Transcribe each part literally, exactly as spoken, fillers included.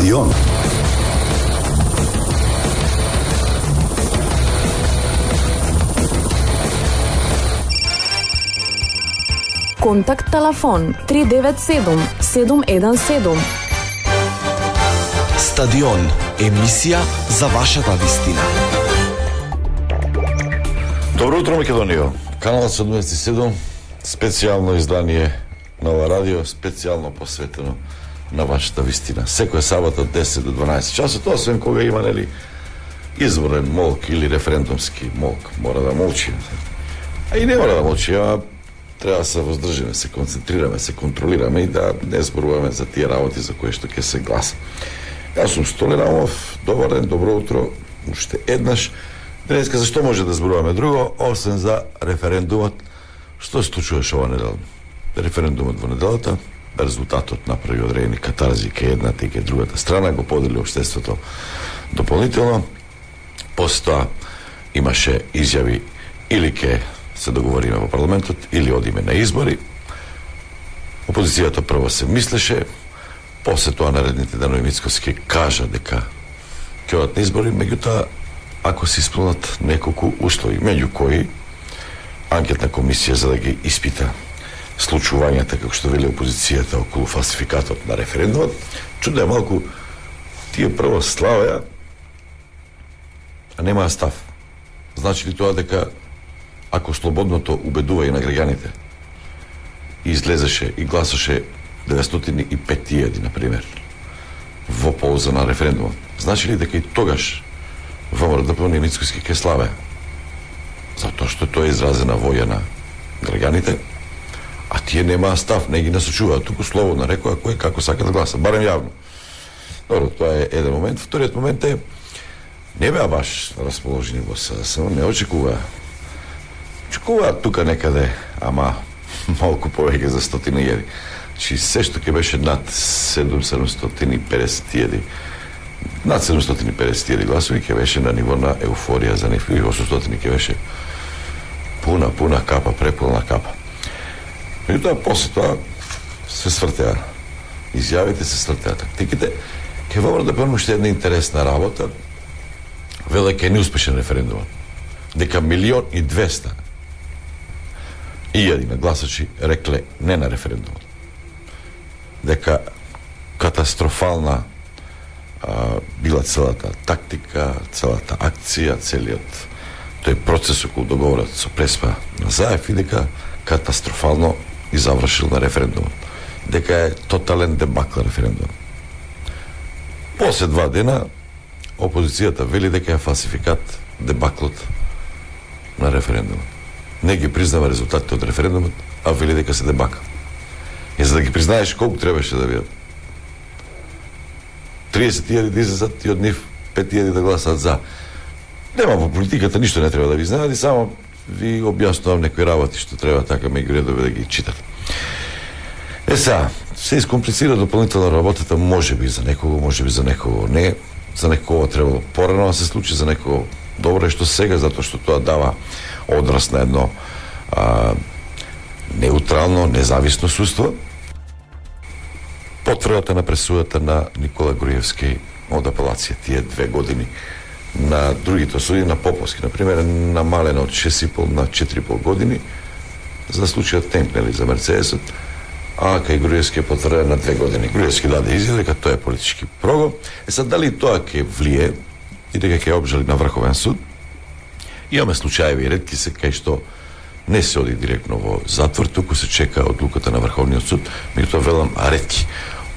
Стадион. Контакт телефон три девет седум седум еден седум. Стадион, емисија за вашата вистина. Добро утро, Македонија. Канал седумдесет и седум, специјално издание на ова радио, специјално посветено на вашата вистина. Секоја сабота од десет до дванаесет часот, освен кога има, нели, изборен молк или референдумски молк, мора да молчи. А и не мора да молчи, а треба да се воздржиме, се концентрираме, се контролираме и да не зборуваме за тие работи за кои што ќе се гласа. Јас сум Столен Амов, добар ден, добро утро, уште еднаш. Денеска зашто може да зборуваме друго, освен за референдумот, што се случуваше ова недела? Референдумот во неделата, резултатот направи одредени катарзи кај едната и кај другата страна, го подели општеството дополнително. После тоа имаше изјави или ке се договориме во парламентот, или одиме на избори. Опозицијата прво се мислеше, после тоа наредните денови Мицкоски кажа дека ќе одат на избори, меѓутоа ако се исполнат неколку услови, меѓу кои анкетна комисија за да ги испита случувањата, како што вели опозицијата, околу фалсификатот на референдумот, чудо е малку тие прво славеа, а немаа став. Значи ли тоа дека ако слободното убедува и на граѓаните и излезеше и гласаше деветстотини и пет илјади, например, во полза на референдумот, значи ли дека и тогаш ВМРО и Мицкоски ке славеа? Затоа што тоа е изразена воја на граѓаните, а тие немаа став, не ги насочуваат, туку слободно рекоа кој како сака да гласа, барем јавно. Добро, тоа е еден момент. Вториот момент е, не беа баш расположени во СДСМ, не очекуваа. Очекуваат тука некаде, ама малку повеќе за стотина илјади. Чи се што ќе беше над седумстотини и педесет илјади, над седумстотини и педесет илјади гласови ќе беше на ниво на еуфорија за нив, и осумстотини ќе беше пуна, пуна капа, преполна капа. Меѓутоа, после тоа се свртеа изјавите, се свртеа тактиките. Ке ВМРО да помнам уште една интересна работа, веле ке неуспешен референдумот, дека милион и двеста илјади на гласачи рекле не на референдумот, дека катастрофална а, била целата тактика, целата акција, целиот тој процес околу договорот со Преспа на Заев, и дека катастрофално и завршил на референдумот, дека е тотален дебакл референдумот. После два дена опозицијата вели дека е фалсификат дебаклот на референдумот. Не ги признава резултатите од референдумот, а вели дека се дебакл. И за да ги признаеш, колку требаше да бидат? триесет илјади да излезат и од нив пет илјади да гласат за. Нема во политиката, ништо не треба да ви изненади, само ви објаснувам некои работи што треба така меѓу редови да ги читате. Е са, се искомплицира дополнително работата, може би за некого, може би за некого не. За некого требало порано да се случи, за некого добро е што сега, затоа што тоа дава одраз на едно а, неутрално, независно судство. Потврдата на пресудата на Никола Груевски од апелација, тие две години на другите осуди, на Поповски, например, намалено од шест и пол на четири и пол години за случајот Темпнели за Мерцедесот, а кај Груевски е потврден на две години. Груевски даде изјава дека тоа е политички прогон. Е сад, дали тоа ќе влие и дека ќе обжали на Врховен суд? Имаме случаеви ретки се кај што не се оди директно во затвор, туку се чека одлуката на Врховниот суд, меѓутоа велам ретки.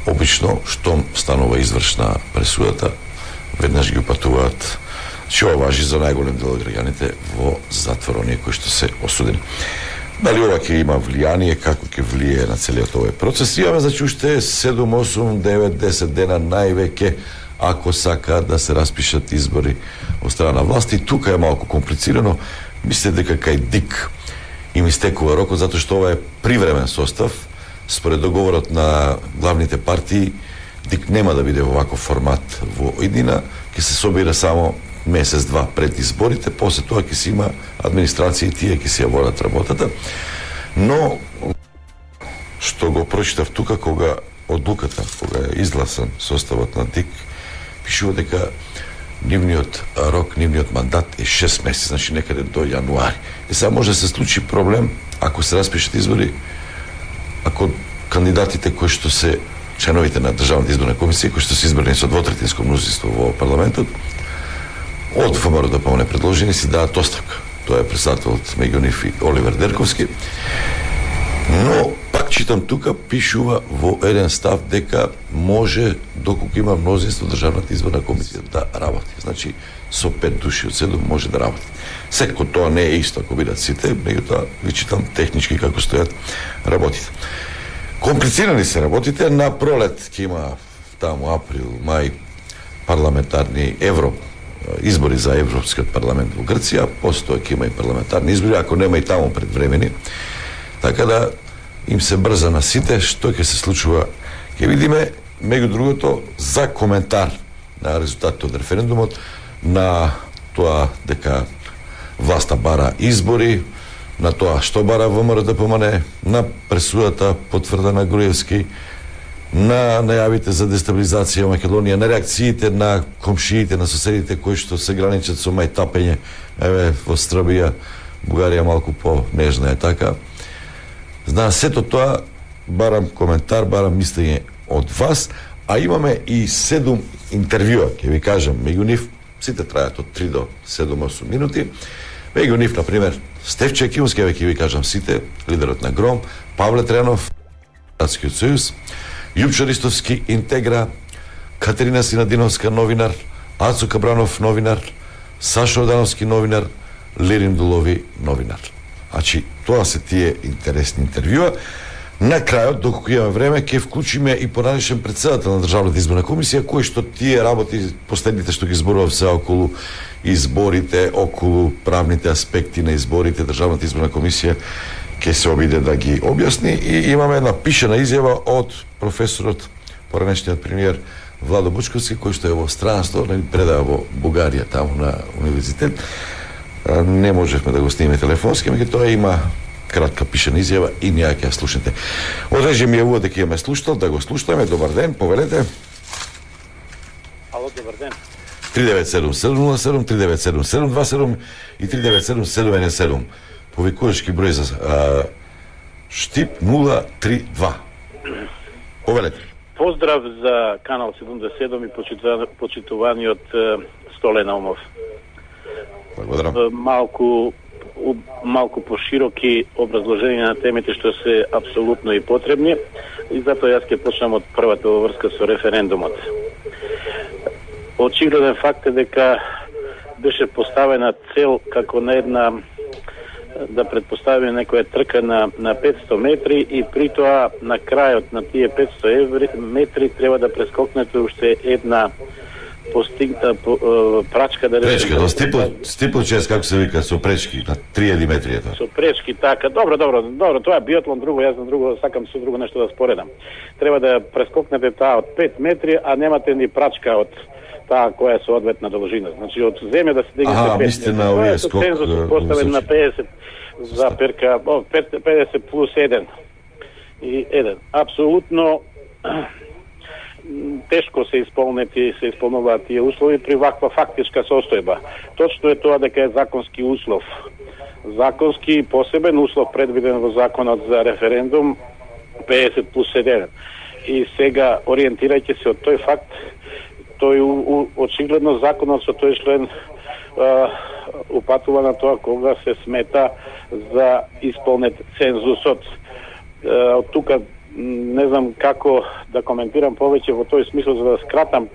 Обично, штом станува извршна пресудата, веднаш ги упатуваат, че ова важи за најголем дел од граѓаните во затвор, оние кои што се осудени. Дали ова ќе има влијание, како ќе влие на целиот овој процес? Имаме, значи, уште седум, осум, девет, десет дена највеќе, ако сака да се распишат избори од страна на власти. Тука е малку комплицирано. Мисле дека кај ДИК им истекува рокот, затоа што ова е привремен состав. Според договорот на главните партии, ДИК нема да биде во ваков формат во иднина, ќе се собира само месец-два пред изборите, после тоа ќе си има администрација и тие ќе си ја водат работата. Но, што го прочитав тука, кога одлуката кога е изгласан составот на ДИК, пишува дека нивниот рок, нивниот мандат е шест месеци, значи некаде до јануари. И сега може да се случи проблем ако се распишат избори, ако кандидатите кои што се членовите на Државната изборна комисија, кои што се избрани со двотретинско мнозинство во парламентот, од ФМР да помне предложени си дадат оставка. Тоа е председателот меѓу нив и Оливер Дерковски. Но пак читам тука, пишува во еден став дека може, доколку има мнозинство, Државната изборна комисија да работи. Значи, со пет души од седум може да работи. Секако тоа не е исто ако бидат сите, меѓутоа ви читам технички како стојат работите. Комплицирани се работите, на пролет ќе има таму април, мај парламентарни евро избори за Европскиот парламент во Грција, постоја ќе има и парламентарни избори, ако нема и таму предвремени. Така да им се брза на сите што ќе се случува. Ќе видиме, меѓу другото, за коментар на резултатите од референдумот, на тоа дека власта бара избори, на тоа што бара ВМРО да помане, на пресудата потврдена Груевски, на најавите за дестабилизација во Македонија, на реакциите на комшиите, на соседите кои што се граничат со мајтапење, еве во Србија, Бугарија малку по-нежна е така. Зна, сето тоа барам коментар, барам мислење од вас, а имаме и седум интервјуа, ќе ви кажам, меѓу нив, сите трајат од три до седум-осум минути, меѓу нив, например, Стефче Кимски, ќе ви кажам сите, лидерот на Гром, Павле Тренов, Градскиот сојуз, Јупчо Ристовски, Интегра, Катерина Синадиновска, новинар, Ацо Кабранов, новинар, Сашо Одановски, новинар, Лирин Дулови, новинар. Значи, тоа се тие интересни интервјуа. На крајот, доколку имаме време, ќе вклучиме и поранешен председател на Државната изборна комисија, кој што тие работи, последните што ги зборував се околу изборите, околу правните аспекти на изборите, Државната изборна комисија ќе се обиде да ги објасни. И имаме една пишена изјава од професорот, поранешниот премиер Владо Бучковски, кој што е во странство, предава во Бугарија, таму на универзитет. Не можевме да го снимеме телефонски, меѓутоа има кратка пишена изјава и ние ќе ја слушнете. Одрежи ми е увод дека имаме слушател, да го слушаме. Добар ден, повелете. Ало, добар ден. три девет седум седум нула седум, три девет седум седум два седум и три девет седум седум еден седум. Повикувачки број за а, Штип нула три два. Повелете. Поздрав за канал седумдесет и седум и почитуваниот Столе Наумов. Благодарам. Малку малку пошироки образложенија на темите што се апсолутно и потребни, и затоа јас ќе почнам од првата во врска со референдумот. Очигледен факт е дека беше поставена цел како на една, да предпостави некоја трка на, на петсто метри, и при тоа на крајот на тие петсто метри треба да прескокнете уште една постигната прачка, да речеме. Пречка, до стипл, стиплчес, како се вика, со пречки, на три метри е тоа. Со пречки, така. Добро, добро, добро, тоа е биатлон, друго, јас на друго, сакам со друго нешто да споредам. Треба да прескокнете таа од пет метри, а немате ни прачка од таа која е со одветна должина. Значи, од земја да се дигнете ага, пет метри. Ага, мисте на овие скок. Цензус поставен на педесет за перка, о, педесет плюс еден. И еден. Апсолутно тешко се исполнети, се исполнуваат тие услови при ваква фактичка состојба. Точно е тоа дека е законски услов. Законски посебен услов предвиден во законот за референдум педесет плюс еден. И сега, ориентирајќи се од тој факт, тој у, у, очигледно законот со тој член а, упатува на тоа кога се смета за исполнет цензусот. А, од тука не знам како да коментирам повеќе во тој смисол, за да скратам.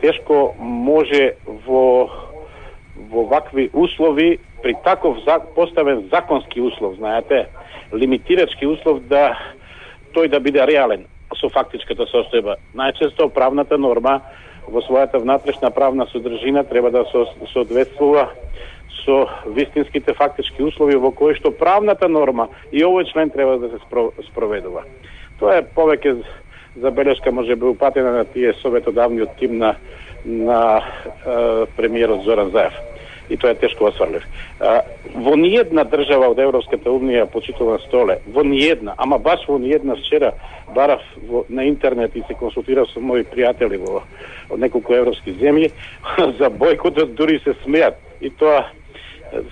Тешко може во во вакви услови, при таков поставен законски услов, знаете, лимитирачки услов, да тој да биде реален со фактичката состојба. Најчесто правната норма во својата внатрешна правна содржина треба да соодветствува со вистинските фактички услови во кои што правната норма и овој член треба да се спроведува. Тоа е повеќе забелешка, може би упатена на тие советодавниот тим на, на е, премиерот Зоран Заев. и тоа е тешко осварлив. Во ниедна држава од Европската унија почитува столе, во ниедна, ама баш во ниедна, вчера барав во, на интернет и се консултирав со мои пријатели во од неколку европски земји, за бојкотот дури се смеат. И тоа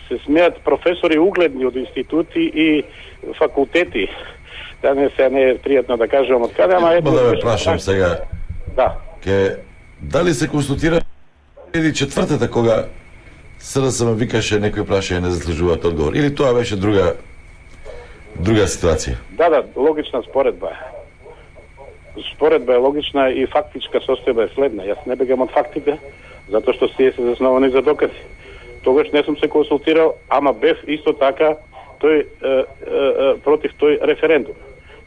се смеат професори угледни од институти и факултети. Да не се не е пријатно да кажам од каде, ама ето... Да ве прашам сега. Да. Ке, дали се консултира или четвртата кога СДСМ викаше некој прашање не заслужуваат одговор, или тоа беше друга друга ситуација? Да, да, логична споредба е. Споредба е логична и фактичка состојба е следна. Јас не бегам од фактите, затоа што се се засновани за докази. Тогаш не сум се консултирал, ама бев исто така тој е, е, е, против тој референдум.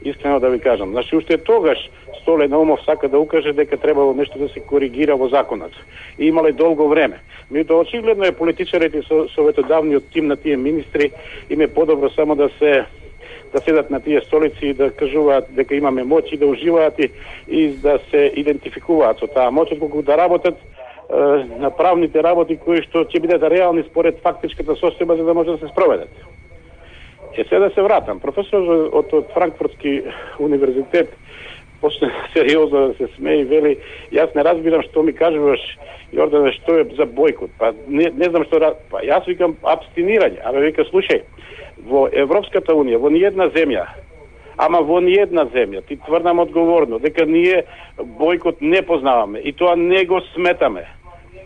Искрено да ви кажам. Значи, уште тогаш Столе Наумов сака да укаже дека требало нешто да се коригира во законот. И имале долго време. Меѓутоа, очигледно е политичарите со советодавниот тим на тие министри им е подобро само да се да седат на тие столици и да кажуваат дека имаме моќ и да уживаат и, и да се идентификуваат со таа моќ, отколку да работат е, на правните работи кои што ќе бидат реални според фактичката состојба за да може да се спроведат. Е, сега да се вратам. Професор од, од Франкфуртски универзитет почне сериозно да се смее и вели, јас не разбирам што ми кажуваш, Јордане, што е за бојкот. Па не, не знам што... Па јас викам абстинирање. Абе вика, слушај, во Европската унија, во ниедна земја, ама во ниедна земја, ти тврдам одговорно, дека ние бојкот не познаваме и тоа не го сметаме.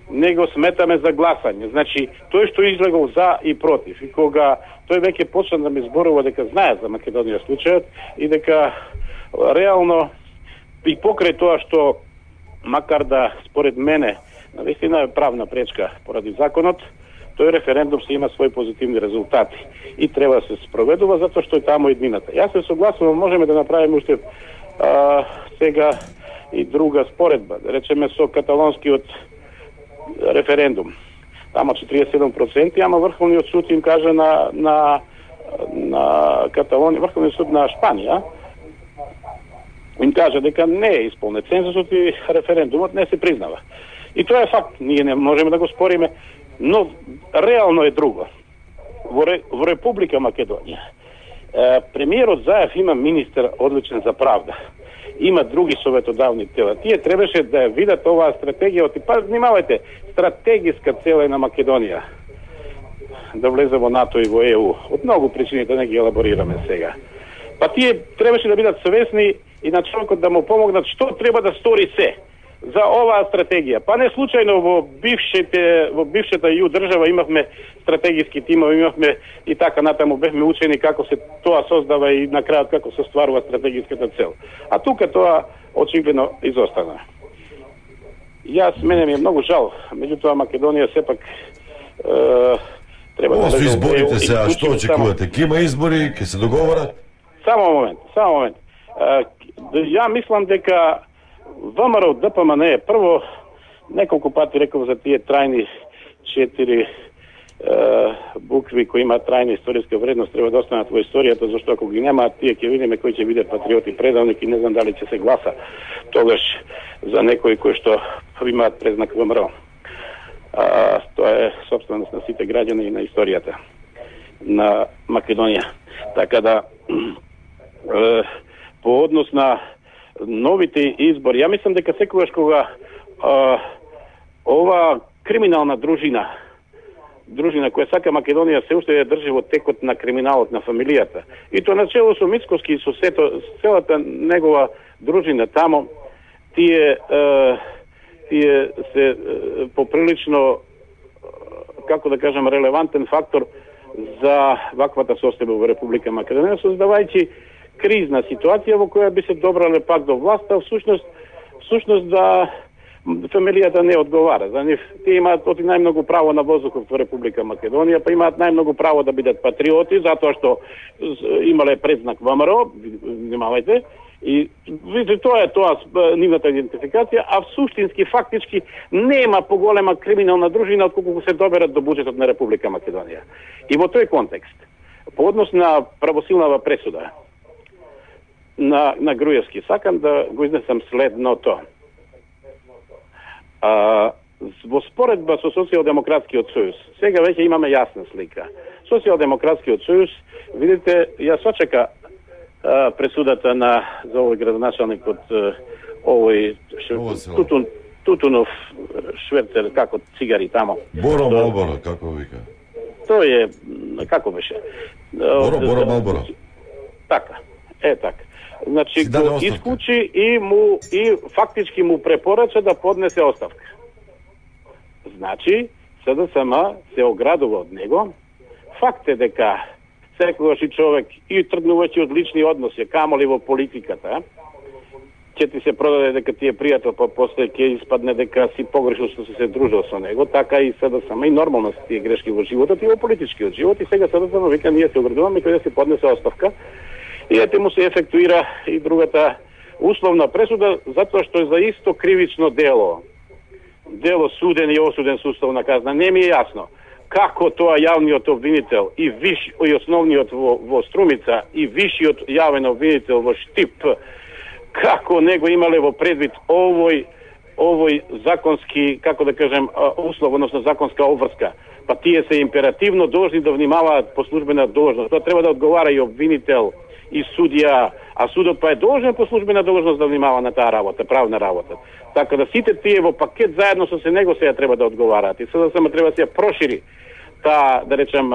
Не го сметаме за гласање. Значи, тој што излегол за и против, и кога тој веќе почна да ми зборува дека знае за Македонија случајот и дека реално и покрај тоа што, макар да според мене навистина е правна пречка поради законот, тој референдум се има своји позитивни резултати и треба да се спроведува затоа што е таму еднината. Јас се согласувам, можеме да направиме уште а, сега и друга споредба, да речеме со каталонскиот референдум. Тама четириесет и седум проценти, ама Врховниот суд им кажа на на на Каталонија, Врховниот суд на Шпанија им кажа дека не е исполнет цензусот и референдумот не се признава. И тоа е факт, ние не можеме да го спориме, но реално е друго. Во, Ре, во Република Македонија е, премиерот Заев има министер одличен за правда. Има други советодавни тела. Тие требаше да ја видат оваа стратегија, и па внимавајте, стратегиска цел е на Македонија да влезе во НАТО и во Е У. Од многу причини да не ги елаборираме сега. Па тие требаше да бидат свесни и на човекот да му помогнат што треба да стори се за оваа стратегија. Па не случајно во бившите во бившата Ју држава имавме стратегиски тимови, имавме и така натаму бевме учени како се тоа создава и на крајот како се стварува стратегиската цел. А тука тоа очигледно изостана. Јас мене ми е многу жал, меѓутоа Македонија сепак е, треба Ова да со изборите сега, што очекувате? Ке има избори, ке се договорат? Само момент, само момент. Е, ја мислам дека ВМРО Д П М Н е прво, неколку пати реков за тие трајни четири е, букви кои имаат трајна историска вредност, треба да останат во историјата, зашто ако ги немаат, тие ќе видиме кои ќе бидат патриоти предавник и не знам дали ќе се гласа тогаш за некои кои што имаат презнак ВМРО. А, тоа е собственост на сите граѓани и на историјата на Македонија. Така да, е, по однос на новите избори, ја мислам дека секогаш кога а, ова криминална дружина, дружина која сака Македонија се уште ја држи во текот на криминалот на фамилијата, и тоа начело со Мицкоски и со сето, целата негова дружина тамо, тие е, тие се е, поприлично, како да кажам, релевантен фактор за ваквата состојба во Република Македонија, создавајќи кризна ситуација во која би се добрале пак до власта, всушност, всушност да фамилијата не одговара. За нив тие имаат оти најмногу право на воздухот во Република Македонија, па имаат најмногу право да бидат патриоти, затоа што имале предзнак ВМРО, внимавајте, и видите, тоа е тоа нивната идентификација, а всуштински, фактички, нема поголема криминална дружина отколку се доберат до буџетот на Република Македонија. И во тој контекст, по однос на правосилнава пресуда на, на Груевски, сакам да го изнесам следното. А, во споредба со Социјалдемократскиот сојуз. Сега веќе имаме јасна слика. Социјалдемократскиот сојуз, видите, ја сочека а, пресудата на за овој градоначалник од овој Тутун, Тутунов шверцер, како цигари тамо. Боро Малборо, како вика. Тој е, како беше? Боро, Боро Малборо. Така, е така. Значи, го исклучи и му и фактички му препорача да поднесе оставка. Значи, СДСМ се оградува од него. Факт е дека секогаш и човек и тргнувајќи од лични односи, камоли во политиката, ќе ти се продаде дека ти е пријател, па после ќе испадне дека си погрешил што си се дружил со него, така и СДСМ и нормално се тие грешки во животот и во политичкиот живот, и сега СДСМ вика ние се оградуваме кај да се поднесе оставка. И ете му се ефектуира и другата условна пресуда, затоа што е за исто кривично дело. Дело суден и осуден со уставна казна. Не ми е јасно како тоа јавниот обвинител и виш и основниот во, во Струмица и вишиот јавен обвинител во Штип, како него имале во предвид овој овој законски, како да кажем, услов, односно законска обврска. Па тие се императивно должни да внимаваат по службена должност. Тоа треба да одговара и обвинител и судија, а судот па е должен по службена должност да внимава на таа работа, правна работа. Така да сите тие во пакет заедно со се него сега треба да одговараат. И сега само треба да се прошири таа, да речем,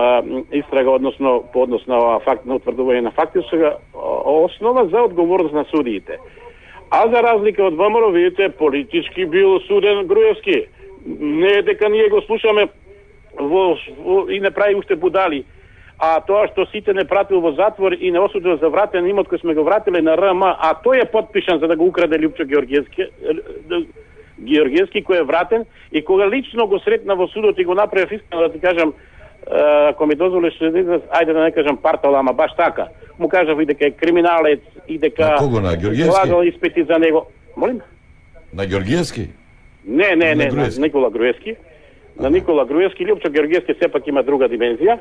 истрага, односно по однос на факт на утврдување на фактичка основа за одговорност на судиите. А за разлика од ВМРО, видите, политички бил суден Груевски. Не е дека ние го слушаме во, во, и не прави уште будали. А тоа што сите не пратил во затвор и не осудил за вратен имот кој сме го вратиле на РМ, а тој е подпишан за да го украде Лјупчо Георгиевски, Георгиевски кој е вратен, и кога лично го сретна во судот и го направи искрено, да ти кажам, ако ми дозволиш, ајде да не кажам партал, ама баш така, му кажав и дека е криминалец и дека на кого, на Георгиевски? Полагал испити за него. Молим? На Георгиевски? Не, не, не, на, на Никола Груевски. На Никола Груевски, Лјупчо Георгиевски сепак има друга димензија.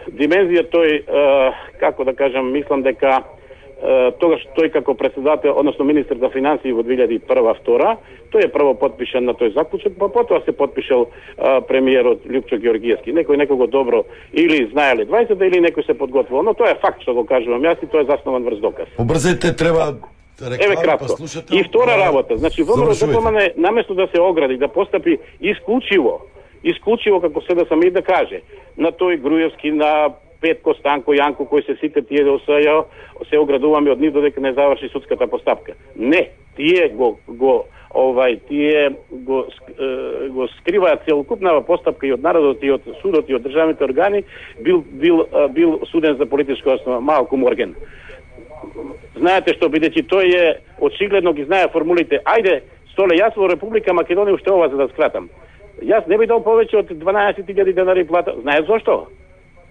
Димензија тој, е, како да кажам, мислам дека е, тогаш тој како председател, односно министер за финансии во две илјади и прва втора, тој е прво подпишан на тој заклучок, па потоа се подпишал е, премиерот Лјупчо Георгиевски. Некој некого добро или знаеле дваесет или некој се подготвил, но тоа е факт што го кажувам јас и тоа е заснован врз доказ. Побрзете, треба Еве кратко. И втора работа, значи ВМРО ДПМН наместо да се огради, да постапи исклучиво исклучиво, како се да сам и да каже, на тој Груевски, на Петко, Станко, Јанко, кои се сите тие да осаја, се оградуваме од нив додека не заврши судската постапка. Не, тие го, го овај, тие го, го скриваат целокупнава постапка и од народот, и од судот, и од државните органи, бил, бил, бил суден за политичка основа, Малко Морген. Знаете што, бидејќи тој е, очигледно ги знае формулите. Ајде, Столе, јас во Република Македонија уште ова за да скратам. Јас не би дал повеќе од дванаесет илјади денари плата. Знаеш зошто?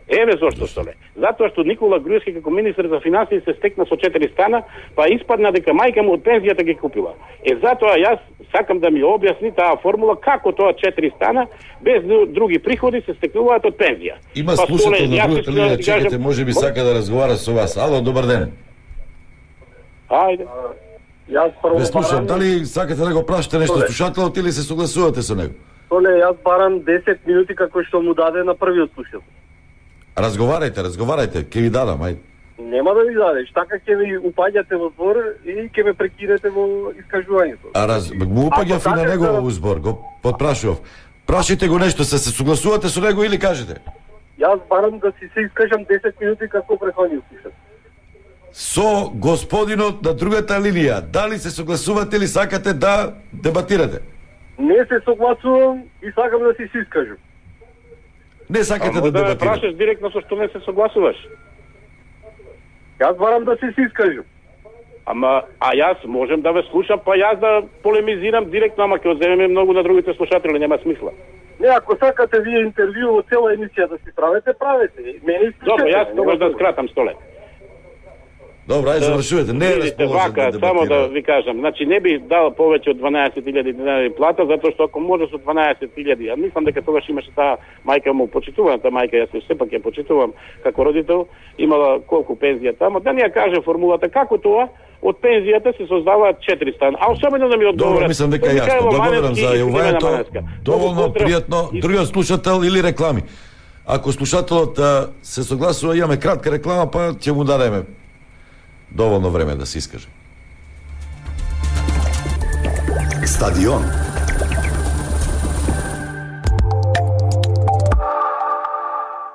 Еве зошто, Столе. Затоа што Никола Груевски како министер за финансии се стекна со четири стана, па испадна дека мајка му од пензијата ги купила. Е затоа јас сакам да ми објасни таа формула како тоа четири стана без други приходи се стекнуваат од пензија. Има па, слушател на другата линија, чекате, може би сака да разговара со вас. Ало, добар ден. Ајде. Јас прво Ве слушам, дали сакате да го прашате нешто слушателот или се согласувате со него? Толе, јас барам десет минути како што му даде на првиот слушател. Разговарајте, разговарајте, ќе ви дадам, ајде. Нема да ви дадеш, така ќе ми упаѓате во збор и ќе ме прекинете во искажувањето. А раз, му упаѓав и на него во збор, го подпрашував. Прашите го нешто, се се согласувате со него или кажете? Јас барам да си се искажам десет минути како претходниот слушател. Со господинот на другата линија, дали се согласувате или сакате да дебатирате? Не се согласувам и сакам да си се искажам. Не сакате а, да дебатирате? Да ме дебатирате? прашаш директно со што не се согласуваш. Јас барам да се се искажам. Ама, а јас можем да ве слушам, па јас да полемизирам директно, ама ќе одземеме многу на другите слушатели, нема смисла. Не, ако сакате вие интервју во цела емисија да си правите, правете. Мене искажете. Добро, јас тогаш да скратам, Столе. Добро, ајде завршувате. Не е Видите, расположен вака, да само дебатира. да ви кажам, значи не би дал повеќе од дванаесет илјади динари плата, затоа што ако може со дванаесет илјади, а мислам дека тогаш имаше таа мајка му почитуваната мајка, јас сепак ја почитувам како родител, имала колку пензија таму, да ни ја каже формулата како тоа од пензијата се создаваат четири стана. А особено да ми одговорат. Добро, мислам дека Тоа јасно. во Благодарам Маневски за и јавувањето. Маневска. Доволно Многу поздрав. пријатно. И- Другиот слушател или реклами. Ако слушателот а, се согласува, имаме кратка реклама, па ќе му дадеме доволно време да се искаже. Стадион.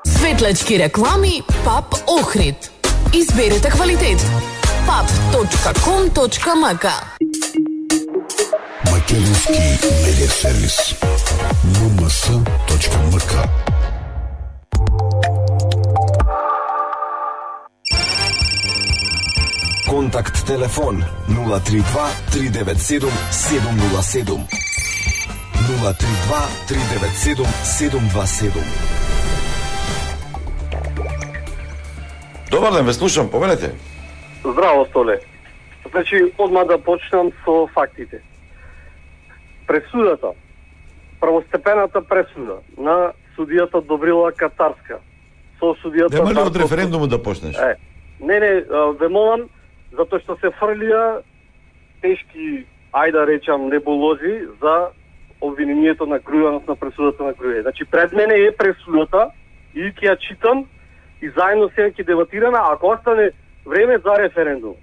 Светлачки реклами Пап Охрид. Изберете квалитет. пап точка ком точка ем ка. Македонски медиа сервис ем ем ес точка ем ка. Контакт телефон нула три два три девет седум седум нула седум. нула три два три девет седум седум два седум. Добар ден, ве слушам, повелете. Здраво, Столе. Значи, одма да почнам со фактите. Пресудата, првостепената пресуда на судијата Добрила Катарска со судијата... Нема ли од Дарко- референдумот да почнеш? Е, не, не, а, ве молам, затоа што се фрлија тешки, ајде да речам, небулози за обвинението на Грујанов на пресудата на Грује. Значи, пред мене е пресудата и ќе ја читам и заедно сега ќе дебатираме, ако остане време за референдум.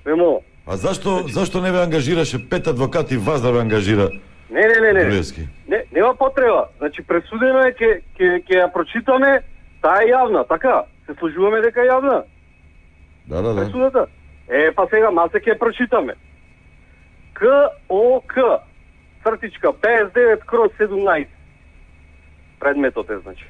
Ве молам. А зашто зашто не ве ангажираше пет адвокати вас да ве ангажира Не, не, не, не. Груевски? Не, нема потреба. Значи, пресудено е, ќе ќе ќе ја прочитаме, таа е јавна, така? Се сложуваме дека е јавна. Да, да, да. Пресудата. Е, па сега малце ќе ја прочитаме. К О К цртичка петдесет и девет кроз седумнаесет. Предметот е, значи.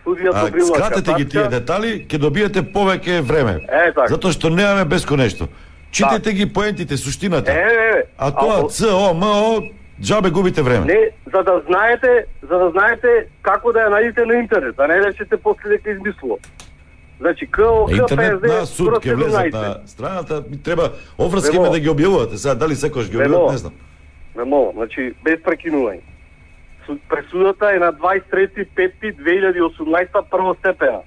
Судија А, Добрила скратете ги тие Катарска. детали, ќе добиете повеќе време. Е, така. Затоа што немаме бесконечно. Читете ги поентите, Е, суштината. е, е. А тоа Ако- Ц, О, М, О, џабе губите време. Не, за да знаете, за да знаете како да ја најдете на интернет, а не речете после дека измислува. Значи, К О На К интернет на суд кроз ќе влезат седумнаесет. на страната, ми треба оврски Вемо. име да ги објавувате. Сега дали секојаш ги Вемо. објавуват, не знам. Не мога, значи без прекинување. Суд- Пресудата е на дваесет и трети пети две илјади и осумнаесета првостепена.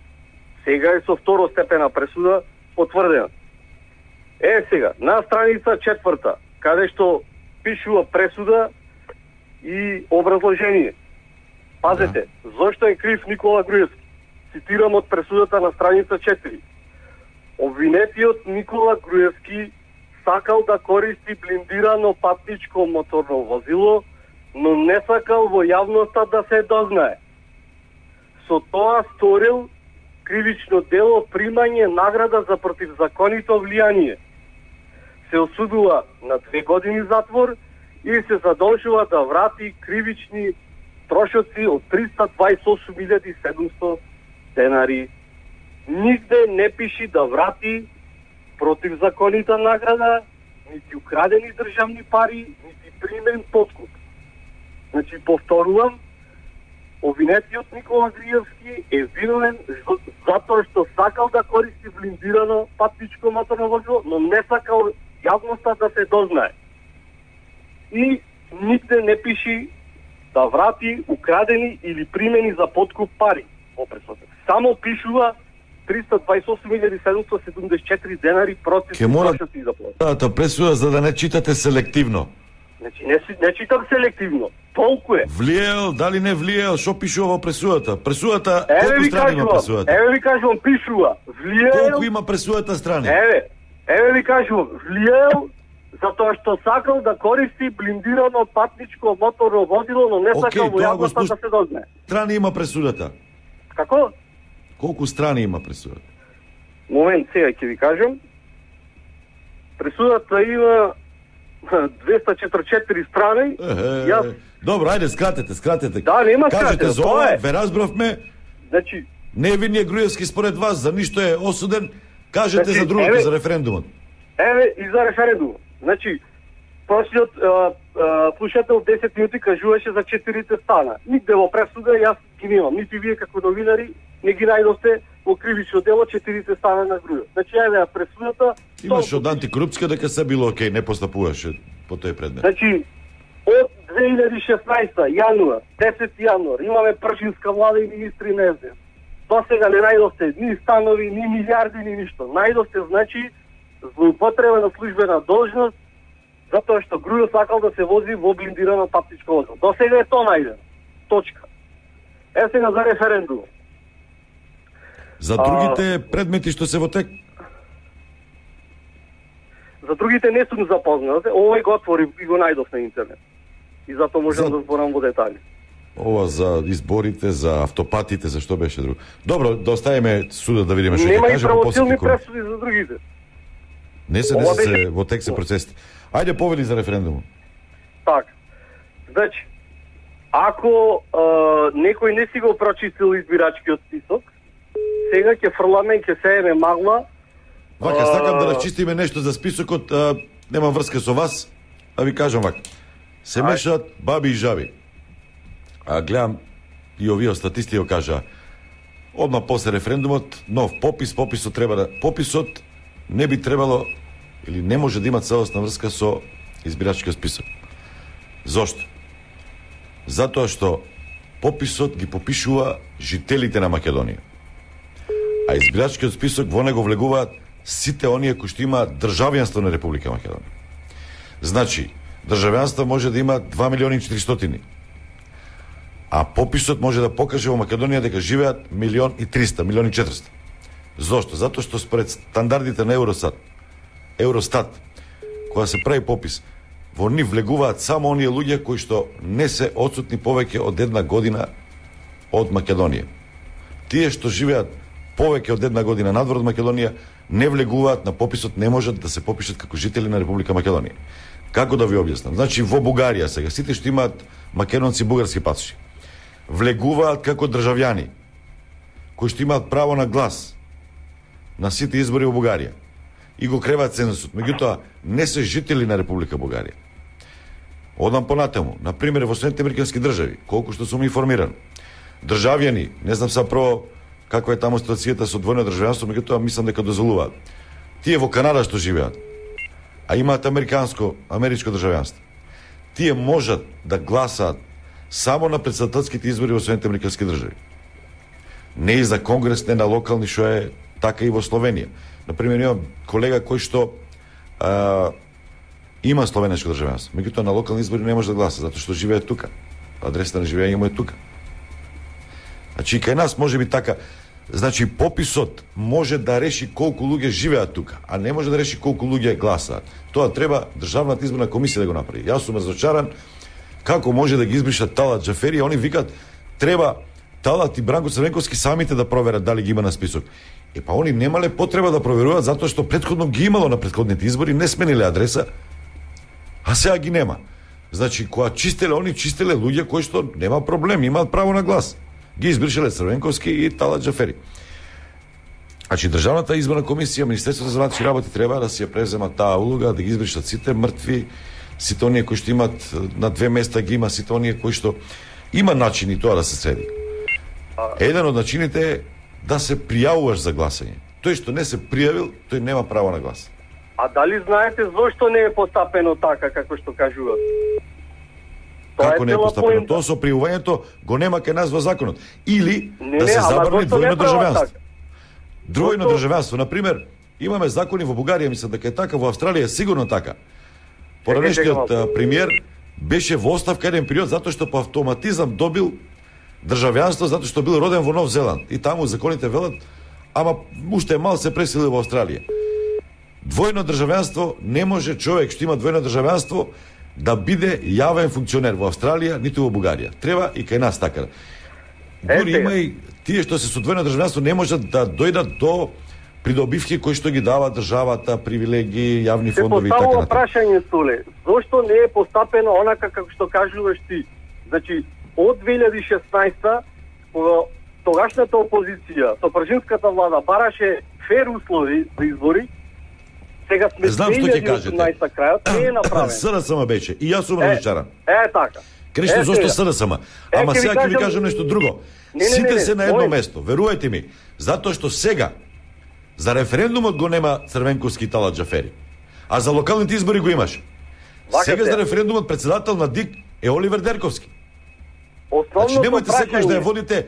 Сега е со второстепена пресуда потврдена. Е сега, на страница четврта, каде што пишува пресуда и образложение. Пазете, зошто е крив Никола Груевски? Цитирам од пресудата на страница четири. Обвинетиот Никола Груевски сакал да користи блиндирано патничко моторно возило, но не сакал во јавноста да се дознае. Со тоа сторил кривично дело примање награда за противзаконито влијание. Се осудува на две години затвор и се задолжува да врати кривични трошоци од триста дваесет и осум илјади седумстотини денари. Нигде не пиши да врати противзаконита награда, нити украдени државни пари, нити примен подкуп. Значи, повторувам, обвинетиот Никола Груевски е виновен за- затоа што сакал да користи блиндирано патничко моторно возило, но не сакал јавноста да се дознае. И нигде не пиши да врати украдени или примени за подкуп пари во пресудата. Само пишува триста дваесет и осум илјади седумстотини седумдесет и четири денари против Ке мора- трошоци и заплати. Тата пресуда за да не читате селективно. Значи, не, си- не читам селективно. Толку е. Влиел, дали не влиел, што пишува во пресудата? Пресудата, Еве колку ви страни има кажувам, пресудата? еве ви кажувам, пишува. Влиел, Колку има пресудата страни? еве, еве ви кажувам, влиел, затоа што сакал да користи блиндирано патничко моторно возило, но не Океј, сакал во тоа го јавноста слуш- да се дознае. Страни има пресудата. Како? Колку страни има пресудата? Момент, сега ќе ви кажам. Пресудата има двеста и четиридесет и четири страни. Е, Јас, добро, ајде, скратете, скратете. Да, нема Кажете скратено, за тоа ова, е. ве разбравме, значи, невинниот Груевски според вас за ништо е осуден, кажете Значи, за другото, еве- за референдумот. еве и за референдум. Значи, прошлиот а, а, слушател десет минути кажуваше за четирите стана. Нигде во пресуда јас ги немам. Нити вие како новинари не ги најдовте, во кривично дело четирите стана на грујот. Значи, ајде, пресудата... Имаш од антикорупција дека се било окей, не постапуваше по тој предмет. Значи, од две илјади и шеснаесета јануар, десети јануар, имаме пршинска влада и министри на Ес Де Ес. До сега не најдовте ни станови, ни милиарди, ни ништо. Најдовте, значи, злоупотреба на службена должност, затоа што Грујо сакал да се вози во блиндирано патничко возило. До сега е тоа најдено. Точка. Е сега за референдум. За другите а... предмети што се во тек? За другите не сум запознат. Овој го отвори и го најдов на интернет. И затоа можам за... да зборам во детали. Ова за изборите, за автопатите, за што беше друго. Добро, да оставиме судот да видиме што ќе каже. Нема и правосилни пресуди за другите. Не се, не се, беше... во тек се процесите. Ајде повели за референдумот. Так. Значи, ако а, некој не си го прочистил избирачкиот список, сега ќе фрламе и ќе сееме магла. Вака, сакам да расчистиме нешто за списокот, а, нема врска со вас, а ви кажам вака. Се мешаат баби и жаби. А гледам и овие статисти го кажа. Одма после референдумот, нов попис, пописот треба да пописот не би требало или не може да има целосна врска со избирачкиот список. Зошто? Затоа што пописот ги попишува жителите на Македонија. А избирачкиот список во него влегуваат сите оние кои што имаат државјанство на Република Македонија. Значи, државјанство може да има два милиони и четиристотини. А пописот може да покаже во Македонија дека живеат милион и триста, милион и четириста. Зошто? Затоа што според стандардите на Евростат, Евростат, кога се прави попис, во нив влегуваат само оние луѓе кои што не се отсутни повеќе од една година од Македонија. Тие што живеат повеќе од една година надвор од Македонија не влегуваат на пописот, не можат да се попишат како жители на Република Македонија. Како да ви објаснам? Значи во Бугарија сега сите што имаат македонци бугарски пасоши влегуваат како државјани кои што имаат право на глас на сите избори во Бугарија и го креваат цензусот. Меѓутоа не се жители на Република Бугарија. Одам понатаму, на пример во Соединетите Американски држави, колку што сум информиран, државјани, не знам са прво каква е таму ситуацијата со двојно државјанство, меѓутоа мислам дека дозволуваат. Тие во Канада што живеат, а имаат американско, америчко државјанство, тие можат да гласаат само на претседателските избори во Соединетите Американски држави. Не и за конгрес, не на локални, што е така и во Словенија. Например, имам колега кој што а, има словенешко државјанство, меѓутоа на локални избори не може да гласа, затоа што живее тука. Адресата на живење му е тука. Значи, кај нас може би така. Значи, пописот може да реши колку луѓе живеат тука, а не може да реши колку луѓе гласаат. Тоа треба Државната изборна комисија да го направи. Јас сум разочаран како може да ги избришат Талат Џафери, они викат треба Талат и Бранко Црвенковски самите да проверат дали ги има на список. Е па они немале потреба да проверуваат затоа што претходно ги имало на претходните избори, не смениле адреса, а сега ги нема. Значи, кога чистеле, они чистеле луѓе кои што нема проблем, имаат право на глас. Ги избришале Црвенковски и Талат Џафери. Значи, Државната изборна комисија, Министерството за вътрешни работи треба да си ја преземат таа улога, да ги избришат сите мртви, сите оние кои што имат на две места ги има, сите оние кои што има начини тоа да се среди. Еден од начините е да се пријавуваш за гласање. Тој што не се пријавил, тој нема право на глас. А дали знаете зошто не е постапено така како што кажуваат? Како не е постапено? Тоа со пријавувањето го нема кај нас во законот. Или не, да се не, забрани двојно државјанство. Така? Двојно државјанство, на пример, имаме закони во Бугарија, мислам дека е така, во Австралија е сигурно така. Поранешниот премиер беше во оставка еден период затоа што по автоматизам добил државјанство затоа што бил роден во Нов Зеланд. И таму законите велат, ама уште мал се пресели во Австралија. Двојно државјанство не може човек што има двојно државјанство да биде јавен функционер во Австралија, ниту во Бугарија. Треба и кај нас така. Дури има и тие што се со двојно државјанство не можат да дојдат до придобивки кои што ги дава државата, привилегии, јавни фондови и така натаму. Се поставува прашање, Столе, зошто не е постапено онака како што кажуваш ти? Значи, од две илјади и шеснаесета, кога тогашната опозиција, со пржинската влада бараше фер услови за избори, сега сме знам две што ќе илјади и осумнаесета крајот, не е направено. СДСМ беше, и јас сум разочаран. Е, е така. Крешто Е, зошто сега. СДСМ? Е, Ама ќе ви сега ќе ви кажам- кажам нешто друго. Не, не, Сите не, не, се на едно мој- место, верувајте ми, затоа што сега за референдумот го нема Црвенковски Тала Џафери, а за локалните избори го имаш. Вака Сега се. за референдумот председател на ДИК е Оливер Дерковски. Значи Основното немојте секојаш да ја прашање, водите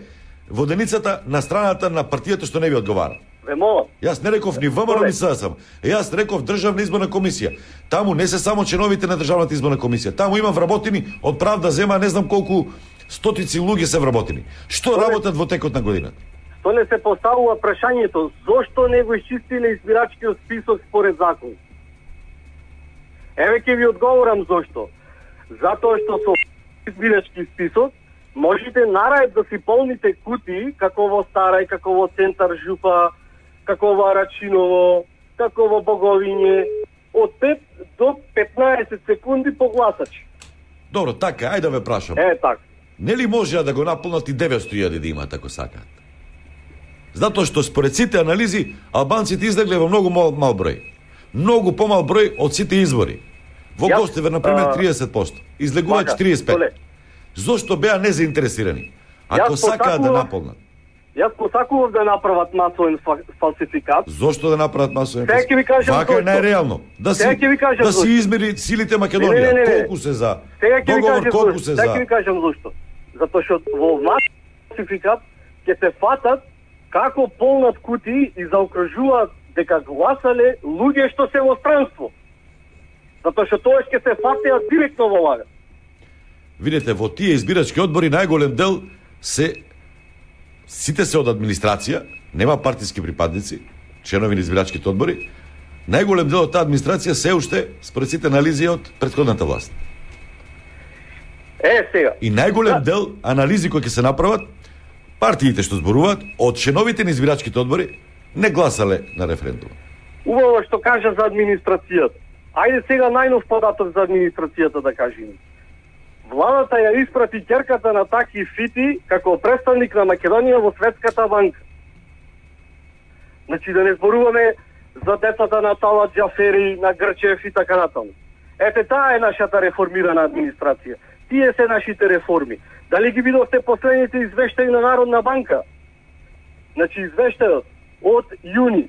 воденицата на страната на партијата што не ви одговара. ве молам, Јас не реков ни ВМРО ни СДСМ. Јас реков Државна изборна комисија. Таму не се само членовите на Државната изборна комисија. Таму има вработени од правда зема не знам колку стотици луѓе се вработени. Што работат во текот на годината? што не се поставува прашањето, зошто не го исчистиле избирачкиот список според закон? Еве ќе ви одговорам зошто. Затоа што со избирачки список можете нарајд да си полните кутии, како во Старај, како во Центар Жупа, како во Арачиново, како во Боговиње, од пет до петнаесет секунди по гласач. Добро, така, ајде да ве прашам. Е, така. Нели можеа да го наполнат и деветстотини илјади да имаат ако сакаат? Затоа што според сите анализи албанците излегле во многу мал, мал број. Многу помал број од сите избори. Во Јас, Гостивар, например, а, триесет проценти. Излегува Вака, четириесет пет. Толе. Зошто беа незаинтересирани? Ако Јас сакаат да посакував- наполнат, Јас посакував да направат масовен фа- фалсификат. зошто да направат масовен Сега ќе ви кажам Вака е зошто. најреално. Да Сега си ќе ви кажам да си зошто. измери силите Македонија. Не, не, не, не. Колку се за? Сега ќе ви Договор кажам колку зошто. се Сега ќе за? ви кажам зошто. Затоа што во масовен фалсификат ќе се фатат како полнат кутии и заокружуваат дека гласале луѓе што се во странство. Затоа што тоа ќе се фатеа директно во лага. Видете, во тие избирачки одбори најголем дел се сите се од администрација, нема партиски припадници, членови на избирачките одбори. Најголем дел од таа администрација се уште според сите анализи од претходната власт. Е, сега. И најголем дел анализи кои ќе се направат, партиите што зборуваат од членовите на избирачките одбори не гласале на референдум. Убаво што кажа за администрацијата. Ајде сега најнов податок за администрацијата да кажеме. Владата ја испрати ќерката на Таки Фити како представник на Македонија во Светската банка. Значи да не зборуваме за децата на Тала Џафери, на Грчев и така натаму. Ете таа е нашата реформирана администрација. Тие се нашите реформи. Дали ги видовте последните извештаи на Народна банка? Значи извештајот од јуни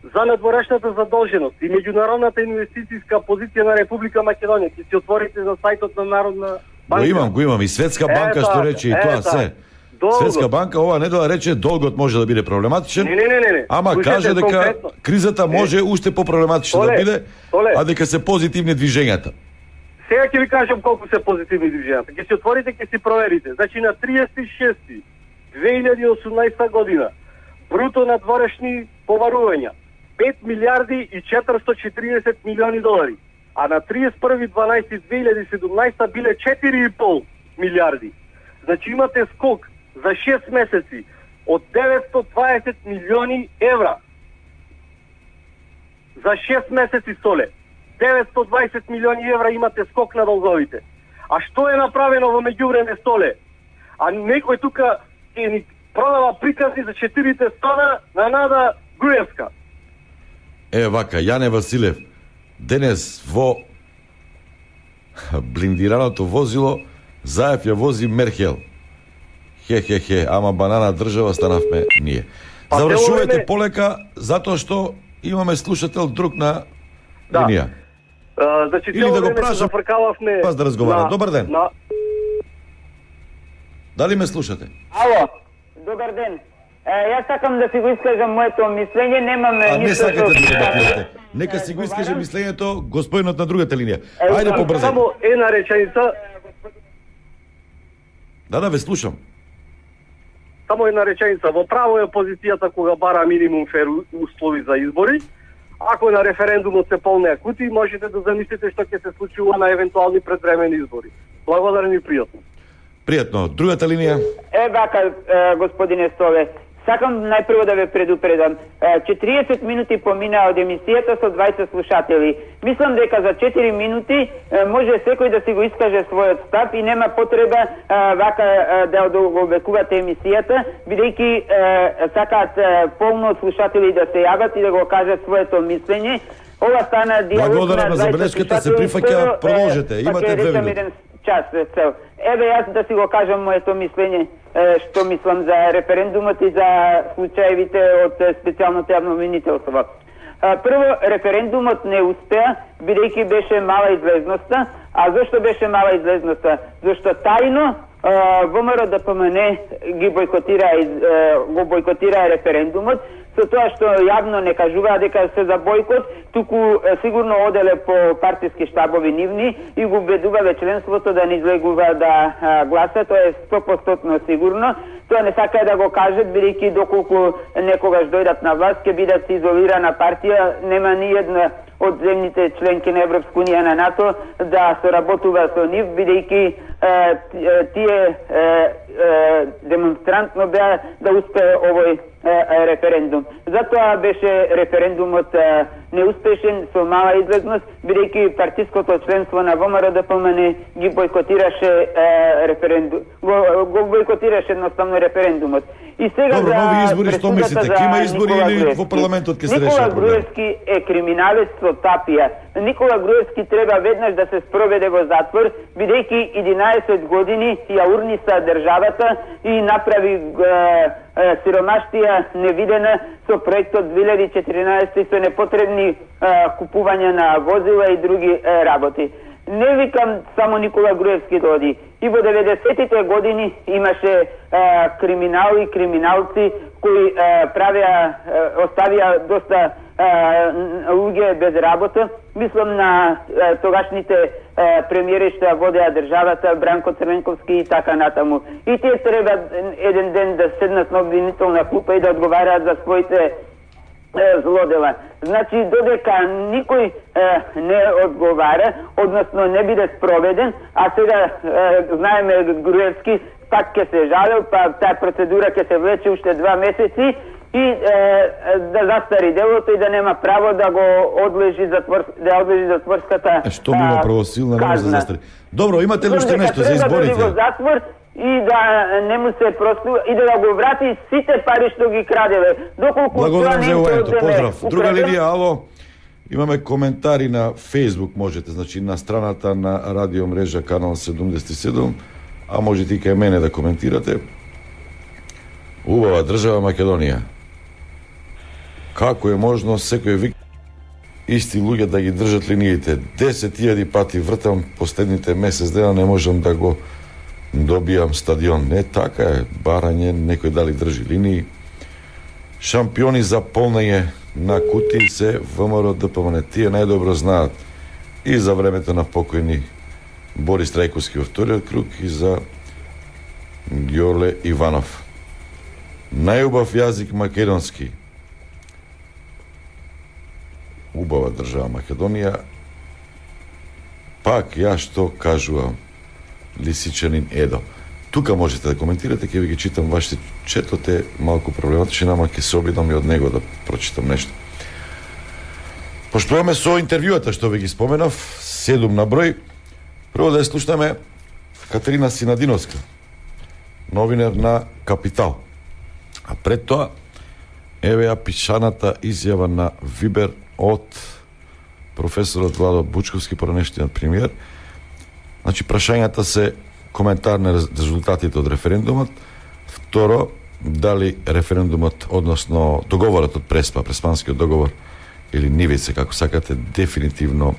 за надворешната задолженост и меѓународната инвестицијска позиција на Република Македонија. Ќе си отворите за сајтот на Народна банка. Го имам, го имам и Светска банка Е, што така, рече и е, тоа така. се. Долгот. Светска банка ова недела рече долгот може да биде проблематичен. Не, не, не, не, не. Ама Слушайте каже дека конкретно. кризата може уште попроблематична да Толе, биде, толе. а дека се позитивни движењата. Сега ќе ви кажам колку се позитивни движењата. Ќе си отворите, ќе си проверите. Значи на триесет и шести две илјади и осумнаесета година бруто надворешни поварувања пет милиарди и четиристотини и четиридесет милиони долари, а на триесет и први дванаесети две илјади и седумнаесета биле четири и пол милиарди. Значи имате скок за шест месеци од деветстотини и дваесет милиони евра. За шест месеци, Соле. деветстотини и дваесет милиони евра имате скок на долговите. А што е направено во меѓувреме, Столе? А некој тука ќе ни продава приказни за четирите стана на Нада Груевска. Е, вака, Јане Василев, денес во блиндираното возило Заев ја вози Мерхел. Хе, хе, хе, ама банана држава станавме ние. Па, Завршувајте тело време- полека, затоа што имаме слушател друг на Да. линија. А, значи, Или цело да го време се прашам, зафркававме пас да разговара. на- Добар ден. На... Дали ме слушате? Ало, добар ден. Е, јас сакам да си го искажам моето мислење, немам А не ништо сакате да со- дебатирате. Нека си го искаже мислењето господинот на другата линија. Е, Ајде само- побрзај. Само една реченица, Да, да, ве слушам. само една реченица. Во право е опозицијата кога бара минимум фер услови за избори. Ако на референдумот се полнеа кутии, можете да замислите што ќе се случува на евентуални предвремени избори. Благодарен и пријатно. Пријатно. Другата линија. Е, вака, е, господине Столе, сакам најпрво да ве предупредам. Е, четириесет минути поминаа од емисијата со дваесет слушатели. Мислам дека за четири минути е, може секој да си го искаже својот став и нема потреба е, вака е, да одолговекувате емисијата, бидејќи е, сакаат е, полно од слушатели да се јават и да го кажат своето мислење. Ова стана диалог Благодарам на дваесет забелешката, се слушатели. прифаќа, Прво, е, продолжете. па Имате ќе две речам минути. еден час цел. Еве јас да си го кажам моето мислење, што мислам за референдумот и за случаевите од специјалното јавно обвинителство. Прво, референдумот не успеа, бидејќи беше мала излезноста. А зашто беше мала излезноста? Зашто тајно ВМРО ДПМН ги бойкотира, го бойкотира референдумот, со тоа што јавно не кажуваа дека се за бойкот, туку сигурно оделе по партиски штабови нивни и го убедувале членството да не излегува да гласа, тоа е сто проценти сигурно. Тоа не сакаа да го кажат, бидејќи доколку некогаш дојдат на власт, ќе бидат изолирана партија, нема ни една од земните членки на Европска унија на НАТО да соработува со нив, бидејќи тие демонстрантно беа да успее овој референдум. Затоа беше референдумот неуспешен со мала излезност, бидејќи партиското членство на ВМРО ДПМН ги бойкотираше референдум, го, го бойкотираше едноставно референдумот. И сега Добро, за нови избори, што мислите? Ке има избори Никола или Груевски. во парламентот ќе се реши Никола проблем? Груевски е криминалец со тапија. Никола Груевски треба веднаш да се спроведе во затвор, бидејќи единаесет години ја урниса државата и направи е, е, сиромаштија невидена со проектот две илјади и четиринаесета и со непотребни е, купување на возила и други е, работи. Не викам само Никола Груевски да оди. И во деветдесетите години имаше е, криминал и криминалци кои е, правеа, е, оставија доста е, луѓе без работа. Мислам на е, тогашните е, премиери што водеа државата, Бранко Црвенковски и така натаму. И тие треба еден ден да седнат на обвинителна клупа и да одговараат за своите злодела. Значи, додека никој е, не одговара, односно не биде спроведен, а сега е, знаеме Груевски пак ќе се жалел, па таа процедура ќе се влече уште два месеци и е, да застари делото и да нема право да го одлежи затвор, да одлежи затворската Е, што бива правосилна, не може да застари. Добро, имате ли уште нешто за изборите? Треба да го затвор и да не му се простува и да го врати сите пари што ги крадеве. Доколку Благодарам за јавувањето. Поздрав. Друга украден... линија, ало. Имаме коментари на Facebook, можете, значи на страната на радио мрежа канал седумдесет и седум, а можете и кај мене да коментирате. Убава држава Македонија. Како е можно секој вик исти луѓе да ги држат линиите? десет илјади пати вртам последните месец дена, не можам да го добијам стадион. Не така е, барање, некој дали држи линии. Шампиони за полнење на кутии се ВМРО ДПМН. Тие најдобро знаат и за времето на покојни Борис Трајковски во вториот круг и за Ѓорле Иванов. Најубав јазик македонски. Убава држава Македонија. Пак ја што кажувам, Лисичанин Едо. Тука можете да коментирате, ќе ви ги читам вашите четот е малку проблематичен, ама ќе се обидам и од него да прочитам нешто. Пошто имаме со интервјуата што ви ги споменав, седум на број, прво да ја слушнеме Катерина Синадиновска, новинар на Капитал. А пред тоа, еве ја пишаната изјава на Вибер од професорот Владо Бучковски, поранештиот премиер. Значи, прашањата се коментар на резултатите од референдумот. Второ, дали референдумот, односно договорот од Преспа, Преспанскиот договор, или нивице, како сакате, дефинитивно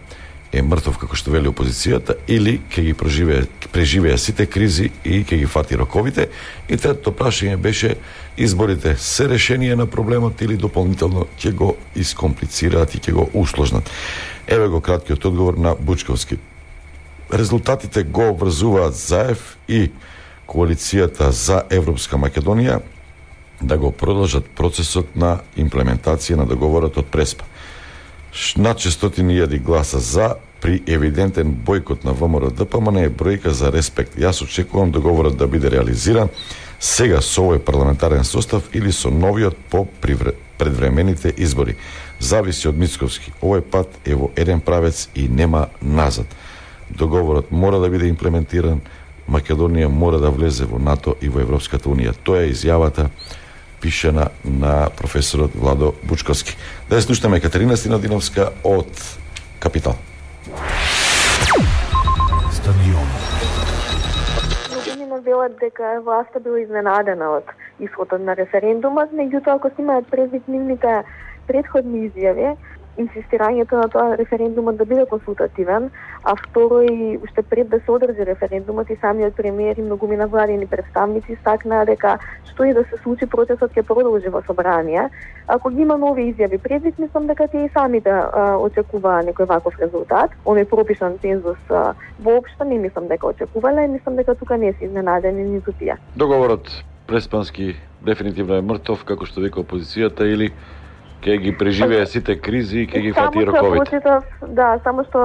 е мртов, како што вели опозицијата, или ќе ги преживее, преживее сите кризи и ќе ги фати роковите. И третото прашање беше, изборите се решение на проблемот или дополнително ќе го искомплицираат и ќе го усложнат. Еве го краткиот одговор на Бучковски. Резултатите го обврзуваат ЗАЕВ и Коалицијата за Европска Македонија да го продолжат процесот на имплементација на договорот од Преспа. Над шестстотини илјади гласа за при евидентен бојкот на ВМРО ДПМН е бројка за респект. Јас очекувам договорот да биде реализиран сега со овој парламентарен состав или со новиот по предвремените избори. Зависи од Мицковски. Овој пат е во еден правец и нема назад. Договорот мора да биде имплементиран, Македонија мора да влезе во НАТО и во Европската унија. Тоа е изјавата пишена на професорот Владо Бучковски. Да ја слушаме Катерина Синадиновска од Капитал. Стадион. велат дека власта била изненадена од исходот на референдумот, меѓутоа ако се имаат предвид нивните претходни изјави, инсистирањето на тоа референдумот да биде консултативен, а второ и уште пред да се одржи референдумот и самиот премиер и многумина владини представници стакнаа дека што и да се случи процесот ќе продолжи во собрание. Ако ги има нови изјави предвид, мислам дека тие и самите а, очекуваа некој ваков резултат. Оној пропишан цензус а, воопшто не мислам дека очекувале и мислам дека тука не се изненадени ниту тие. Договорот Преспански дефинитивно е мртов, како што вика опозицијата, или ќе ги преживее сите кризи и ќе ги фати роковите? Прочитав, да, само што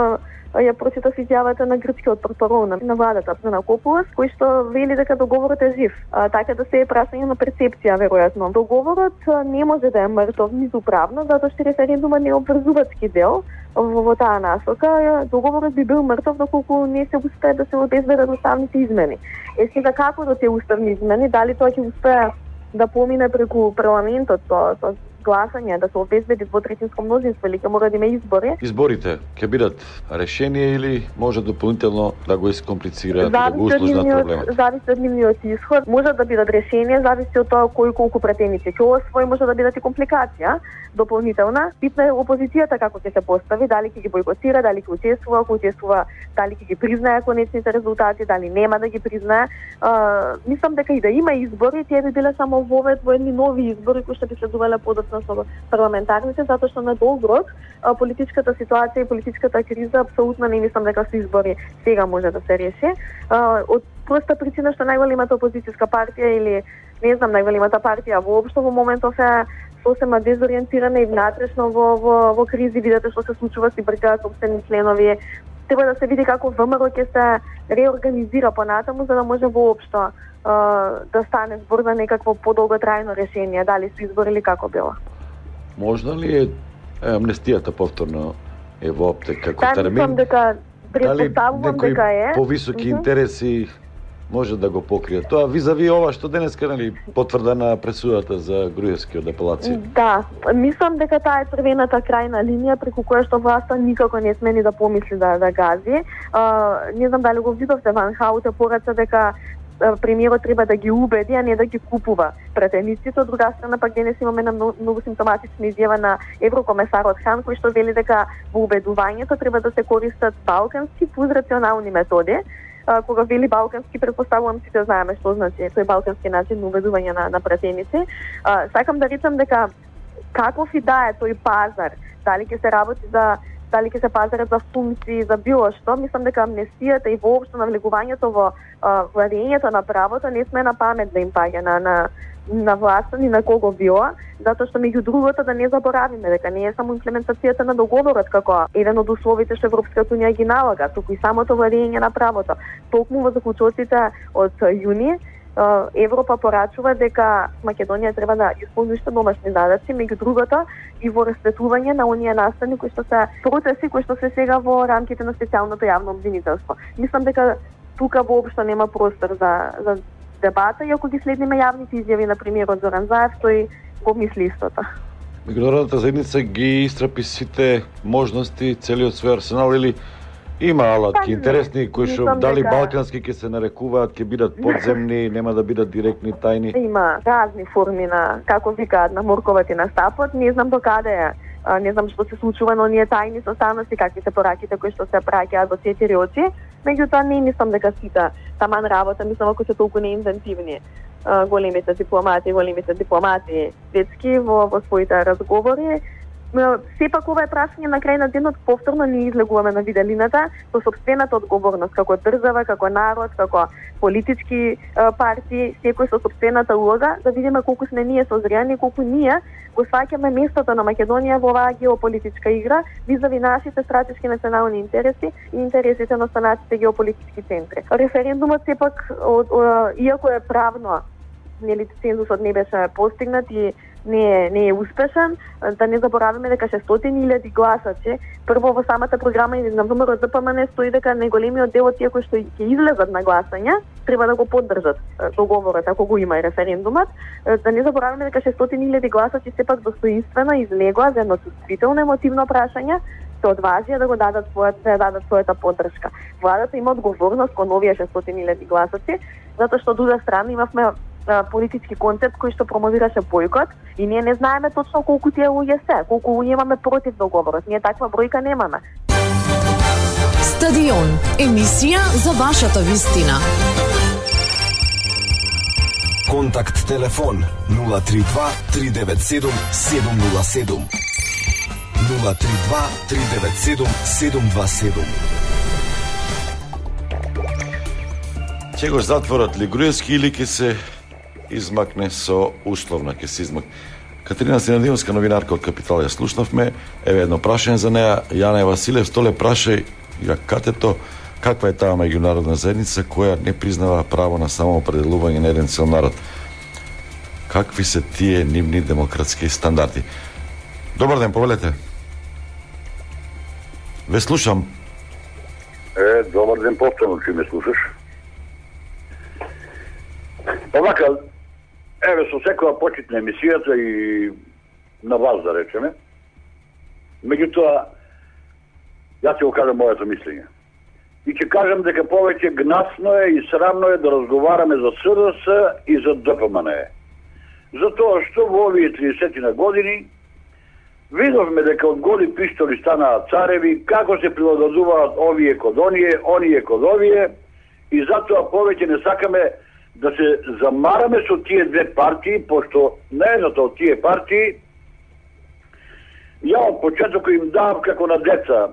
ја прочитав изјавата на грчкиот портпарол на владата на Копулас, кој што вели дека договорот е жив. А, така да се е прашање на перцепција, веројатно. Договорот не може да е мртов ниту правно, затоа што референдумот не е обврзувачки дел во, во таа насока. Договорот би бил мртов доколку не се успее да се обезбедат уставните измени. Е, сега како до тие уставни измени, дали тоа ќе успее да помине преку парламентот со, со гласање, да се обезбеди двотретинско мнозинство или ќе мора да има избори? Изборите ќе бидат решение или може дополнително да го искомплицираат, да го усложнат проблемот? Зависи од нивниот исход. Може да бидат решение, зависи од тоа кој колку претеници ќе освои, може да бидат и компликација дополнителна. Битна е опозицијата како ќе се постави, дали ќе ги бойкотира, дали ќе учествува, ако учествува, дали ќе ги признае конечните резултати, дали нема да ги признае. А, мислам дека и да има избори, тие би биле само вовед во едни нови избори кои што би следувале подоцна со парламентарните, затоа што на долг рок политичката ситуација и политичката криза апсолутно не мислам дека со избори сега може да се реши. А, од проста причина што најголемата опозицијска партија или не знам најголемата партија воопшто во моментов е сосема дезориентирана и внатрешно во, во, во кризи. Видете што се случува си бркаат собствени членови. Треба да се види како ВМРО ќе се реорганизира понатаму за да може воопшто да стане збор за некакво подолготрајно решение, дали со избори или како било. Можно ли е, е амнестијата повторно е во оптек како да, термин? Мислам дека предпоставувам дека е. Повисоки mm-hmm. интереси може да го покрие тоа визави ова што денеска нели потврдена пресудата за Груевскиот апелација? Да, мислам дека таа е црвената крајна линија преку која што власта никако не смени да помисли да да гази. А, не знам дали го видовте, Ван Хауте порача дека премиерот треба да ги убеди, а не да ги купува претениците. Од друга страна пак денес имаме на многу, многу симптоматична изјава на еврокомесарот Хан, кој што вели дека во убедувањето треба да се користат балкански фузрационални методи. А, кога вели балкански, предпоставувам сите знаеме што значи тој балкански начин на убедување на, на претеници. А, сакам да речам дека каков и да е тој пазар, дали ќе се работи за дали ќе се пазарат за функции, за било што, мислам дека амнестијата и воопшто навлегувањето во владењето на правото не сме на памет да им паѓа на, на, на власта ни на кого било, затоа што меѓу другото да не заборавиме дека не е само имплементацијата на договорот како еден од условите што Европската унија ги налага, туку и самото владење на правото. Токму во заклучоците од јуни Европа порачува дека Македонија треба да исполни уште домашни задачи, меѓу другото и во расветување на оние настани кои што се процеси кои што се сега во рамките на специјалното јавно обвинителство. Мислам дека тука воопшто нема простор за за дебата, и ако ги следиме јавните изјави на премиерот Зоран Заев, тој го мисли истото. Меѓународната заедница ги истрапи сите можности, целиот свој арсенал, или има алатки интересни кои што дали дека... балкански ќе се нарекуваат, ќе бидат подземни, нема да бидат директни, тајни? Има разни форми на, како викаат, на морковот и на стапот. Не знам до каде е. Не знам што се случува на оние тајни состаноци, какви се пораките кои што се праќаат во четири очи. Меѓутоа не мислам дека сите таман работа, мислам ако се толку неинвентивни големите дипломати, големите дипломати светски во, во своите разговори. Сепак ова е прашање на крај на денот, повторно ние излегуваме на виделината со собствената одговорност како држава, како народ, како политички партии, секој со собствената улога, да видиме колку сме ние созрени, колку ние го сваќаме местото на Македонија во оваа геополитичка игра визави нашите стратешки национални интереси и интересите на останатите геополитички центри. Референдумот сепак, иако е правно, нели цензусот не беше постигнат и не е, не е успешен, да не забораваме дека шестстотини илјади гласачи, прво во самата програма и на ВМРО Д П М Н стои дека најголемиот дел од тие кои што ќе излезат на гласање треба да го поддржат договорот ако го има и референдумот. Да не забораваме дека шестстотини илјади гласачи сепак достоинствено излегоа за едно чувствително емотивно прашање се одважија да го дадат својата, да дадат својата поддршка. Владата има одговорност кон овие шестстотини илјади гласаци, затоа што од друга страна имавме а, политички концепт кој што промовираше бојкот и ние не знаеме точно колку тие луѓе се, колку луѓе имаме против договорот. Ние таква бројка немаме. Стадион, емисија за вашата вистина. Контакт телефон нула три два три девет седум седум нула седум. нула три два три девет седум седум два седум. Ќе го затворат ли Груевски или ќе се измакне со условна, ќе се измакне. Катерина Синадиновска, новинарка од Капитал, ја слушнавме. Еве едно прашање за неа. Јане Василев, столе прашај ја катето, каква е таа меѓународна заедница која не признава право на самоопределување на еден цел народ? Какви се тие нивни демократски стандарди? Добар ден, повелете. Ве слушам. Е, добар ден, повторно че ме слушаш. Овака, еве со секоја почит на емисијата и на вас да речеме. Меѓутоа, јас ќе го кажам моето мислење. И ќе кажам дека повеќе гнасно е и срамно е да разговараме за С D S и за Д P M N E. Затоа што во овие тридесет години видовме дека од голи пиштоли станаа цареви, како се прилагодуваат овие код оние, оние код овие, и затоа повеќе не сакаме да се замараме со тие две партии, пошто на едната од тие партии ја од почеток им давам како на деца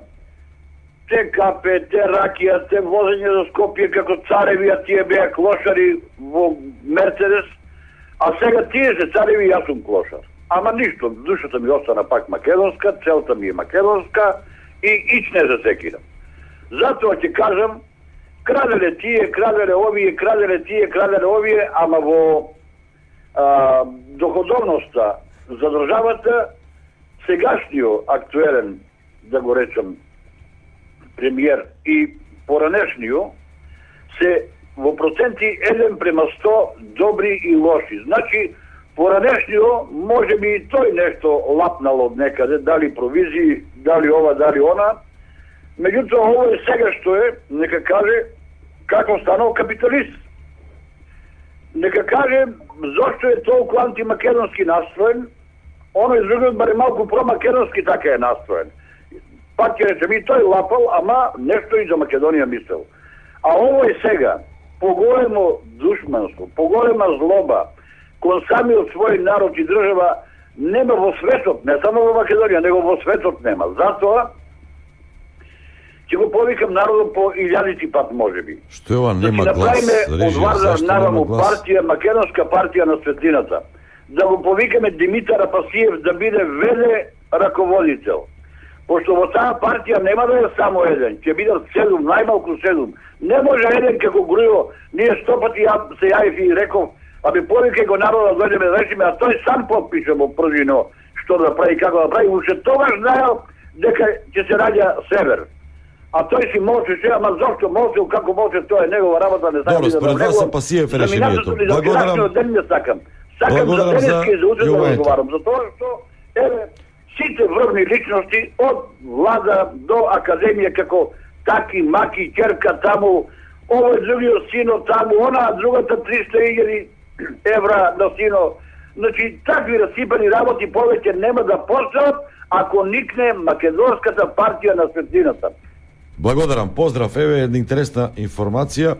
те капе, те ракија, те возење за Скопје како цареви, а тие беа клошари во Мерцедес, а сега тие се цареви и јас сум клошар. Ама ништо, душата ми остана пак македонска, целта ми е македонска и ич не засекирам. Затоа ќе кажам, краделе тие, краделе овие, краделе тие, краделе овие, ама во а, доходовноста за државата, сегашниот актуелен, да го речам, премиер и поранешниот се во проценти еден према сто добри и лоши. Значи, поранешниот може би и тој нешто лапнал од некаде, дали провизии, дали ова, дали она. Меѓутоа, ово е сега што е, нека каже како станал капиталист. Нека каже зошто е толку антимакедонски настроен, оној другиот баре малку промакедонски така е настроен. Пак ќе речем, и тој лапал, ама нешто и за Македонија мислел. А ово е сега поголемо душманство, поголема злоба кон самиот свој народ и држава нема во светот, не само во Македонија, него во светот нема. Затоа ќе го повикам народот по илјадити пат можеби. Што е ова, нема да глас? Од Вардар наваму партија, македонска партија на светлината. Да го повикаме Димитар Апасиев да биде веле раководител. Пошто во таа партија нема да е само еден, ќе бидат седум, најмалку седум. Не може еден како Грујо, ние сто пати ја, се јавив и реков, абе повикај го народа да дојдеме да решиме, а тој сам подпише во првино што да прави, како да прави, уште тогаш знаел дека ќе се раѓа Север. А тој си молчеше, ама зошто молчел, како молче, тоа е негова работа, не сакам да според вас Апасиев е решението. Благодарам. Ден не сакам. Сакам за денески за утре да разговарам, затоа што еве сите врвни личности од влада до академија како таки, маки, ќерка таму, овој другиот сино таму, она другата триста илјади евра на сино. Значи, такви расипани работи повеќе нема да постојат ако никне македонската партија на светлината. Благодарам, поздрав, еве една интересна информација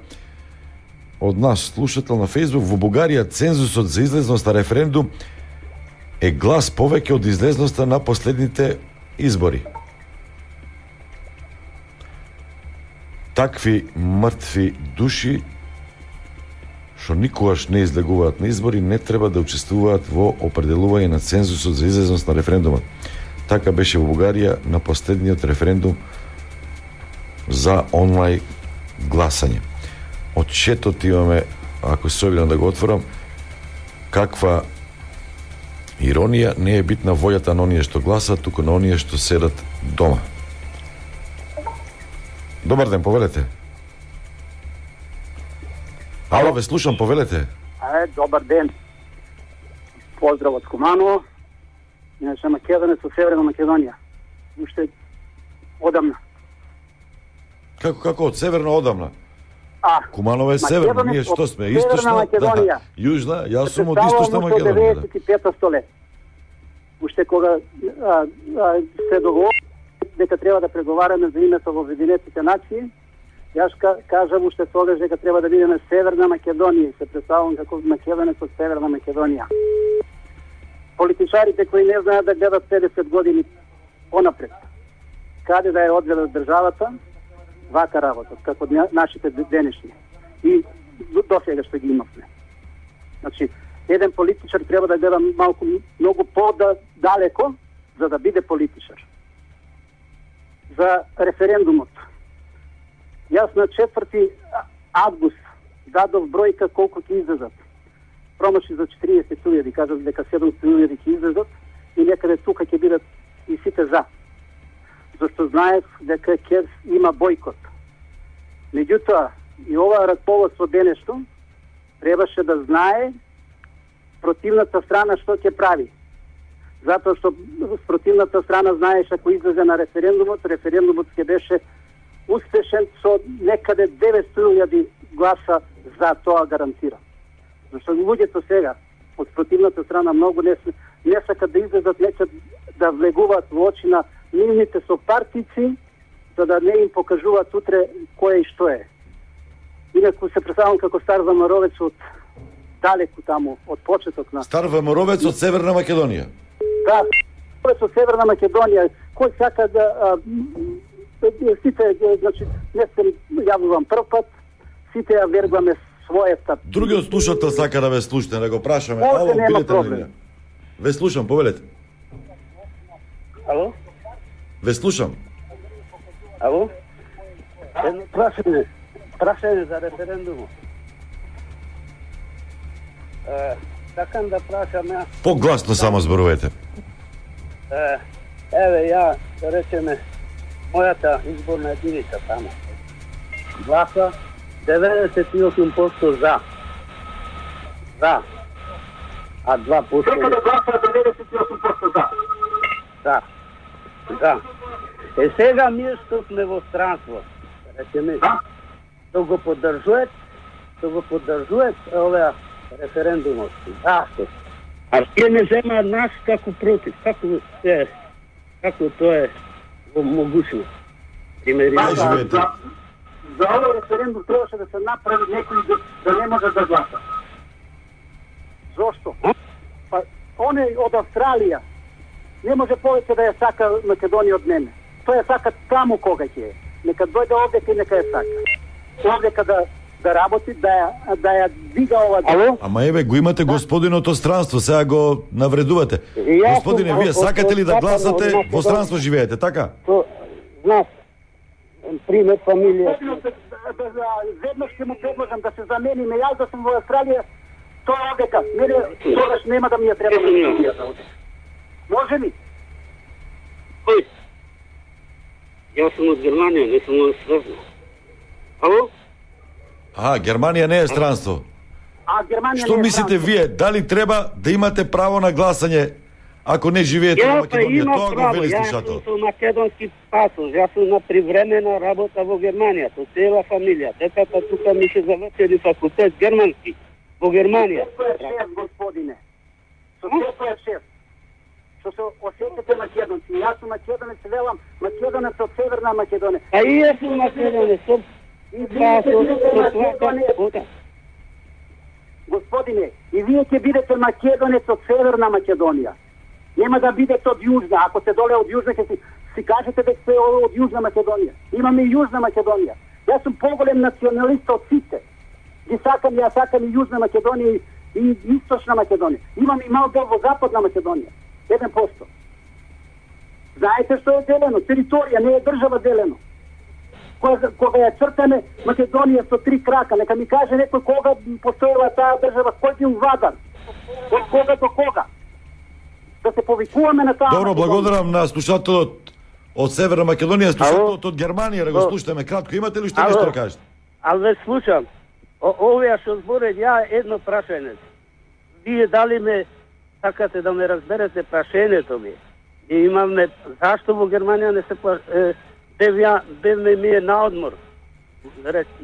од наш слушател на Фејсбук. Во Бугарија цензусот за излезност на референдум е глас повеќе од излезноста на последните избори. Такви мртви души што никогаш не излегуваат на избори не треба да учествуваат во определување на цензусот за излезност на референдумот. Така беше во Бугарија на последниот референдум за онлайн гласање. Од четот имаме, ако се обидам да го отворам, каква иронија, не е битна волјата на оние што гласат, туку на оние што седат дома. Добар ден, повелете. Ало, ве слушам, повелете. Е, добар ден. Поздрав од Скуманово. Иначе Македонец со Северна Македонија. Уште одамна. Како како од северно одамна? А, Куманово е северно, ние што сме? Источна, да, јужна, јас сум од источна Македонија. деветдесет и пета столет. Уште кога а, а, се договори дека треба да преговараме за името во Обединетите нации, јас кажав уште тогаш дека треба да бидеме Северна Македонија и се представувам како македонец од Северна Македонија. Политичарите кои не знаат да гледат педесет години понапред, каде да ја одведе државата, вака работат, како нашите денешни. И до сега што ги имавме. Значи, еден политичар треба да гледа малку, многу по-далеко, за да биде политичар. За референдумот. Јас на четврти август дадов бројка колку ќе излезат. Промаши за четириесет илјади, кажат дека седумстотини илјади ќе излезат и некаде тука ќе бидат и сите за. Зашто знаев дека ќе има бојкот. Меѓутоа, и ова раководство денешно требаше да знае противната страна што ќе прави. Затоа што противната страна знаеше ако излезе на референдумот, референдумот ќе беше успешен со некаде деветстотини илјади гласа за тоа гарантира. Зашто луѓето сега од противната страна многу не, не сакат да излезат, нечат да влегуваат во очи на нивните сопартици, за да не им покажуваат утре кој и што е. Инаку се представам како стар Вамаровец од далеку таму, од почеток на... Стар Вамаровец од Северна Македонија. Да, Вамаровец од Северна Македонија. Кој сака да... А, сите, значи, не се јавувам прв пат, сите ја вергуваме својата... Другиот слушател сака да ве слушне, да го прашаме. Може, Ало, нема билете проблем. на линија. Ве слушам, повелете. Ало? Ве слушам. Ало? Едно прашање. Прашање за референдумот. Е, сакам да прашам ја... Погласно само зборувате. Е, еве ја, да речеме, мојата изборна единица таму. Гласа деветдесет и осум проценти за. За. А два проценти... Дека да гласа деветдесет и осум проценти за. Да. Да. Е сега ние што сме во странство, речеме, да? Што го поддржуват, што го поддржуват оваа референдумот. Зашто? А тие не земаат нас како против, како е, како тоа е могучно. Примери. Да, за, за, за овој референдум требаше да се направи некој да, да не може да гласа. Зошто? Па оне од Австралија не може повеќе да ја сака Македонија од мене. Тој ја сака таму кога ќе е. Нека дојде овдека и нека ја сака. Овдека да да работи, да ја да ја дига ова. Ало? Ама еве го имате господинот од странство, сега го навредувате. Господине, вие сакате ли да гласате во странство живеете, така? Знам. Пример фамилија. Веднаш ќе му предложам да се замениме, јас да сум во Австралија, тоа овдека. Мене тогаш нема да ми ја треба на. Може ли? Кој? Јас сум од Германија, не сум од Австралија. Ало? А, Германија не е странство. А Германија Што не е мислите странство. вие? Дали треба да имате право на гласање ако не живеете во Македонија? Тоа го вели слушател. Јас сум македонски пасос, јас сум на привремена работа во Германија, со цела фамилија. Детата тука ми се завршили факултет германски во Германија. Со шеф, господине. Со секој шеф. Што се осетите македонци. Јас сум македонец, велам македонец од Северна Македонија. А и јас сум македонец, со и господине, и вие ќе бидете македонец од Северна Македонија. Нема да бидете од Јужна. Ако се доле од Јужна, ќе си, си кажете дека сте од Јужна Македонија. Имаме и Јужна Македонија. Јас сум поголем националист од сите. Ги сакам, ја сакам и Јужна Македонија и, и Источна Македонија. Имам и мал дел во Западна Македонија. еден проценти. Знаете што е делено? Територија, не е држава делено. Кога, кога ја цртаме Македонија со три крака, нека ми каже некој кога постоела таа држава, кој бил вадан, од кога до кога. Да се повикуваме на таа... Добро, благодарам на слушателот од Северна Македонија, слушателот од Германија, да го слушаме кратко. Имате ли што нешто да кажете? Ал ве слушам. Овие што зборат, ја едно прашање. Вие дали ме сакате да ме разберете прашањето ми? И имаме зашто во Германија не се бев, бев ме ми е на одмор.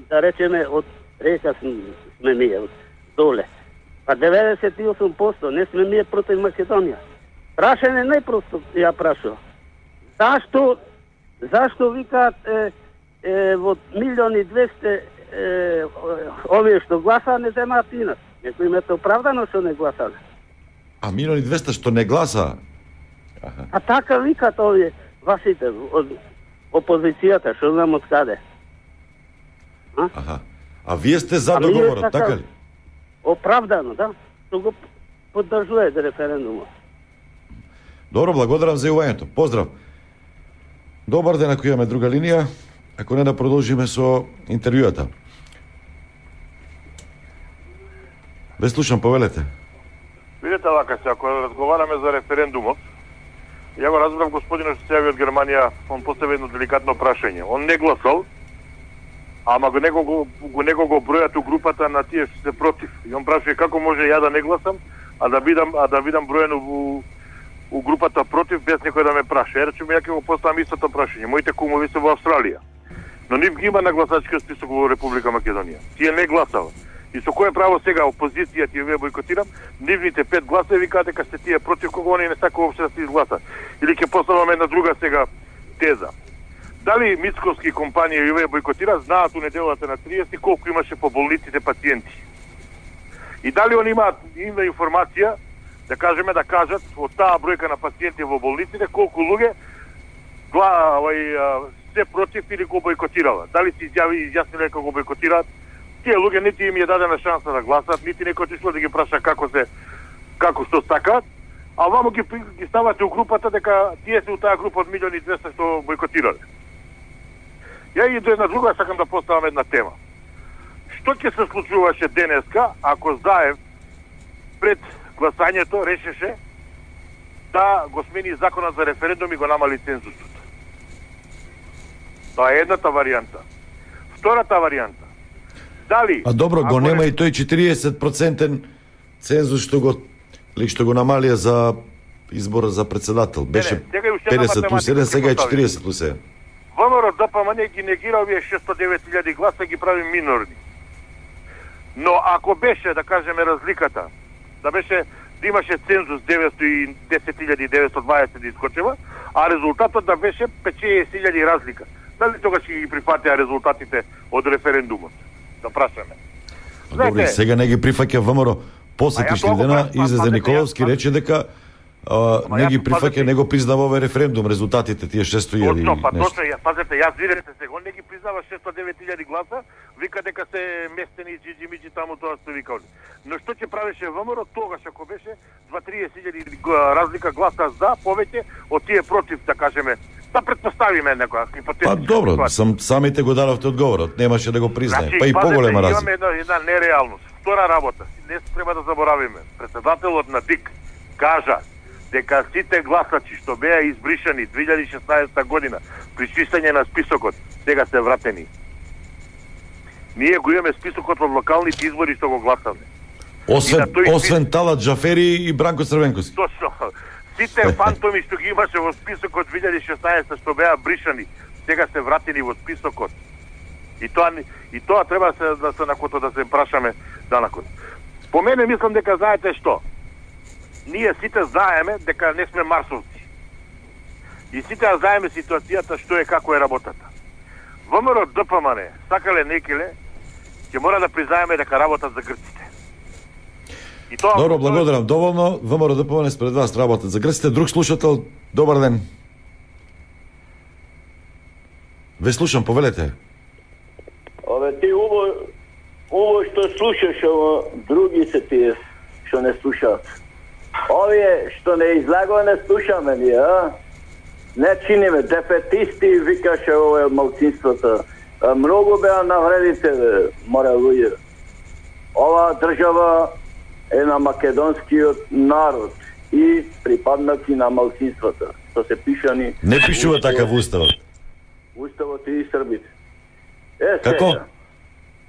Да речеме, од река сме ми е, од доле. Па деветдесет и осум проценти не сме ми е против Македонија. Прашање најпросто ја прашува. Зашто, зашто викаат е, е, во милиони двесте е, овие што гласаа не земаат инак? Некој имате оправдано што не гласале. А милиони двесте што не гласа? Аха. А така викат овие вашите од опозицијата, што знам од каде. А? Аха. А вие сте за договорот, така, така ли? Оправдано, да. Што го поддржува референдумот. Добро, благодарам за јавањето. Поздрав. Добар ден, ако имаме друга линија. Ако не, да продолжиме со интервјуата. Ве слушам, повелете. Видете вака се, ако разговараме за референдумот, ја го разбрав господинот што се јави од Германија, он постави едно деликатно прашање. Он не гласал, ама го него го, го него го бројат у групата на тие што се против. И он прашува како може ја да не гласам, а да бидам а да бидам броено у у групата против без некој да ме праша. Е, речеме, ја ќе го поставам истото прашање. Моите кумови се во Австралија. Но нив ги има на гласачкиот список во Република Македонија. Тие не гласава. И со кое право сега опозиција ти ве бойкотирам, нивните пет гласа викаат дека сте тие против кого они не сака воопшто да се изгласат. Или ќе поставаме една друга сега теза. Дали мицковски компанија ве бойкотира, знаат у неделата на триесет колку имаше по болниците пациенти. И дали они имаат има информација да кажеме да кажат од таа бројка на пациенти во болниците колку луѓе гла, овај, се против или го бойкотирала. Дали се изјави изјасниле како го бойкотираат? Тие луѓе нити им ја дадена шанса да гласат, нити некој отишло да ги праша како се како што сакаат, а вамо ги ги ставате у групата дека тие се у таа група од милиони и двесте што бойкотирале. Ја и до една друга сакам да поставам една тема. Што ќе се случуваше денеска ако Заев пред гласањето решеше да го смени законот за референдум и го намали цензусот? Тоа е едната варијанта. Втората варијанта. Дали? А добро, го нема не... и тој четириесет проценти цензус што го ли што го намалија за избора за председател. Беше не, не, педесет плюс еден, сега е четириесет плюс еден. ВМРО ДПМН ги негира овие шестстотини и девет илјади гласа, ги прави минорни. Но ако беше, да кажеме, разликата, да беше да имаше цензус деветстотини и десет илјади деветстотини и дваесет да искочева, а резултатот да беше петчесет илјади разлика. Дали тогаш ќе ги прифатеа резултатите од референдумот? Да прашаме. Добре, сега не ги прифаќа ВМРО. Посетишли дена излезе Николовски, рече дека а, не ги прифаќа, не го признава овој референдум, резултатите тие шестстотини илјади. Точно, па точно, пазете, јас видете сега, он не ги признава шестстотини и девет илјади гласа, вика дека се местени джиджи миджи таму тоа што викале. Но што ќе правеше ВМРО тогаш ако беше дваесет илјади разлика гласа за повеќе од тие против, да кажеме, да предпоставиме некоја хипотетичка. Па добро, сам самите го дадовте одговорот, немаше да го признае. Значи, па и поголема разлика. Имаме една, една нереалност. Втора работа, не треба да заборавиме. Председателот на ДИК кажа дека сите гласачи што беа избришани две илјади и шеснаесета година при чистење на списокот, сега се вратени. Ние го имаме списокот од локалните избори што го гласаме. Освен, освен Талат Джафери и Бранко Црвенковски. Точно. Сите фантоми што ги имаше во списокот две илјади и шеснаесета што беа бришани, сега се вратени во списокот. И тоа и тоа треба се да се накото да се прашаме данакот. По мене мислам дека знаете што? Ние сите знаеме дека не сме марсовци. И сите знаеме ситуацијата што е, како е работата. ВМРО ДПМН, сакале некеле, ќе мора да признаеме дека работат за грците. И тоа Добро, благодарам. Доволно. ВМРО ДПМН спред вас работат за грците. Друг слушател, добар ден. Ве слушам, повелете. Ове ти уво уво што слушаш, ово други се тие што не слушаат. Овие што не излагува не слушаме ние, а? Не чиниме, дефетисти викаше ове малцинството. Многу беа навредите, море луѓе. Ова држава е на македонскиот народ и припаднати на малцинството. Што се пишани... Не пишува така во уставот. Уставот и србите. Е, како? Сега.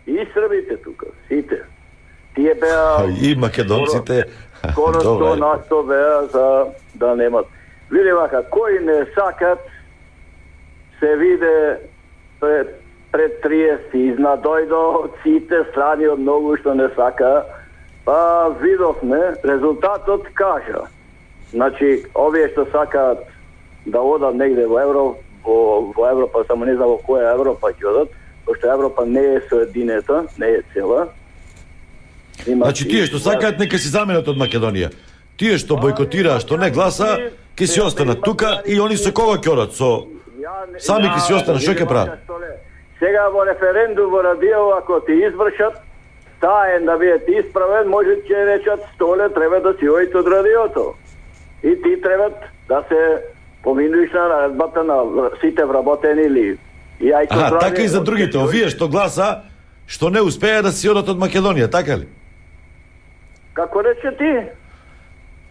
И србите тука, сите. Тие беа... И македонците... Скоро сто на сто беа за да немат. Види вака, кои не сакат се виде пред, пред триесет изна дојдо од сите страни од многу што не сака, па видовме, резултатот кажа. Значи, овие што сакаат да одат негде во Европа, во, во Европа, само не знам во која Европа ќе одат, пошто Европа не е соединета, не е цела. Има Значи тие што сакаат нека си заменат од Македонија. Тие што бојкотираат, што не гласа, ќе си останат тука и они со кого ќе одат? Со сами ќе си останат, што ќе прават? Сега во референдум во радио, ако ти извршат, таен да биде исправен, може ќе речат Столе треба да си ојте од радиото. И ти треба да се поминуиш на наредбата на сите вработени ли. И ајко Аха, здравје, така и за другите, овие што гласа, што не успеа да си одат од Македонија, така ли? Како рече ти?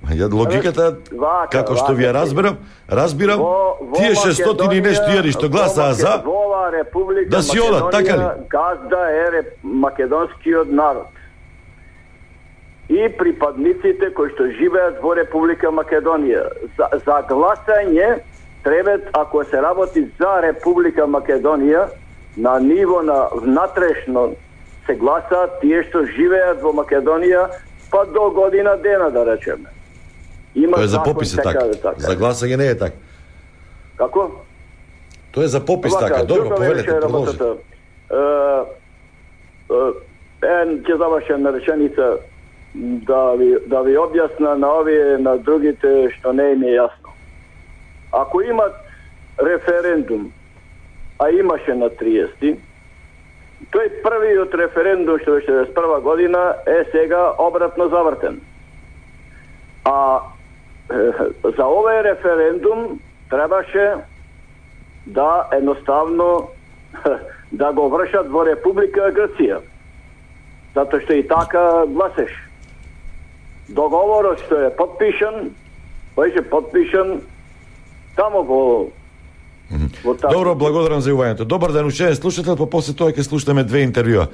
Ја логиката, Вака, како што вака, ви ја разберам, разбирам, Во- во тие шестстотини и нешто јари што гласаа за, Во ова Република да си одат, така ли? Македонија, газда е реп, македонскиот народ. И припадниците кои што живеат во Република Македонија. За, за гласање треба, ако се работи за Република Македонија, на ниво на внатрешно се гласаат тие што живеат во Македонија, па до година дена, да речеме. Има Тоа е за закон попис е така така. да така. За гласање не е така. Како? Тоа е за попис Вака, така. Добро, друга повелете, вече продолжи. работата. Е, е, Ен, ќе завршам на реченица да ви, да ви објасна на овие, на другите што не им е јасно. Ако имат референдум, а имаше на триесети, тој првиот референдум што беше шеесет и прва година е сега обратно завртен. А е, за овој референдум требаше да едноставно да го вршат во Република Грција. Затоа што и така гласеш. Договорот што е подпишан, беше подпишан тамо во во таа. Добро, благодарам за јувањето. Добар ден, уште слушател, па после тоа ќе слушаме две интервјуа.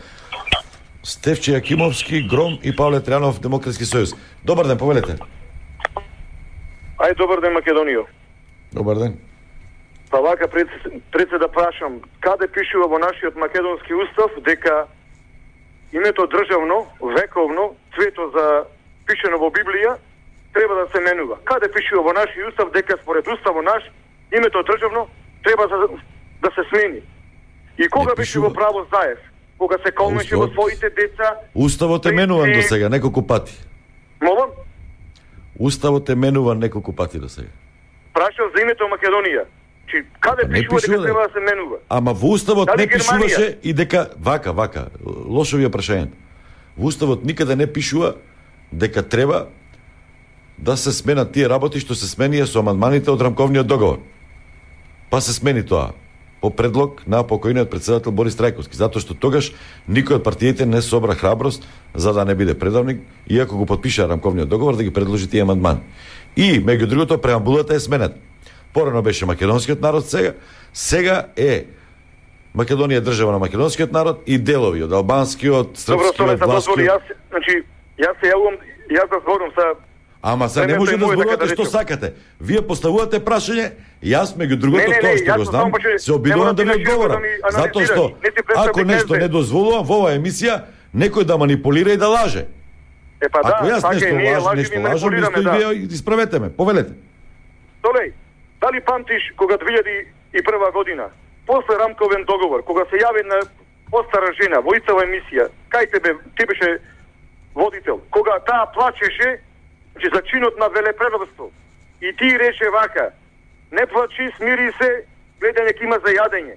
Стефче Јакимовски, Гром и Павле Тријанов, Демократски сојуз. Добар ден, повелете. Ај, добар ден, Македонија. Добар ден. Па вака пред, пред се да прашам, каде пишува во нашиот македонски устав дека името државно, вековно, цвето за пишено во Библија, треба да се менува. Каде пишува во нашиот устав дека според уставот наш, името државно треба да, да се смени. И кога беше во право Заев? Кога се колмеше во своите деца? Уставот е менуван до сега неколку пати. Молам? Уставот е менуван неколку пати до сега. Прашав за името Македонија. Чи каде Не пишува пишува, дека треба да се менува? Ама во уставот Дали не Германија? пишуваше и дека вака, вака, лошо ви е прашањето. Во уставот никаде не пишува дека треба да се сменат тие работи што се сменија со амандманите од рамковниот договор. Па се смени тоа по предлог на покојниот претседател Борис Трајковски, затоа што тогаш никој од партиите не собра храброст за да не биде предавник, иако го подпиша рамковниот договор да ги предложи тие амандмани. И меѓу другото преамбулата е сменета. Порано беше македонскиот народ, сега сега е Македонија држава на македонскиот народ и делови од албанскиот, Добро, тоа српскиот, се дозволи, власкиот. јас, значи, јас се јавувам, јас да зборам са. Ама се не Времето може е да моје, зборувате така да што речем. сакате. Вие поставувате прашање, јас меѓу другото Не, не, тоа не, што јас го сум знам, само поче- се обидувам не да ви мора ти да одговорам. ми Затоа анализираш. што Не ти представи ако нешто не не дозволувам во оваа емисија, некој да манипулира и да лаже. Е, па Ако да, јас така е, нешто ние лажам, лажем нешто и лажам, манипулираме, исто и да. вие исправете ме. Повелете. Толеј, дали памтиш кога две илјади и прва година, после рамковен договор, кога се јави на постара жена во истава емисија, кај тебе, ти беше водител, кога таа плачеше, че за чинот на велепредавство, и ти рече вака, не плачи, смири се, гледање ќе има за јадење.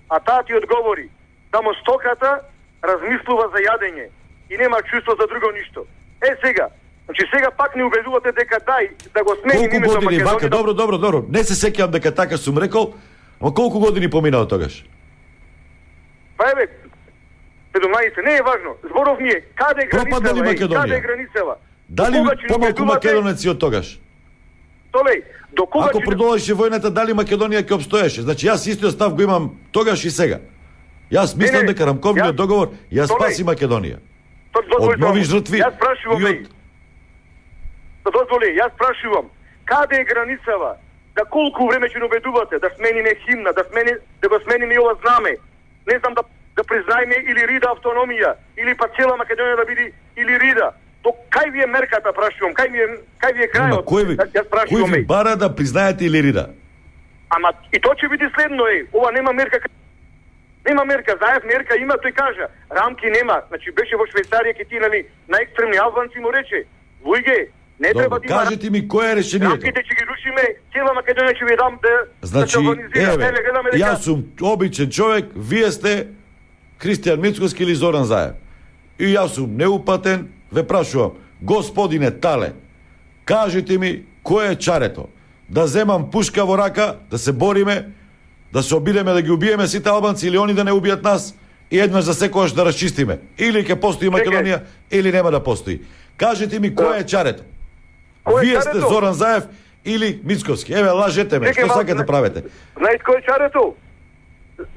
А таа ти одговори, само стоката размислува за јадење и нема чувство за друго ништо. Е сега, значи сега пак не убедувате дека дај да го смени Колку името години вака? Македонија. Добро, добро, добро. Не се сеќавам дека така сум рекол, ама колку години поминаа тогаш? Па еве, седумнаесет, не е важно. Зборов ми е, каде е Пропадна ли границава? Е, Македонија? каде е границава? Дали До кога ќе помалку убедувате- македонеци од тогаш? Толеј, до кога Ако ќе- продолжеше војната, дали Македонија ќе обстоеше? Значи јас истиот став го имам тогаш и сега. Јас мислам Не, не, дека рамковниот јас- договор ја Толеј, спаси Македонија. Тоа дозволи Од нови само. жртви Јас прашувам, и од... од... дозволи, јас прашувам, каде е границава да колку време ќе убедувате да смениме химна, да смени да го смениме ова знаме. Не знам да да признаеме или рида автономија, или па цела Македонија да биде или рида. То кај ви е мерката, прашувам, кај ви е кај ви е крајот? Кој ви, кој ви бара да признаете или рида? Ама и тоа ќе биде следно е. Ова нема мерка. Нема мерка, Заев мерка има, тој кажа. Рамки нема. Значи беше во Швајцарија ке ти нали најекстремни албанци му рече: "Луѓе, не Добро, треба да има кажете ми кој е решението. Рамките ќе ги рушиме, цела Македонија ќе ви дам да Значи, да се организира." еве, Еве, гледаме дека јас сум обичен човек, вие сте Кристијан Мицковски или Зоран Заев. И јас сум неупатен, ве прашувам, господине Тале, кажете ми кој е чарето? Да земам пушка во рака, да се бориме, да се обидеме да ги убиеме сите албанци или они да не убијат нас и еднаш за секојаш да расчистиме. Или ќе постои Македонија, или нема да постои. Кажете ми кој е чарето? Вие сте Зоран Заев или Мицковски. Еве, лажете ме, што сакате правите? Знаете кој е чарето?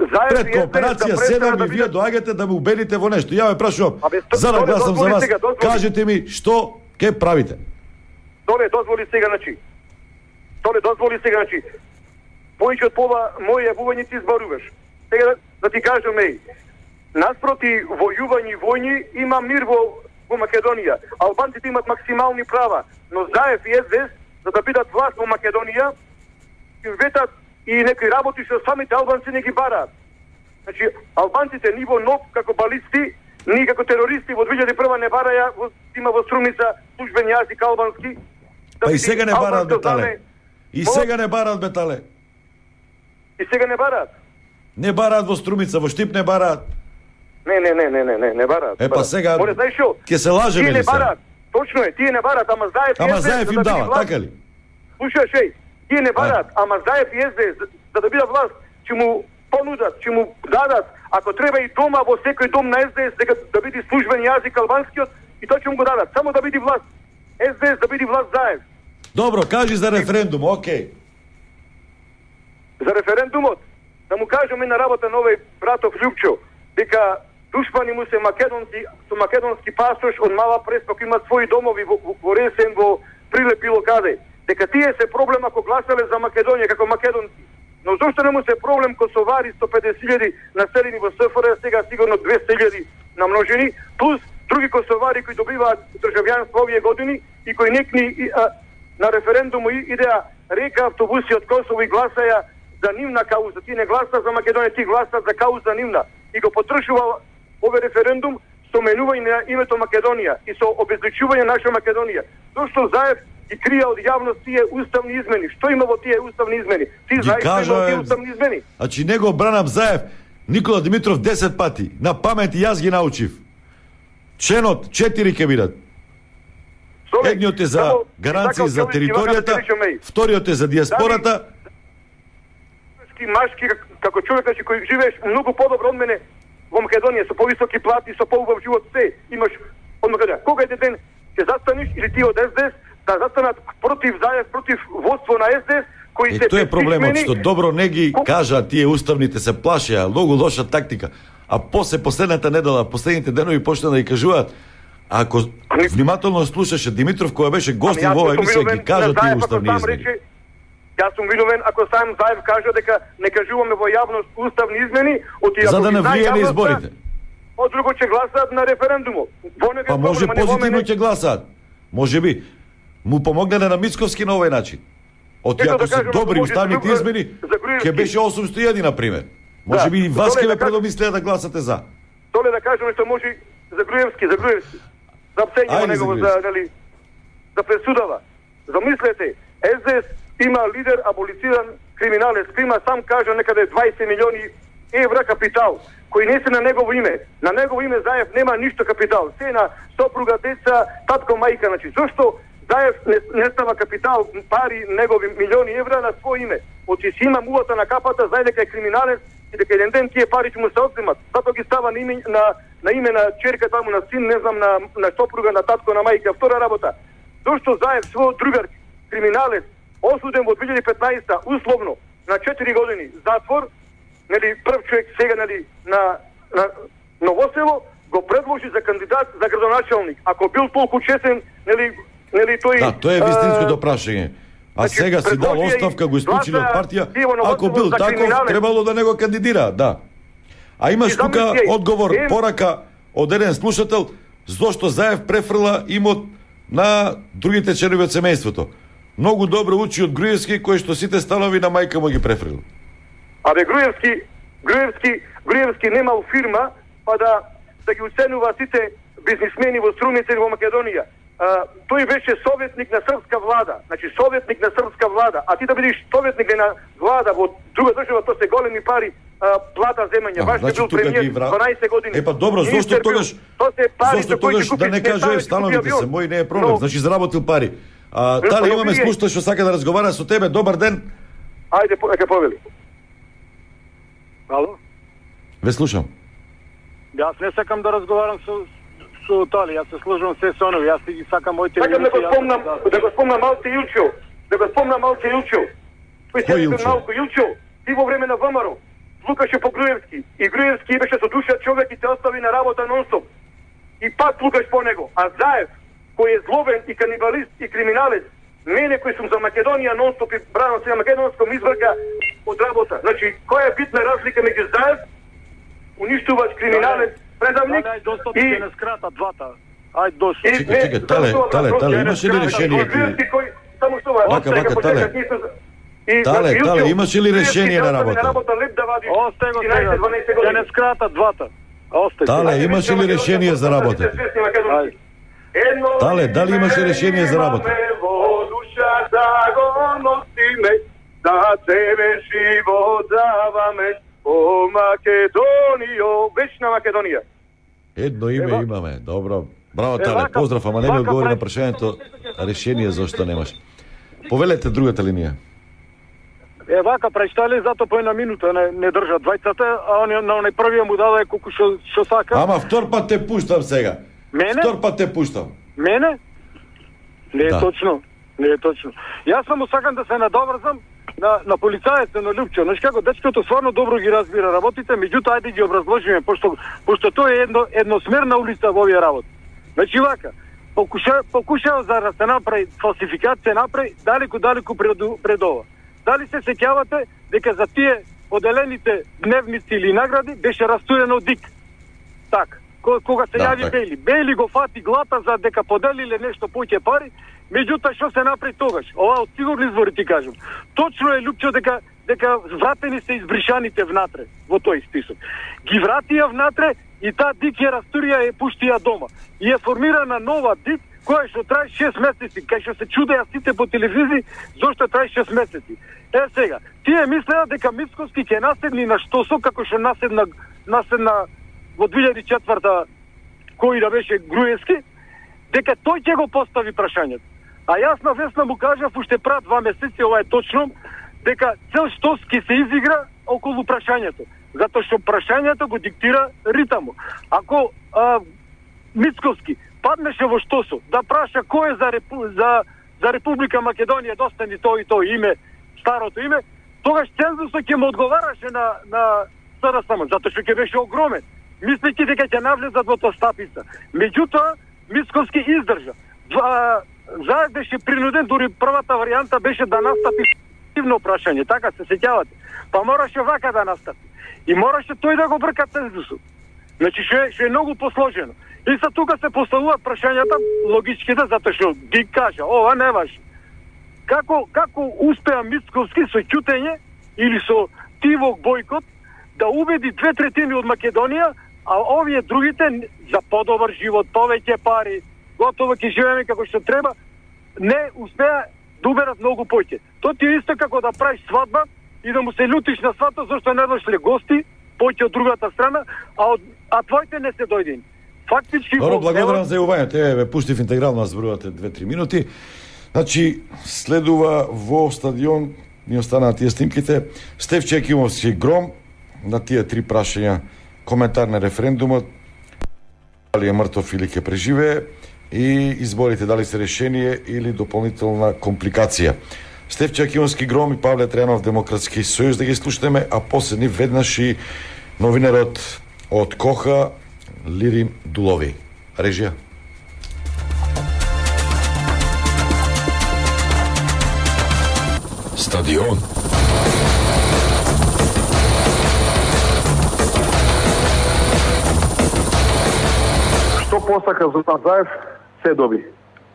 Заев Пред кооперација седам и вие доаѓате да ме убедите во нешто. Ја ве прашувам, за да гласам за вас, кажете ми што ќе правите? Доле, дозволи сега, значи. Доле, дозволи сега, значи. Повеќе од пола мои јавувања ти избаруваш. Сега да, да ти кажам, еј, наспроти војување и војни има мир во, во Македонија. Албанците имат максимални права, но Заев и Ес Де Ес, за да бидат власт во Македонија, им ветат и некои работи што самите албанци не ги бараат. Значи, албанците ни во НОП како балисти, ни како терористи во две илјади и прва не бараја, во, има во Струмица службен јазик албански. Па и сега не бараат, бетале. И сега не бараат, бетале. И сега не бараат. Не бараат во Струмица, во Штип не бараат. Не, не, не, не, не, не, не бараат. Е, па сега, Море, знаеш шо? ќе се лажеме ли не се? бараат. Точно е, тие не бараат, ама Заев и Ама Ес Де Ес, Заев за им да биде дава, власт- така ли? Слушаш, еј, тие не бараат, ама Заев и Ес Де Ес, за да биде власт, ќе му понудат, ќе му дадат, ако треба и дома во секој дом на Ес Де Ес, дека да биде службен јазик албанскиот, и тоа ќе му го дадат, само да биде власт. Ес Де Ес да биде власт Заев. Добро, кажи за референдум, окей. За референдумот, да му кажеме на работа на овој братов Љупчо, дека душмани му се македонци, со македонски пасош од Мала Преспа, кои имаат своји домови во, во, во Ресен, во Прилеп било каде. Дека тие се проблем ако гласале за Македонија како македонци. Но зошто не му се проблем косовари сто педесет илјади населени во Се Ф Р, сега сигурно двесте илјади намножени, плюс други косовари кои добиваат државјанство овие години и кои некни и, а, на референдуму идеа река автобуси од Косово и гласаја за нивна кауза. Ти не гласа за Македонија, ти гласа за кауза нивна. И го потршува овој референдум со менување на името Македонија и со обезличување наша Македонија. Зошто Заев ги крија од јавност тие уставни измени? Што има во тие уставни измени? Ти знаеш што има во тие уставни измени? Значи него бранам Заев, Никола Димитров десет пати. На памет и јас ги научив. Членот четири ќе бидат. Едниот е за гаранции за територијата, вториот е за диаспората. Машки, како човек значи, кој живееш многу подобро од мене во Македонија, со повисоки плати, со поубав живот, се имаш од Македонија. Кога еден ден ќе застанеш или ти од Ес Де Ес да застанат против Заев, против водство на Ес Де Ес, кои Е, се тоа е проблемот, безписмени, што добро не ги кажа тие уставните се плашеа, многу лоша тактика. А после последната недела, последните денови почна да ги кажуваат. Ако внимателно слушаше Димитров кој беше гостин во оваа емисија, ги кажа тие уставни измени. Јас сум виновен ако сам Заев кажа дека не кажуваме во јавност уставни измени, оти За ако да ги не знае влие на јавноста, изборите. од друго ќе гласаат на референдумот. Во него Па е може проблем, а не во позитивно мене. ќе гласаат. Може би му помогнале на Мицковски на овој начин. Оти Ето ако да се кажем, добри може уставните за- измени, за Груевски. ќе беше осумсто и еден на пример. Може Да. би и вас Добре, ќе ве да кажем- предомислеа да гласате за. Толе да кажеме што може за Груевски, за Груевски. За псење Ајде негово за за нели за пресудава. Замислете, Ес Де Ес има лидер аболициран криминалец, кој има сам кажа некаде дваесет милиони евра капитал, кои не се на негово име. На негово име Заев нема ништо капитал. Се на сопруга, деца, татко, мајка. Значи, зошто Заев не, не става капитал, пари, негови милиони евра на свој име? Оти си има мулата на капата, знае дека е криминалец и дека еден ден тие пари ќе му се одземат. Затоа ги става на име на, на име на черка таму, на син, не знам, на, на сопруга, на татко, на мајка. Втора работа. Зошто Заев свој другар криминалец осуден во две илјади и петнаесета условно на четири години затвор, нели прв човек сега нели на на Новосело го предложи за кандидат за градоначалник. Ако бил толку честен, нели нели тој Да, тоа е вистинското прашање. А сега си дал оставка, го исклучили од партија. Ако бил таков, требало да не го кандидира, да. А имаш тука одговор, порака од еден слушател, зошто Заев префрла имот на другите членови од семејството. Многу добро учи од Груевски, кој што сите станови на мајка му ги префрил. Абе Груевски, Груевски, Груевски немал фирма, па да да ги уценува сите бизнисмени во Струмица и во Македонија. А, тој беше советник на српска влада, значи советник на српска влада, а ти да бидеш советник на влада во друга држава, тоа се големи пари, а, плата земање. Баш значи, бил премиер вра... дванаесет години. Епа добро, зошто тогаш зошто тогаш да не кажеш становите се, мој не е проблем, но... значи заработил пари. А, дали имаме слушател што сака да разговара со тебе? Добар ден. Ајде, нека повели. Ало? Ве слушам. Јас не сакам да разговарам со со Тали, јас се служам се со онови, јас ги сакам моите... Сакам да го спомнам, да го спомнам Малце Илчо, да го спомнам Малце Илчо. Кој се малку Илчо, ти во време на ВМРО, лукаше по Груевски, и Груевски беше со душа човек и те остави на работа нон-стоп. И пак лукаш по него. А Заев, кој е злобен и канибалист и криминалец, мене кој сум за Македонија нон-стоп и бранам се на македонском изврга од работа. Значи, која е битна разлика меѓу Заев, уништувач, криминалец, предавник и... Ајде, не скрата двата. Ајде, дошло. Чекай, чекай, Тале, Тале, Тале, имаше ли решение? Само што е... Вака, вака, Тале. Тале, Тале, имаше ли решение на работа? Осте го сега, ќе не скрата двата. Осте. Тале, имаше ли решение за работа? Тале, дали имаше решение за работа? Да тебе живот даваме, о Македонијо, вечна Македонија. Едно име имаме, добро. Браво, Тале, поздрав, ама не ми одговори на прашањето решение зашто немаш. Повелете другата линија. Е, вака, пречтали, зато по една минута не, не држат двајцата, а он на оној првиот му даде колку што што сака. Ама втор пат те пуштам сега. Мене? Втор пат те пуштам. Мене? Не е да. точно. Не е точно. Јас само сакам да се надоврзам на на полицајецот на Лупчо. Знаеш како, дечкото стварно добро ги разбира работите, меѓутоа ајде ги образложиме, пошто пошто тоа е едно едносмерна улица во овие работи. Значи вака, покуша покушава за да се направи фалсификација, направи далеку далеку пред пред ова. Дали се сеќавате дека за тие поделените дневници или награди беше растурено ДИК? Так. Кога се да, јави Бели, Бели го фати глата за дека поделиле нешто повеќе пари, меѓутоа што се направи тогаш? Ова од сигурни извори ти кажам. Точно е Лупчо дека дека вратени се избришаните внатре во тој список. Ги вратија внатре и таа ДИК ја растурија и пуштија дома. И е формирана нова ДИК која што трае шест месеци, кај што се чудеа сите по телевизии зошто трае шест месеци. Е сега, тие мислеа дека Мицкоски ќе наседни на Штосо како што наседна наседна во две илјади и четврта кој да беше Груевски, дека тој ќе го постави прашањето. А јас на Весна му кажав уште пред два месеци, ова е точно, дека цел Штос ќе се изигра околу прашањето, затоа што прашањето го диктира ритамот. Ако а, Мицкоски паднеше во Штосо да праша кој е за, Репу... за, за Република Македонија достани тој и тој име, старото име, тогаш цензусот ќе му одговараше на, на СДСМ, затоа што ќе беше огромен, мислејќи дека ќе навлезат во тоа стапица. Меѓутоа, Мицкоски издржа. Заед беше принуден, дури првата варијанта беше да настапи активно прашање, така се сеќавате. Па мораше вака да настапи. И мораше тој да го брка цензусот. Значи, што е, што е многу посложено. И са тука се поставуваат прашањата логичките, затоа што ги кажа, ова не важи. Како, како успеа Мицковски со ќутење или со тивок бойкот да убеди две третини од Македонија, а овие другите за подобар живот, повеќе пари, готово ќе живееме како што треба, не успеа да уберат многу повеќе. Тоа ти е исто како да правиш свадба и да му се лютиш на свата зашто не дошле гости, повеќе од другата страна, а, од, а твоите не се дојдени. Фактички... Добро, благодарам за јавувањето. Еве, ве пуштив интегрално, зборувате две-три минути. Значи, следува во стадион, ни останаа тие снимките, Стефче Екимовски гром на тие три прашања, коментар на референдумот, дали е мртов или ќе преживее, и изборите дали се решение или дополнителна компликација. Стефче Екимовски гром и Павле Трајанов, Демократски сојуз, да ги слушнеме, а последни веднаш и новинарот од Коха, Лири Дулови. Режија. Стадион. Што посака Зоран Заев, се доби.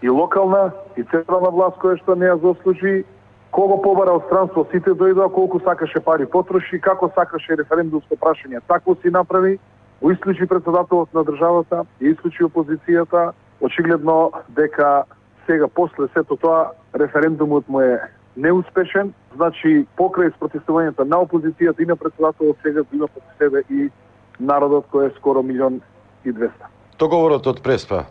И локална, и централна власт која што не ја заслужи, кого побара од странство, сите дојдоа, колку сакаше пари потроши, како сакаше референдумско прашање, такво си направи, го исклучи председателот на државата, и исклучи опозицијата, очигледно дека сега после сето тоа референдумот му е неуспешен, значи покрај спротивувањето на опозицијата и на председателот сега го има под себе и народот кој е скоро милион и двеста. Договорот од Преспа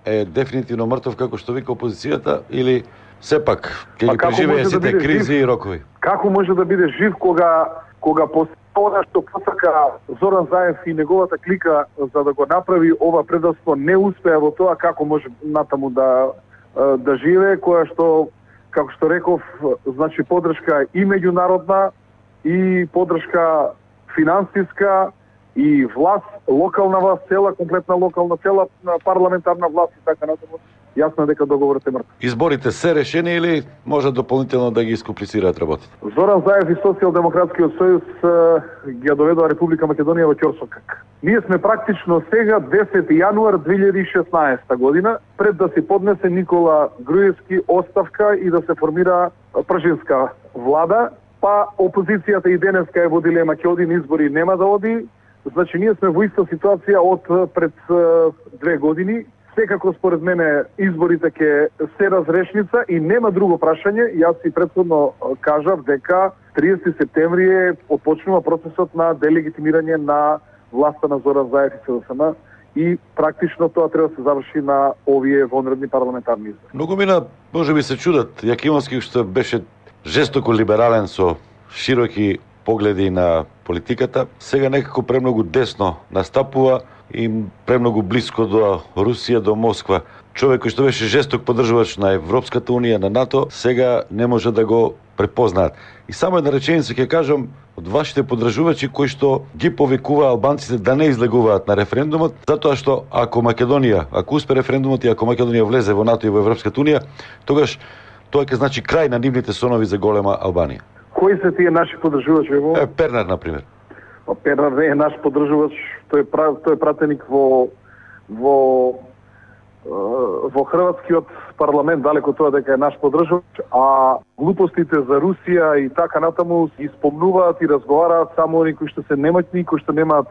е дефинитивно мртов како што вика опозицијата или сепак ќе ги преживее сите да кризи жив? И рокови? Како може да биде жив кога кога после она што посака Зоран Заев и неговата клика за да го направи ова предавство не успеа во тоа, како може натаму да да живее, која што како што реков, значи поддршка и меѓународна и поддршка финансиска и власт, локална власт, цела комплетна локална, цела парламентарна власт и така натаму. Јасно е дека договорот е мртв. Изборите се решени или може дополнително да ги искомплицираат работите? Зоран Заев и Социјалдемократскиот сојуз ги доведоа Република Македонија во ќорсокак. Ние сме практично сега десети јануар две илјади и шеснаесета година, пред да се поднесе Никола Груевски оставка и да се формира пржинска влада, па опозицијата и денеска е во дилема ќе оди на избори, нема да оди. Значи ние сме во иста ситуација од пред две години. Секако според мене изборите ќе се разрешница и нема друго прашање. Јас си претходно кажав дека триесети септември е отпочнува процесот на делегитимирање на власта на Зоран Заев и СДСМ и практично тоа треба да се заврши на овие вонредни парламентарни избори. Многу мина можеби се чудат. Јакимовски што беше жестоко либерален со широки погледи на политиката, сега некако премногу десно настапува и премногу блиско до Русија, до Москва. Човек кој што беше жесток поддржувач на Европската унија, на НАТО, сега не може да го препознаат. И само една реченица ќе кажам од вашите поддржувачи кои што ги повикува албанците да не излегуваат на референдумот, затоа што ако Македонија, ако успе референдумот и ако Македонија влезе во НАТО и во Европската унија, тогаш тоа ќе значи крај на нивните сонови за голема Албанија. Кои се тие наши поддржувачи? Е, Пернар, например. Пернар не е наш поддржувач, тој е тој е пратеник во во во хрватскиот парламент, далеко тоа дека е наш поддржувач, а глупостите за Русија и така натаму ги спомнуваат и разговараат само оние кои што се немаќни, кои што немаат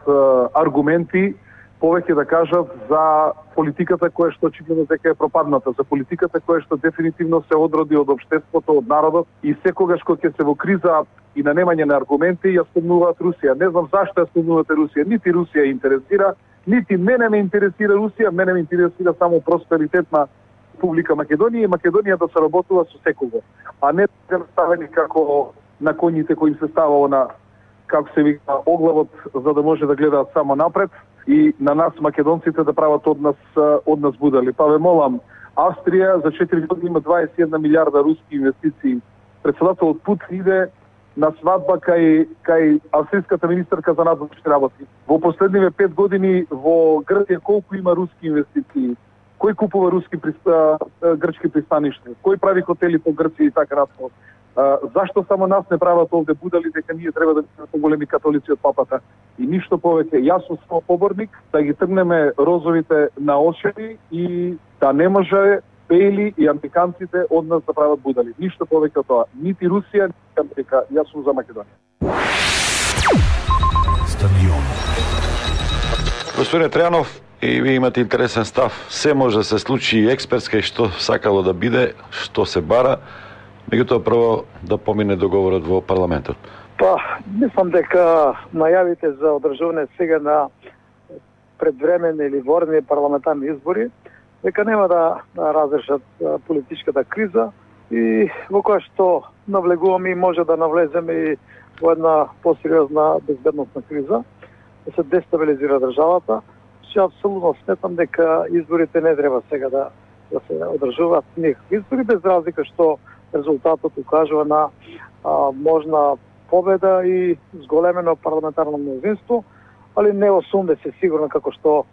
аргументи, повеќе да кажат за политиката која што очигледно дека е пропадната, за политиката која што дефинитивно се одроди од општеството, од народот и секогаш кога ќе се во криза и на немање на аргументи ја спомнуваат Русија. Не знам зашто ја спомнувате Русија, нити Русија интересира, нити мене ме интересира Русија, мене ме интересира само просперитет на Република Македонија и Македонија да се работува со секого, а не да ставени како на коњите кои им се става на како се вика оглавот за да може да гледаат само напред и на нас македонците да прават од нас од нас будали. Па ве молам, Австрија за четири години има дваесет и една милиарда руски инвестиции. Председателот Путин иде на свадба кај кај австриската министерка за надворешни работи. Во последниве пет години во Грција колку има руски инвестиции? Кој купува руски приста, грчки пристаништа? Кој прави хотели по Грција и така натаму? Зашто само нас не прават овде будали дека ние треба да бидеме поголеми католици од папата? И ништо повеќе. Јас сум само поборник да ги тргнеме розовите на очи и да не може Бели и американците од нас да прават будали. Ништо повеќе од тоа. Нити Русија, нити Америка. Јас сум за Македонија. Стадион. Господин Тријанов, и ви имате интересен став. Се може да се случи и експертска и што сакало да биде, што се бара. Меѓутоа прво да помине договорот во парламентот. Па, мислам дека најавите за одржување сега на предвременни или ворни парламентарни избори, дека нема да разрешат политичката криза и во која што навлегуваме и може да навлеземе и во една посериозна безбедносна криза, да се дестабилизира државата. Што апсолутно сметам дека изборите не треба сега да, да се одржуваат никакви избори, без разлика што резултатот укажува на а, можна победа и зголемено парламентарно мнозинство, али не осумдесет сигурно како што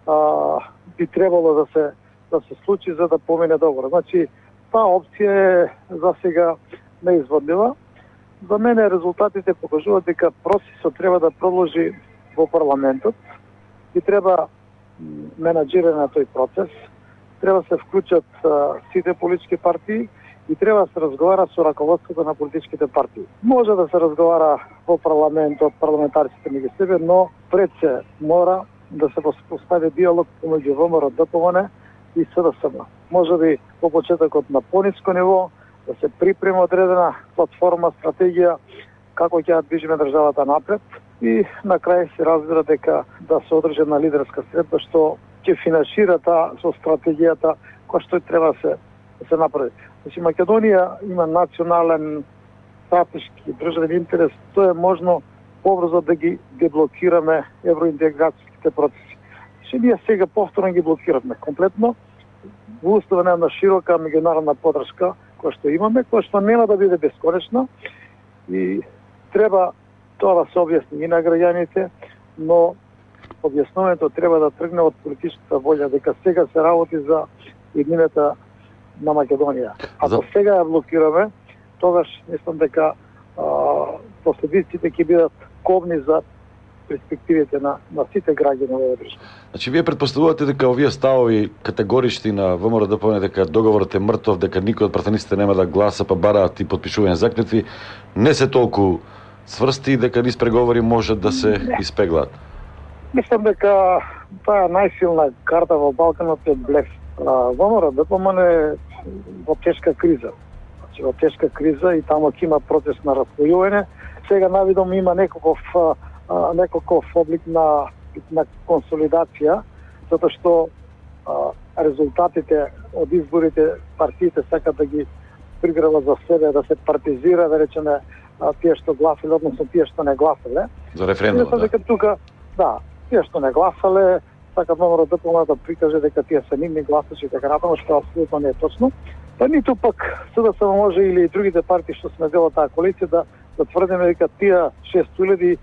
а, би требало да се да се случи за да помине договор. Значи, таа опција е за сега неизводлива За мене резултатите покажуваат дека процесот треба да продолжи во парламентот и треба менаџирање на тој процес, треба се вклучат а, сите политички партии и треба да се разговара со раководството на политичките партии. Може да се разговара во парламентот, парламентарците меѓу себе, но пред се мора да се постави диалог помеѓу ВМРО, ДПМН и СДСМ. Може би по почетокот на пониско ниво да се припрема одредена платформа, стратегија како ќе ја движиме државата напред и на крај се разбира дека да се одржи на лидерска средба што ќе финансира таа со стратегијата која што треба да се да се направи. Значи Македонија има национален стратешки државен интерес, тоа е можно побрзо да ги деблокираме евроинтеграцијските процеси. Значи ние сега повторно ги блокираме комплетно во услови на широка меѓународна поддршка која што имаме, која што нема да биде бесконечна и треба тоа да се објасни и на граѓаните, но објаснувањето треба да тргне од политичката волја дека сега се работи за еднината на Македонија. Ако за... сега ја блокираме, тогаш мислам дека а, последиците ќе бидат кобни за перспективите на, на сите граѓани во држава. Значи, вие предпоставувате дека овие ставови категорични на ВМРО ДПМН дека договорот е мртов, дека никој од пратениците нема да гласа, па бараат и подпишување заклетви, не се толку сврсти дека низ преговори може да се испеглаат? Мислам дека таа најсилна карта во Балканот е блеф. ВМРО ДПМН е во тешка криза. Значи, во тешка криза и таму ќе има процес на распојување. Сега навидом има некаков некаков облик на, на консолидација, затоа што а, резултатите од изборите партиите сакат да ги пригреват за себе, да се партизира, да речеме, а, тие што гласале, односно тие што не гласале. За референдум, да. Дека тука, да, тие што не гласале, сакат ВМРО ДПМН да прикаже дека тие се нивни гласачи и така натаму, што апсолутно не е точно. Па ниту пак СДСМ може или и другите партии што сме дел од таа коалиција да, да тврдиме дека тие шест илјади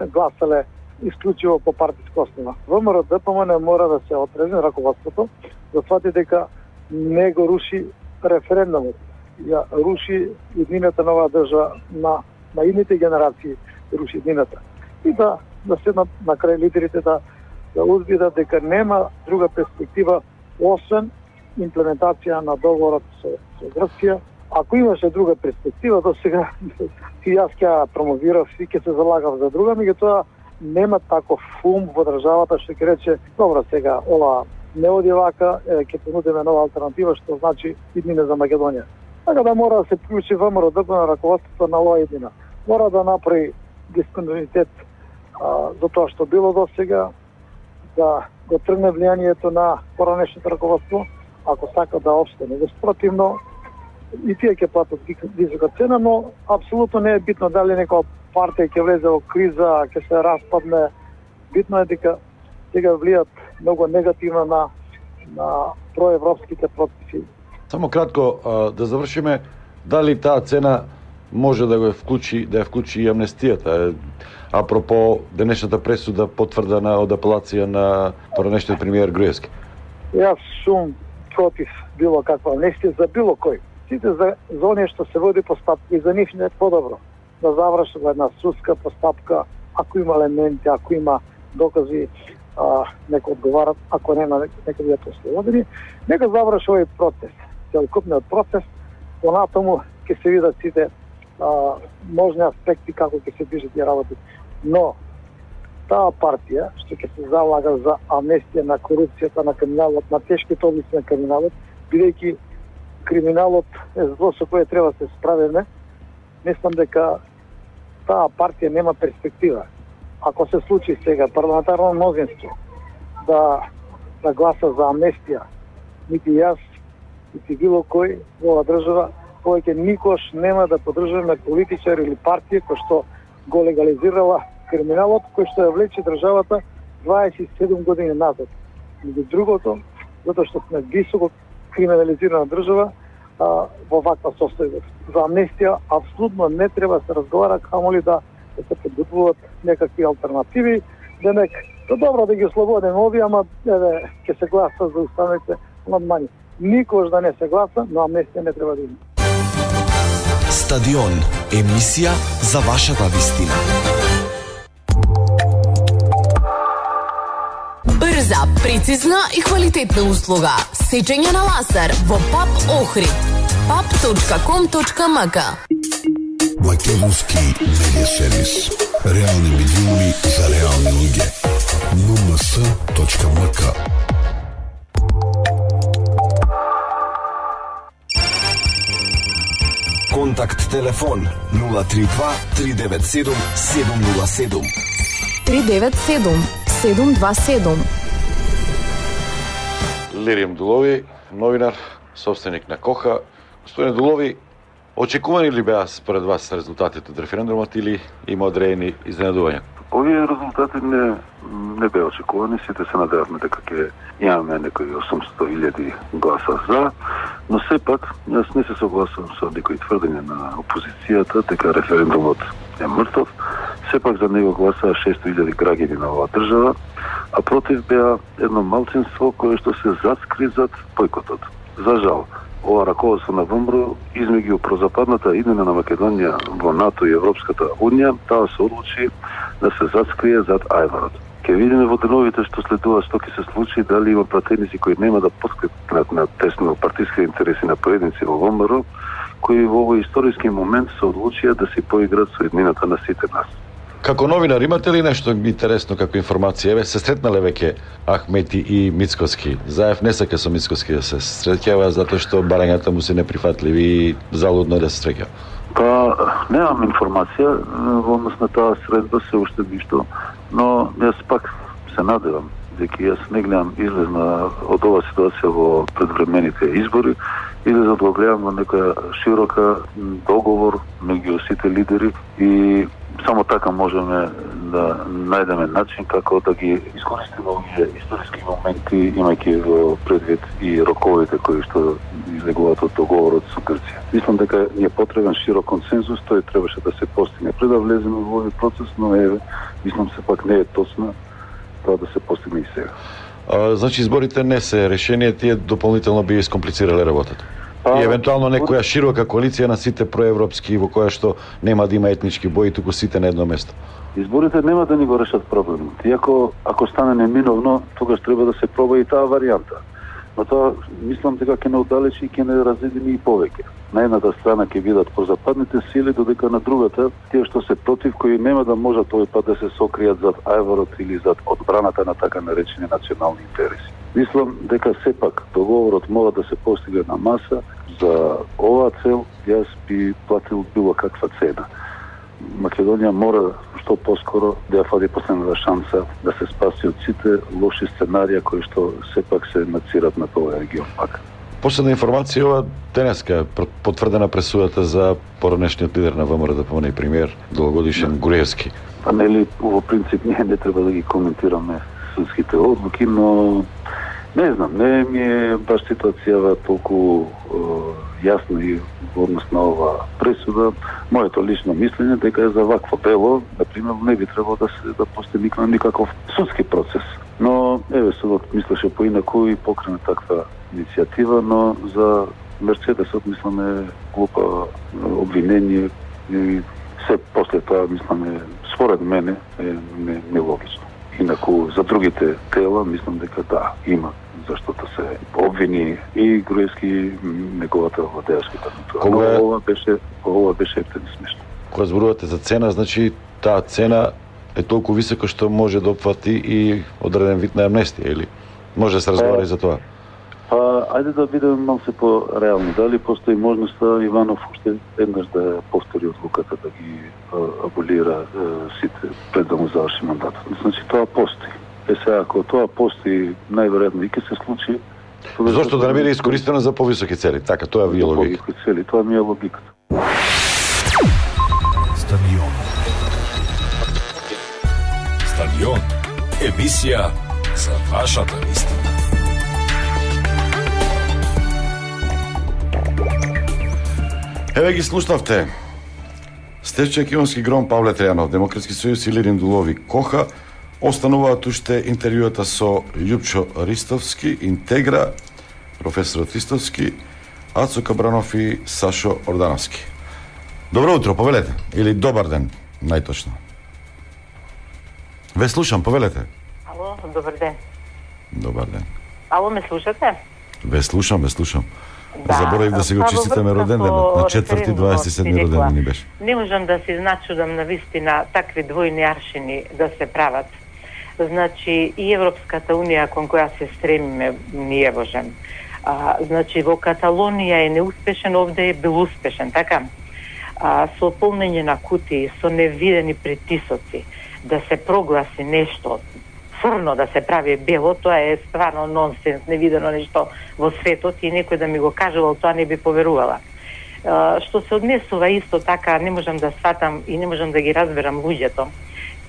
гласале исклучиво по партиска основа. ВМРО ДПМН мора да се отрезне раководството, да свати дека не го руши референдумот, ја руши еднината на оваа држава, на, на идните генерации руши еднината. И да, да седнат на крај лидерите да, да узбидат дека нема друга перспектива освен имплементација на договорот со, со Грција. Ако имаше друга перспектива, до сега и јас ќе промовирав и ќе се залагав за друга, меѓутоа нема таков фум во државата што ќе рече, добро сега ова не оди вака, е, ќе понудиме нова алтернатива што значи иднина за Македонија. Така да мора да се вклучи ВМРО ДПМН на раководството на оваа иднина. Мора да направи дисконтинуитет за тоа што било до сега, да го тргне влијанието на поранешното раководство, ако сака да опстане. Спротивно, и тие ќе платат висока цена, но апсолутно не е битно дали некоја партија ќе влезе во криза, ќе се распадне. Битно е дека сега влијат многу негативно на на проевропските процеси. Само кратко а, да завршиме, дали таа цена може да го вклучи, да ја вклучи и амнестијата? Апропо денешната пресуда потврдена од апелација на поранешниот премиер Груевски. Јас сум против било каква амнестија за било кој. Сите за, за оние што се води постапка и за нив не е подобро да заврши во една судска постапка, ако има елементи, ако има докази, а, нека одговарат, ако нема, нека бидат ослободени, нека заврши овој процес, целокупниот процес, понатаму ќе се видат сите а, можни аспекти како ќе се движат и работи. Но таа партија што ќе се залага за амнестија на корупцијата, на криминалот, на тешките области на криминалот, бидејќи криминалот е зло со кое треба да се справиме, мислам дека таа партија нема перспектива. Ако се случи сега парламентарно мнозинство да, да гласа за амнестија, нити јас, нити било кој во оваа држава, повеќе никош нема да поддржуваме политичар или партија кој што го легализирала криминалот, кој што ја влече државата дваесет и седум години назад. Меѓу другото, затоа што сме високо криминализирана држава а, во ваква состојба. За амнестија апсолутно не треба да се разговара, камоли да, да се подготвуваат некакви алтернативи. Денек, то добро да ги ослободиме овие, ама еве ќе се гласа за уставните амандмани. Никош да не се гласа, но амнестија не треба да има. Стадион, Емисија за вашата вистина. Брза, прецизна и квалитетна услуга. Сечење на лазер во ПАП Охрид. пап точка ком точка ем ка. Македонски медиа сервис. Реални медиуми за реални луѓе. ен ем ес точка ем ка. Контакт телефон нула три два три девет седум седум нула седум. три девет седум седум два седум. Лирим Дулови, новинар, собственик на Коха. Господине Дулови, очекувани ли беа според вас резултатите од референдумот или има одредени изненадувања? Овие резултати не, не беа очекувани, сите се надевавме дека ќе имаме некои осумстотини илјади гласа за, но сепак јас не се согласувам со некои тврдења на опозицијата дека референдумот е мртов. Сепак за него гласаа шестоста илјади граѓани на оваа држава, а против беа едно малцинство кое што се заскри зад бојкотот. За жал, ова раководство на ВМРО измеѓу прозападната иднина на Македонија во НАТО и Европската Унија, таа се одлучи да се заскрие зад ајварот. Ке видиме во деновите што следува што ќе се случи, дали има пратеници кои нема да подкрепнат на тесно партиски интереси на поединци во ВМРО, кои во овој историски момент се одлучија да се поиграат со иднината на сите нас. Како новинар имате ли нешто интересно како информација? Еве се сретнале веќе Ахмети и Мицкоски. Заев не сака со Мицкоски да се среќава затоа што барањата му се неприфатливи и залудно е да се среќа. Па немам информација во однос на таа средба се уште ништо, но јас пак се надевам дека јас не гледам излезна од оваа ситуација во предвремените избори, излезот го гледам во некоја широка договор меѓу сите лидери и само така можеме да најдеме начин како да ги искористиме овие историски моменти, имајќи во предвид и роковите кои што излегуваат од договорот со Грција. Мислам дека ни е потребен широк консензус, тој требаше да се постигне пред да влеземе во овој процес, но еве, мислам се пак не е точно тоа да се постигне и сега. А, значи изборите не се решение, тие дополнително би искомплицирале работата. И евентуално некоја широка коалиција на сите проевропски во која што нема да има етнички бои, туку сите на едно место. Изборите нема да ни го решат проблемот. Иако ако стане неминовно, тогаш треба да се проба и таа варијанта. Но тоа мислам дека ќе не оддалечи и ќе не разедини и повеќе. На едната страна ќе бидат прозападните сили, додека на другата тие што се против, кои нема да можат овој пат да се сокријат зад ајварот или зад одбраната на така наречени национални интереси. Мислам дека сепак договорот мора да се постигне на маса. За оваа цел јас би платил било каква цена. Македонија мора што поскоро да ја фади последната шанса да се спаси од сите лоши сценарија кои што сепак се нацират на овој регион пак. Последна информација, ова денеска потврдена пресудата за поранешниот лидер на ВМРО да помне и премиер долгогодишен Груевски. Па нели во принцип ние не треба да ги коментираме судските одлуки, но не знам, не ми е баш ситуацијава толку е, јасна и во однос на ова пресуда. Моето лично мислење дека е за вакво дело, например, не би требало да се да постои никаков судски процес. Но еве судот мислеше поинаку и покрене таква иницијатива, но за Мерцедесот мисламе глупа обвинение и се после тоа мисламе според мене е нелогично. Инаку за другите тела мислам дека да, има зашто да се обвини и Груевски и неговата владеачка гарнитура. Кога е... ова беше ова беше ептен смешно. Кога зборувате за цена, значи таа цена е толку висока што може да опфати и одреден вид на амнестија, или може да се разговара и за тоа? Па, ајде да бидеме малце по-реални. Дали постои можноста Иванов уште еднаш да повтори одлуката да ги а, аболира а, сите пред да му заврши мандатот? Значи тоа постои. Е сега, ако тоа постои, најверојатно и ќе се случи. Зошто да не биде искористено за повисоки цели? Така, тоа ви е логика. Повисоки цели, тоа ми е логиката. Стадион. Стадион. Емисија за вашата вистина. Еве ги слушнавте. Стече Кионски Гром, Павле Тријанов, Демократски сојуз и Лирин Дулови Коха. Остануваат уште интервјуата со Љупчо Ристовски, Интегра, професорот Ристовски, Ацо Кабранов и Сашо Ордановски. Добро утро, повелете. Или добар ден, најточно. Ве слушам, повелете. Ало, добар ден. Добар ден. Ало, ме слушате? Ве слушам, ве слушам. Да, Заборавив да се го честитаме роден денот. На четврти дваесет и седми роден ден ни беше. Не можам да се изначудам на вистина такви двојни аршини да се прават. Значи, и Европската унија кон која се стремиме ни е важен. А, значи, во Каталонија е неуспешен, овде е бил успешен, така? А, со полнење на кутии, со невидени притисоци, да се прогласи нешто, црно да се прави бело, тоа е стварно нонсенс, невидено нешто во светот и некој да ми го кажувал, тоа не би поверувала. А, што се однесува исто така, не можам да сватам и не можам да ги разберам луѓето.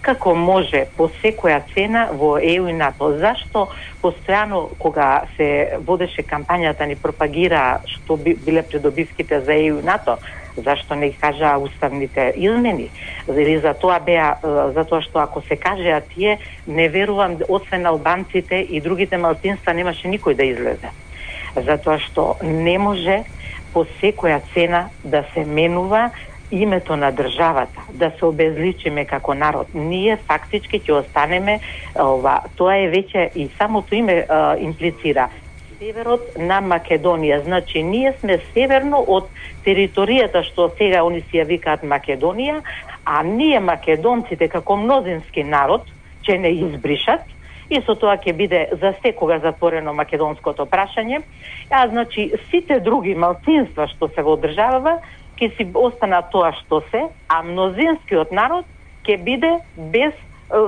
Како може по секоја цена во Е У и НАТО? Зашто постојано кога се водеше кампањата ни пропагира што би, биле придобивките за Е У и НАТО, зашто не кажаа уставните измени? Или за тоа беа, за тоа што ако се кажеа тие, не верувам, освен албанците и другите малцинства немаше никој да излезе. Затоа што не може по секоја цена да се менува името на државата, да се обезличиме како народ. Ние фактички ќе останеме, ова, тоа е веќе и самото име а, имплицира северот на Македонија. Значи, ние сме северно од територијата што сега они си ја викаат Македонија, а ние македонците како мнозински народ ќе не избришат и со тоа ќе биде за секога затворено македонското прашање. А значи сите други малцинства што се во државава ќе си остана тоа што се, а мнозинскиот народ ќе биде без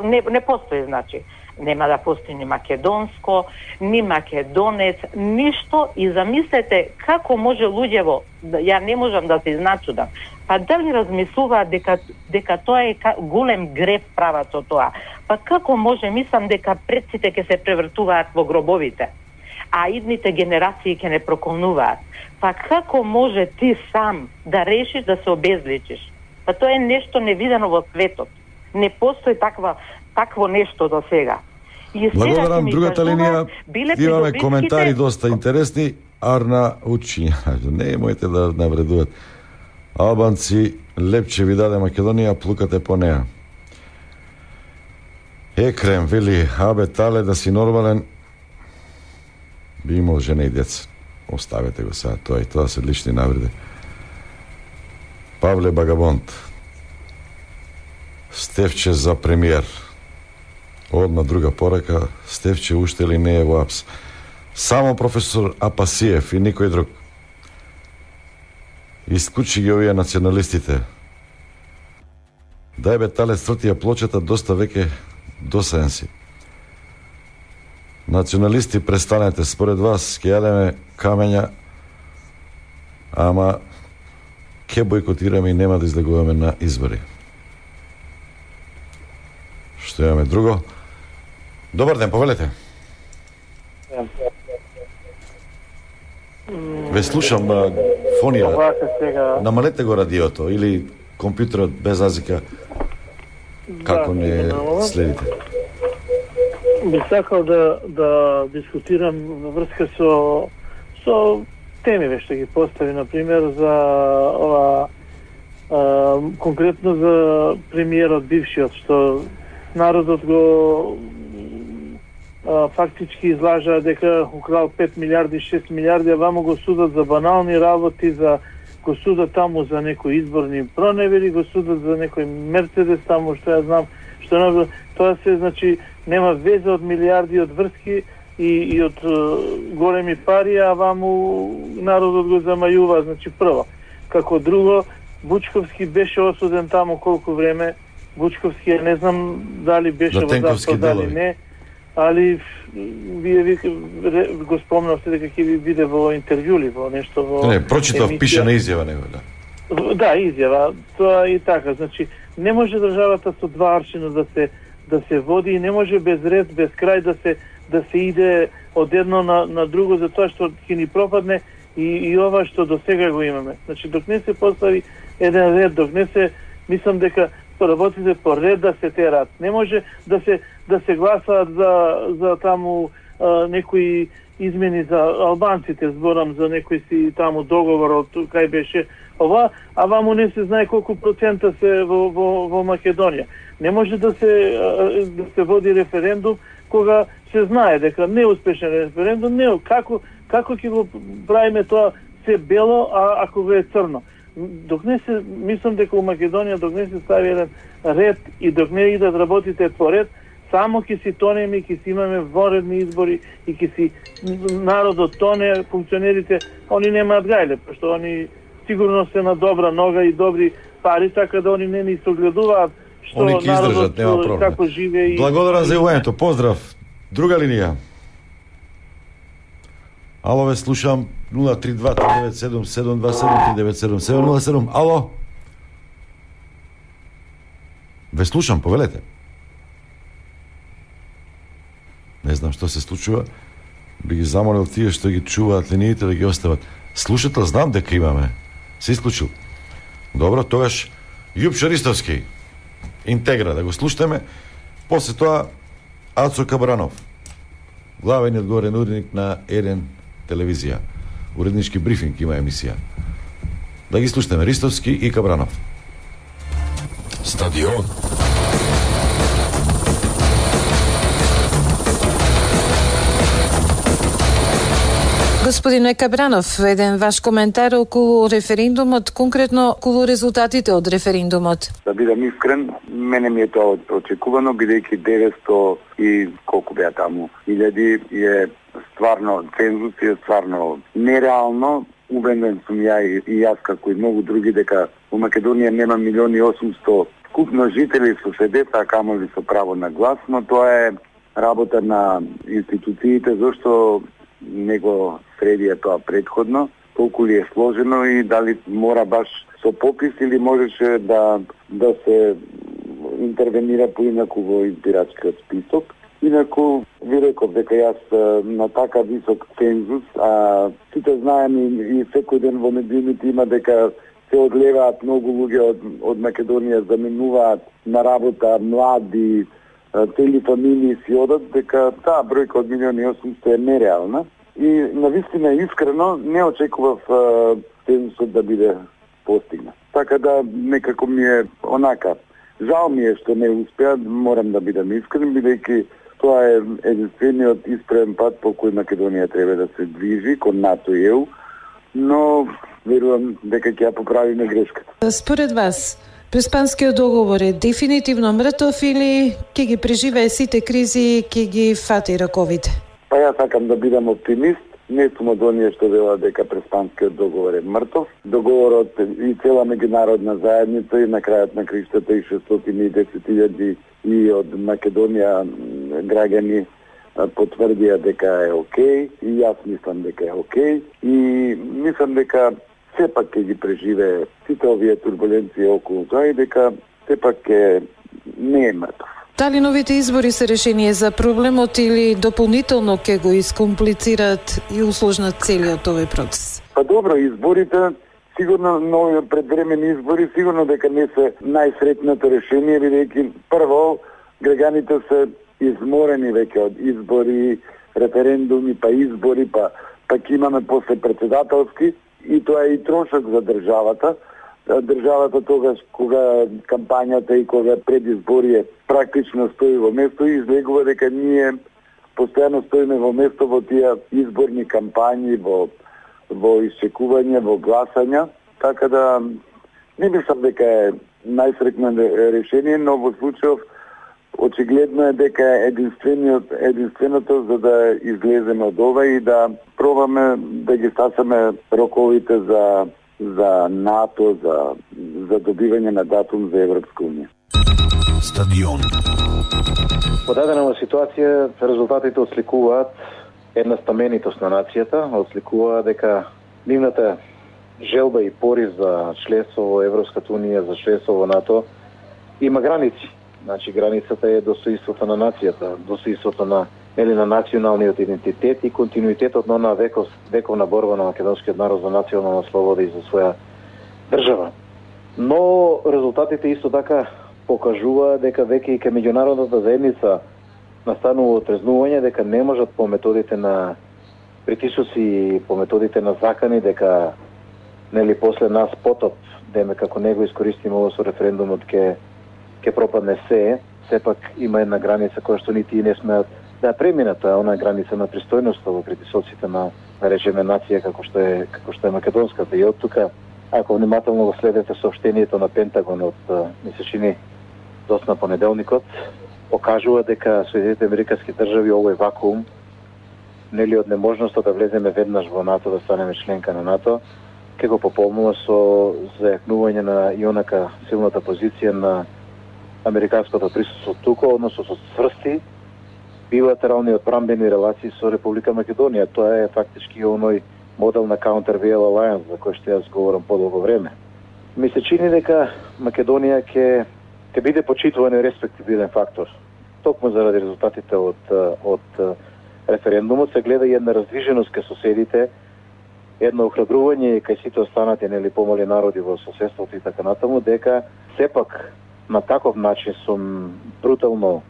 не, не постои, значи нема да постои ни македонско, ни македонец, ништо. И замислете како може луѓево, ја не можам да се изначудам, па дали размислуваат дека, дека тоа е голем греф прават со тоа? Па како може, мислам дека предците ќе се превртуваат во гробовите, а идните генерации ќе не проколнуваат. Па како може ти сам да решиш да се обезличиш? Па тоа е нешто невидено во светот. Не постои таква, такво нешто до сега. И благодарам, другата линија, имаме придобивките... коментари доста интересни. Арна учи, не моите да навредуват. Албанци, лепче ви даде Македонија, плукате по неа. Екрем, вели, абе, тале да си нормален, би имал жена и деца. Оставете го сега, тоа и тоа се лични навреди. Павле Багабонт, Стефче за премиер. Одма друга порака, Стефче уште ли не е во АПС? Само професор Апасиев и никој друг. Исклучи ги овие националистите. Дај бе тале стртија плочата, доста веќе досаден си. Националисти, престанете, според вас ќе јадеме камења, ама ќе бойкотираме и нема да излегуваме на избори. Што имаме друго? Добар ден, повелете. Ве слушам, фонија. Намалете го радиото или компјутерот без азика, како не следите. Би сакал да, да дискутирам во врска со, со темиве што ги постави, например, за ова, а, конкретно за премиерот бившиот, што народот го а, фактички излажа дека украл пет милиарди, шест милиарди, а вамо го судат за банални работи, за го судат таму за некои изборни проневери, го судат за некој Мерцедес таму, што ја знам, што тоа се, значи, нема веза од милиарди од врски и, и од uh, големи пари, а ваму народот го замајува, значи прво. Како друго, Бучковски беше осуден таму колку време, Бучковски, не знам дали беше во затвор, дали не, али вие ви, го спомнавте дека ќе ви биде во интервју ли, во нешто во... Не, прочитав, пише на изјава него, да. Да, изјава, тоа и така, значи, не може државата со два аршина да се да се води и не може без ред, без крај да се да се иде од едно на, на друго, затоа што ќе ни пропадне и, и ова што до сега го имаме. Значи, док не се постави еден ред, док не се, мислам дека работите по ред да се терат. Не може да се да се гласаат за за таму а, некои измени за албанците, зборам за некој си таму договор од кај беше ова, а ваму не се знае колку процента се во, во, во Македонија. Не може да се да се води референдум кога се знае дека не е успешен референдум, не како како ќе го правиме тоа се бело, а ако го е црно. Док не се, мислам дека во Македонија док не се стави еден ред и док не идат работите по ред, само ќе си тонеме и ќе си имаме воредни избори и ќе си народот тоне, функционерите, они немаат гајле, пошто они сигурно се на добра нога и добри пари, така да они не ни согледуваат што Они ќе издржат, нема проблем. Како живее и... Благодарам за јавувањето, поздрав. Друга линија. Ало, ве слушам. нула три два три девет седум седум два седум три девет седум седум нула седум. Ало. Ве слушам, повелете. Не знам што се случува. Би ги замолил тие што ги чуваат линиите да ги остават. Слушател знам дека имаме. Се исклучил. Добро, тогаш Јупчо Ристовски. Интегра, да го слушаме. После тоа Ацо Кабранов, главен и одговорен уредник на Еден телевизија. Уреднички брифинг има емисија. Да ги слушаме Ристовски и Кабранов. Стадион. Господине Кабранов, еден ваш коментар околу референдумот, конкретно околу резултатите од референдумот. Да бидам искрен, мене ми е тоа очекувано, бидејќи деветсто и колку беа таму илјади е стварно цензус, е стварно нереално. Убеден сум ја и, и јас како и многу други дека во Македонија нема милиони и осумсто скупно жители со се деца, а камоли со право на глас, но тоа е работа на институциите, зашто него средија тоа предходно, толку ли е сложено и дали мора баш со попис или можеше да да се интервенира поинаку во избирачкиот список. Инаку ви реков дека јас на така висок цензус, а сите знаеме и секој ден во медиумите има дека се одлеваат многу луѓе од, од Македонија, заменуваат на работа млади, цели фамилии си одат, дека таа бројка од милиони и осумсто е нереална. И навистина искрено не очекував цензусот да биде постигнат. Така да некако ми е онака. Жал ми е што не успеа, морам да бидам искрен, бидејќи тоа е единствениот исправен пат по кој Македонија треба да се движи кон НАТО и Е У, но верувам дека ќе ја поправиме грешката. Според вас, Преспанскиот договор е дефинитивно мртов или ќе ги преживее сите кризи и ќе ги фати раковите? Па јас сакам да бидам оптимист. Не сум од оние што велат дека Преспанскиот договор е мртов. Договорот и цела меѓународна заедница и на крајот на криштата и шестстотини и десет илјади и од Македонија граѓани потврдија дека е окей, и јас мислам дека е окей, и мислам дека сепак ќе ги преживее сите овие турбуленции околу тоа и дека сепак ќе не е мртов. Дали новите избори се решение за проблемот или дополнително ќе го искомплицираат и усложнат целиот овој процес? Па добро, изборите, сигурно нови предвремени избори, сигурно дека не се најсретното решение, бидејќи прво граѓаните се изморени веќе од избори, референдуми, па избори, па пак имаме после председателски, и тоа е и трошок за државата. Државата тогаш кога кампањата и кога предизбори е практично стои во место и излегува дека ние постојано стоиме во место во тие изборни кампањи, во во исчекување, во гласања, така да не мислам дека е најсреќно решение, но во случајов очигледно е дека е единствениот единственото за да излеземе од ова и да пробаме да ги стасаме роковите за за НАТО, за за добивање на датум за Европска унија. Стадион. Во дадена ситуација резултатите отсликуваат една стаменитост на нацијата, отсликува дека нивната желба и порив за членство во Европската унија, за членство во НАТО има граници. Значи границата е достоинството на нацијата, достоинството на или на националниот идентитет и континуитетот на она веков, вековна борба на македонскиот народ за национална слобода и за своја држава. Но резултатите исто така покажува дека веќе и кај меѓународната заедница настанува отрезнување дека не можат по методите на притисоци и по методите на закани дека нели после нас потоп, деме како него искористиме ово со референдумот ке ке пропадне се, сепак има една граница која што нити и не смеат да преминат, а она граница на пристојност во притисоците на да речеме нација како што е како што е македонската. И од тука, ако внимателно го следите соопштението на Пентагон од ми се чини доцна понеделникот, покажува дека Соединените американски држави овој вакуум нели од неможноста да влеземе веднаш во НАТО, да станеме членка на НАТО, ке го пополнува со зајакнување на ионака силната позиција на американското присуство тука, односно со цврсти билатерални одбранбени релации со Република Македонија. Тоа е фактички оној модел на Counter-Veil Alliance за кој што јас говорам подолго време. Ми се чини дека Македонија ќе ќе биде почитуван и респектибилен фактор. Токму заради резултатите од од референдумот се гледа и една раздвиженост кај соседите, едно охрабрување кај сите останати нели помали народи во соседството и така натаму, дека сепак на таков начин со брутално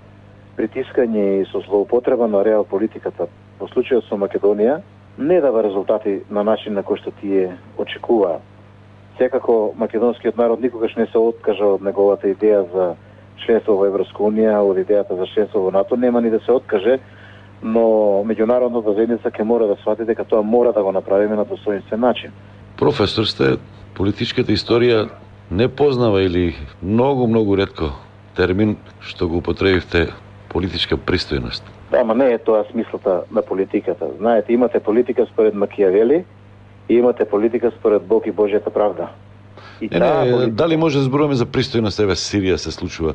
притискање и со злоупотреба на реал политиката во случајот со Македонија не дава резултати на начин на кој што тие очекуваа. Секако македонскиот народ никогаш не се откажа од неговата идеја за членство во Европска унија, од идејата за членство во НАТО, нема ни да се откаже, но меѓународната заедница ќе мора да свати дека тоа мора да го направиме на достоинствен начин. Професор сте, политичката историја не познава или многу, многу ретко термин што го употребивте политичка пристојност. Да, ама не е тоа смислата на политиката. Знаете, имате политика според Макијавели и имате политика според Бог и Божјата правда. И не, не, политика... дали може да зборуваме за пристојност? Еве Сирија се случува,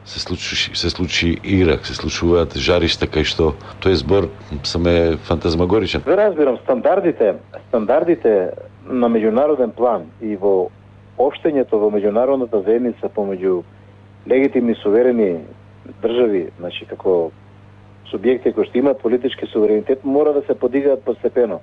се случи, се случи Ирак, се случуваат жаришта кај што тој збор сам е фантазмагоричен. Ве разбирам, стандардите, стандардите на меѓународен план и во општењето во меѓународната заедница помеѓу легитимни суверени држави, значи како субјекти кои што имаат политички суверенитет, мора да се подигаат постепено.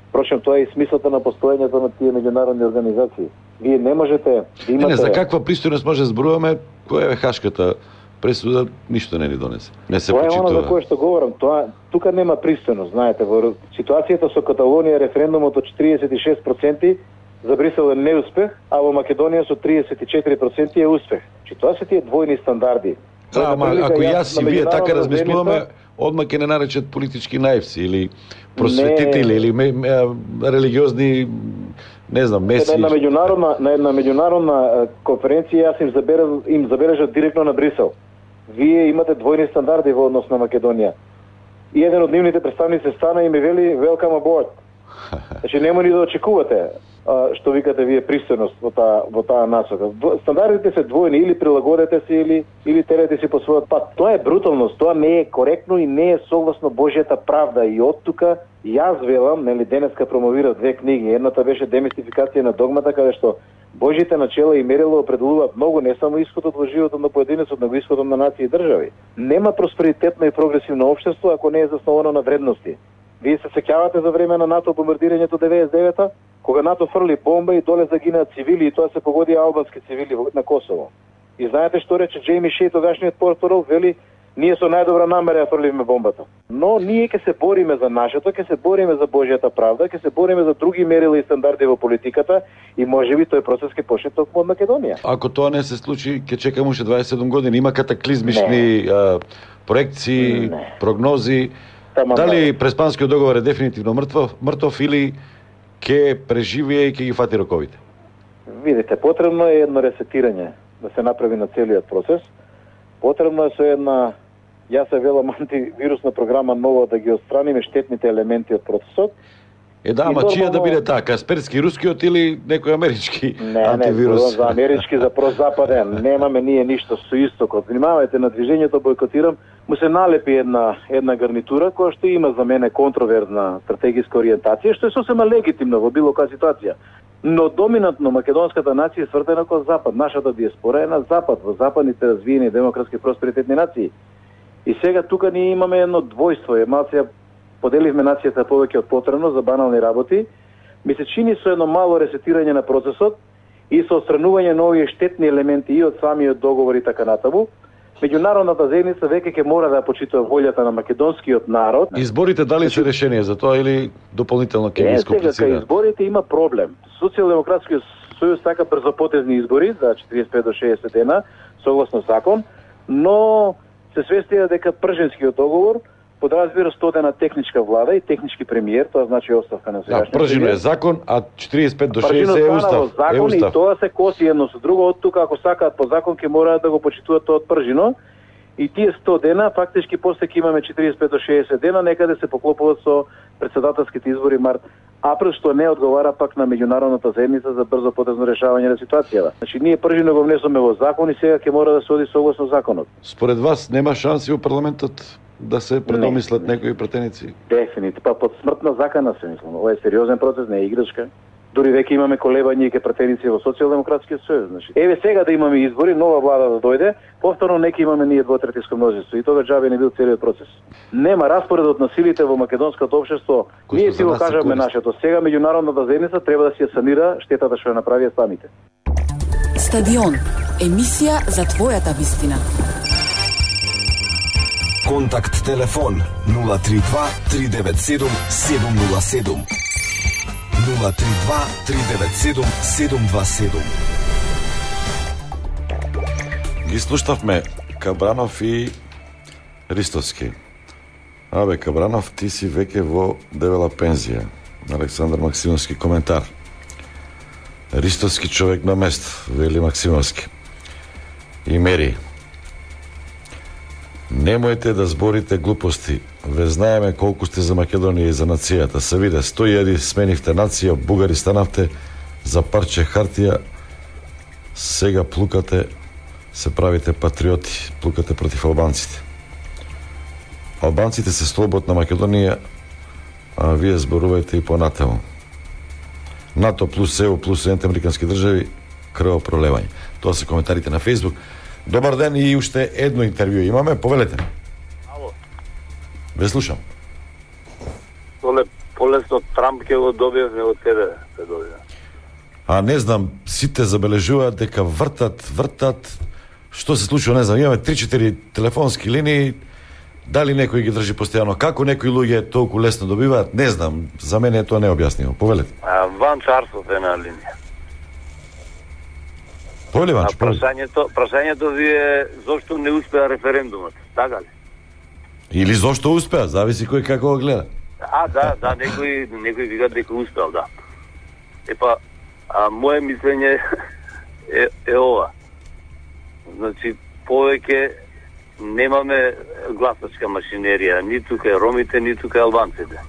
Впрочем, тоа е и смислата на постоењето на тие меѓународни организации. Вие не можете да имате... Не, не, за каква пристојност може да зборуваме, која е хашката пресуда, ништо не ни донесе. Не се почитува. Тоа е оно за кое што говорам. Тоа, тука нема пристојност, знаете. Во ситуацијата со Каталонија референдумот од четириесет и шест проценти за Брисел е неуспех, а во Македонија со триесет и четири проценти е успех. Чи тоа се тие двојни стандарди. Да, ама ако јас и вие така размислуваме, одма ќе не наречат политички наивци или просветители или ме, ме, религиозни, не знам, меси. На една меѓународна на една меѓународна конференција јас им забележав им забележав директно на Брисел. Вие имате двојни стандарди во однос на Македонија. И еден од нивните представници стана и ми вели welcome aboard. Значи нема ни да очекувате а, што викате вие пристојност во таа во таа насока. Стандардите се двојни, или прилагодете се или или терете си по својот пат. Тоа е бруталност, тоа не е коректно и не е согласно Божјата правда. И од тука јас велам, нели денеска промовирав две книги. Едната беше демистификација на догмата, каде што Божите начела и мерила определуваат многу не само исходот во животот на поединецот, но и исходот на нации и држави. Нема просперитетно и прогресивно општество ако не е засновано на вредности. Вие се сеќавате за време на НАТО бомбардирањето деветдесет и девета, кога НАТО фрли бомба и доле загинаа цивили и тоа се погоди албански цивили на Косово. И знаете што рече Джейми Шеј, тогашниот портпарол, вели ние со најдобра намера ја фрлиме бомбата. Но ние ќе се бориме за нашето, ќе се бориме за Божјата правда, ќе се бориме за други мерила и стандарди во политиката и можеби тој процес ќе почне токму од Македонија. Ако тоа не се случи, ќе чекаме уште дваесет и седум години. Има катаклизмични а, проекции, не. прогнози. Тама, дали Преспанскиот договор е дефинитивно мртвов, мртов или ќе преживее и ќе ги фати роковите? Видите, потребно е едно ресетирање да се направи на целиот процес. Потребно е со една, јас се велам, антивирусна програма нова да ги отстраниме штетните елементи од процесот. Е да, ама чија да биде така? Касперски рускиот или некој амерички не, антивирус? Не, не, за амерички, за прозападен. Немаме ние ништо со истокот. Внимавајте, на движењето Бојкотирам му се налепи една една гарнитура која што има за мене контроверзна стратегиска ориентација, што е сосема легитимно во било која ситуација. Но доминантно македонската нација е свртена кон Запад. Нашата диаспора е на Запад, во западните развиени демократски просперитетни нации. И сега тука ние имаме едно двојство. Е малце поделивме нацијата повеќе од потребно за банални работи. Ми се чини со едно мало ресетирање на процесот и со отстранување на овие штетни елементи и од самиот договор и така натаму, меѓународната заедница веќе ќе мора да ја почитува волјата на македонскиот народ. Изборите дали се решение за тоа или дополнително ќе ги искомплицира? Сега, кај изборите има проблем. Социјалдемократскиот сојуз сака брзопотезни избори за четириесет и пет до шеесет дена, согласно закон, но се свестија дека пржинскиот договор подразбира сто дена техничка влада и технички премиер, тоа значи оставка на сегашниот. Да, пржино е закон, а четириесет и пет до шеесет е устав. Закон, е устав. И тоа се коси едно со друго, од тука ако сакаат по закон ќе мораат да го почитуваат тоа од пржино. И тие сто дена фактички после ќе имаме четириесет и пет до шеесет дена, некаде се поклопуваат со претседателските избори март април, што не одговара пак на меѓународната заедница за брзо потезно решавање на ситуацијата. Значи ние пржино го внесоме во закон и сега ќе мора да се оди согласно законот. Според вас нема шанси во парламентот да се предомислат не, некои претеници? Дефинитивно, па под смртна закана се мислам. Ова е сериозен процес, не е играчка. Дури веќе имаме колебања и ке претеници во Социјалдемократскиот сојуз. Значи, еве сега да имаме избори, нова влада да дојде, повторно нека имаме ние двотретинско мнозинство и тога џабе не бил целиот процес. Нема распоредот на силите во македонското општество. Ние си го кажаме нашето. Сега меѓународната заедница треба да си ја санира штетата што ја направија самите. Стадион. Емисија за твојата вистина. Контакт телефон нула три два три девет седум седум нула седум. нула три два три девет седум седум два седум. Ги слуштавме Кабранов и Ристовски. Абе, Кабранов, ти си веќе во дебела пензија. Александар Максимовски коментар. Ристовски човек на место, вели Максимовски. И мери. Немојте да зборите глупости. Ве знаеме колку сте за Македонија и за нацијата. Се виде, сто илјади сменивте нација, бугари станавте за парче хартија. Сега плукате, се правите патриоти, плукате против албанците. Албанците се слобод на Македонија, а вие зборувајте и понатаму. НАТО плюс ЕУ плюс Соединените американски држави, крвопролевање. Тоа се коментарите на Фејсбук. Добар ден и уште едно интервју имаме, повелете. Ало. Ве слушам. Толе полесно Трамп ќе го добиевме од тебе, се добија. А не знам, сите забележуваат дека вртат, вртат. Што се случува, не знам, имаме три-четири телефонски линии. Дали некој ги држи постојано? Како некои луѓе толку лесно добиваат? Не знам, за мене тоа не е објаснимо. Повелете. А, Ван Чарсов е на линија. Повели Ванчо, а прашањето, прашањето ви е зошто не успеа референдумот, така ли? Или зошто успеа, зависи кој како го гледа. А, да, да, некој, некој вика дека успеал, да. Епа, а моje мислење е, е ова. Значи, повеќе немаме гласачка машинерија, ниту кај ромите, ниту кај албанците.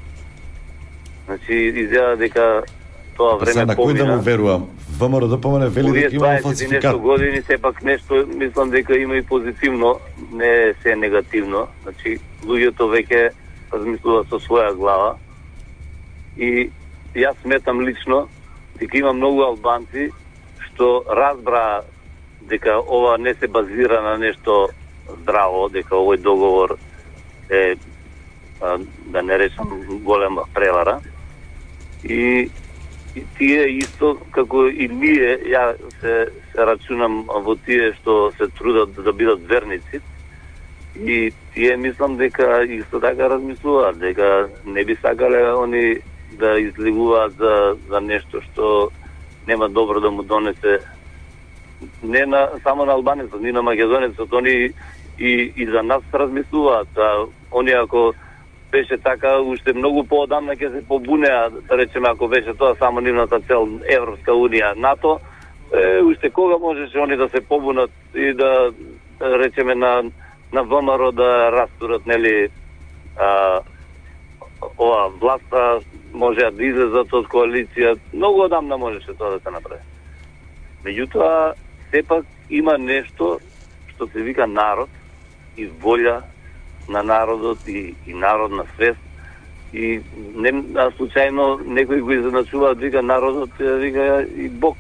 Значи, изгледа дека тоа време на помина. Кој да му верувам? ВМРО да помане вели дека има фалсификат. Нешто години сепак нешто мислам дека има и позитивно, не се негативно. Значи луѓето веќе размислуваат со своја глава. И јас сметам лично дека има многу албанци што разбра дека ова не се базира на нешто здраво, дека овој договор е, да не речам, голема превара. И И тие исто, како и ние, ја се, се рачунам во тие што се трудат да бидат верници. И тие мислам дека исто така размислуваат, дека не би сакале они да излегуваат за, за нешто што нема добро да му донесе не на, само на албанецот, ни на македонецот, они и, и за нас размислуваат. А, они ако беше така, уште многу поодамна ќе се побунеа, да речеме, ако беше тоа само нивната цел Европска унија, НАТО, е, уште кога можеше они да се побунат и да, да речеме, на, на ВМРО да растурат, нели, а, ова власта може да излезат од коалиција, многу одамна можеше тоа да се направи. Меѓутоа, сепак има нешто што се вика народ и волја на народот и, и народна свест. И не случајно некој го изначува, вика народот, вика и Бог.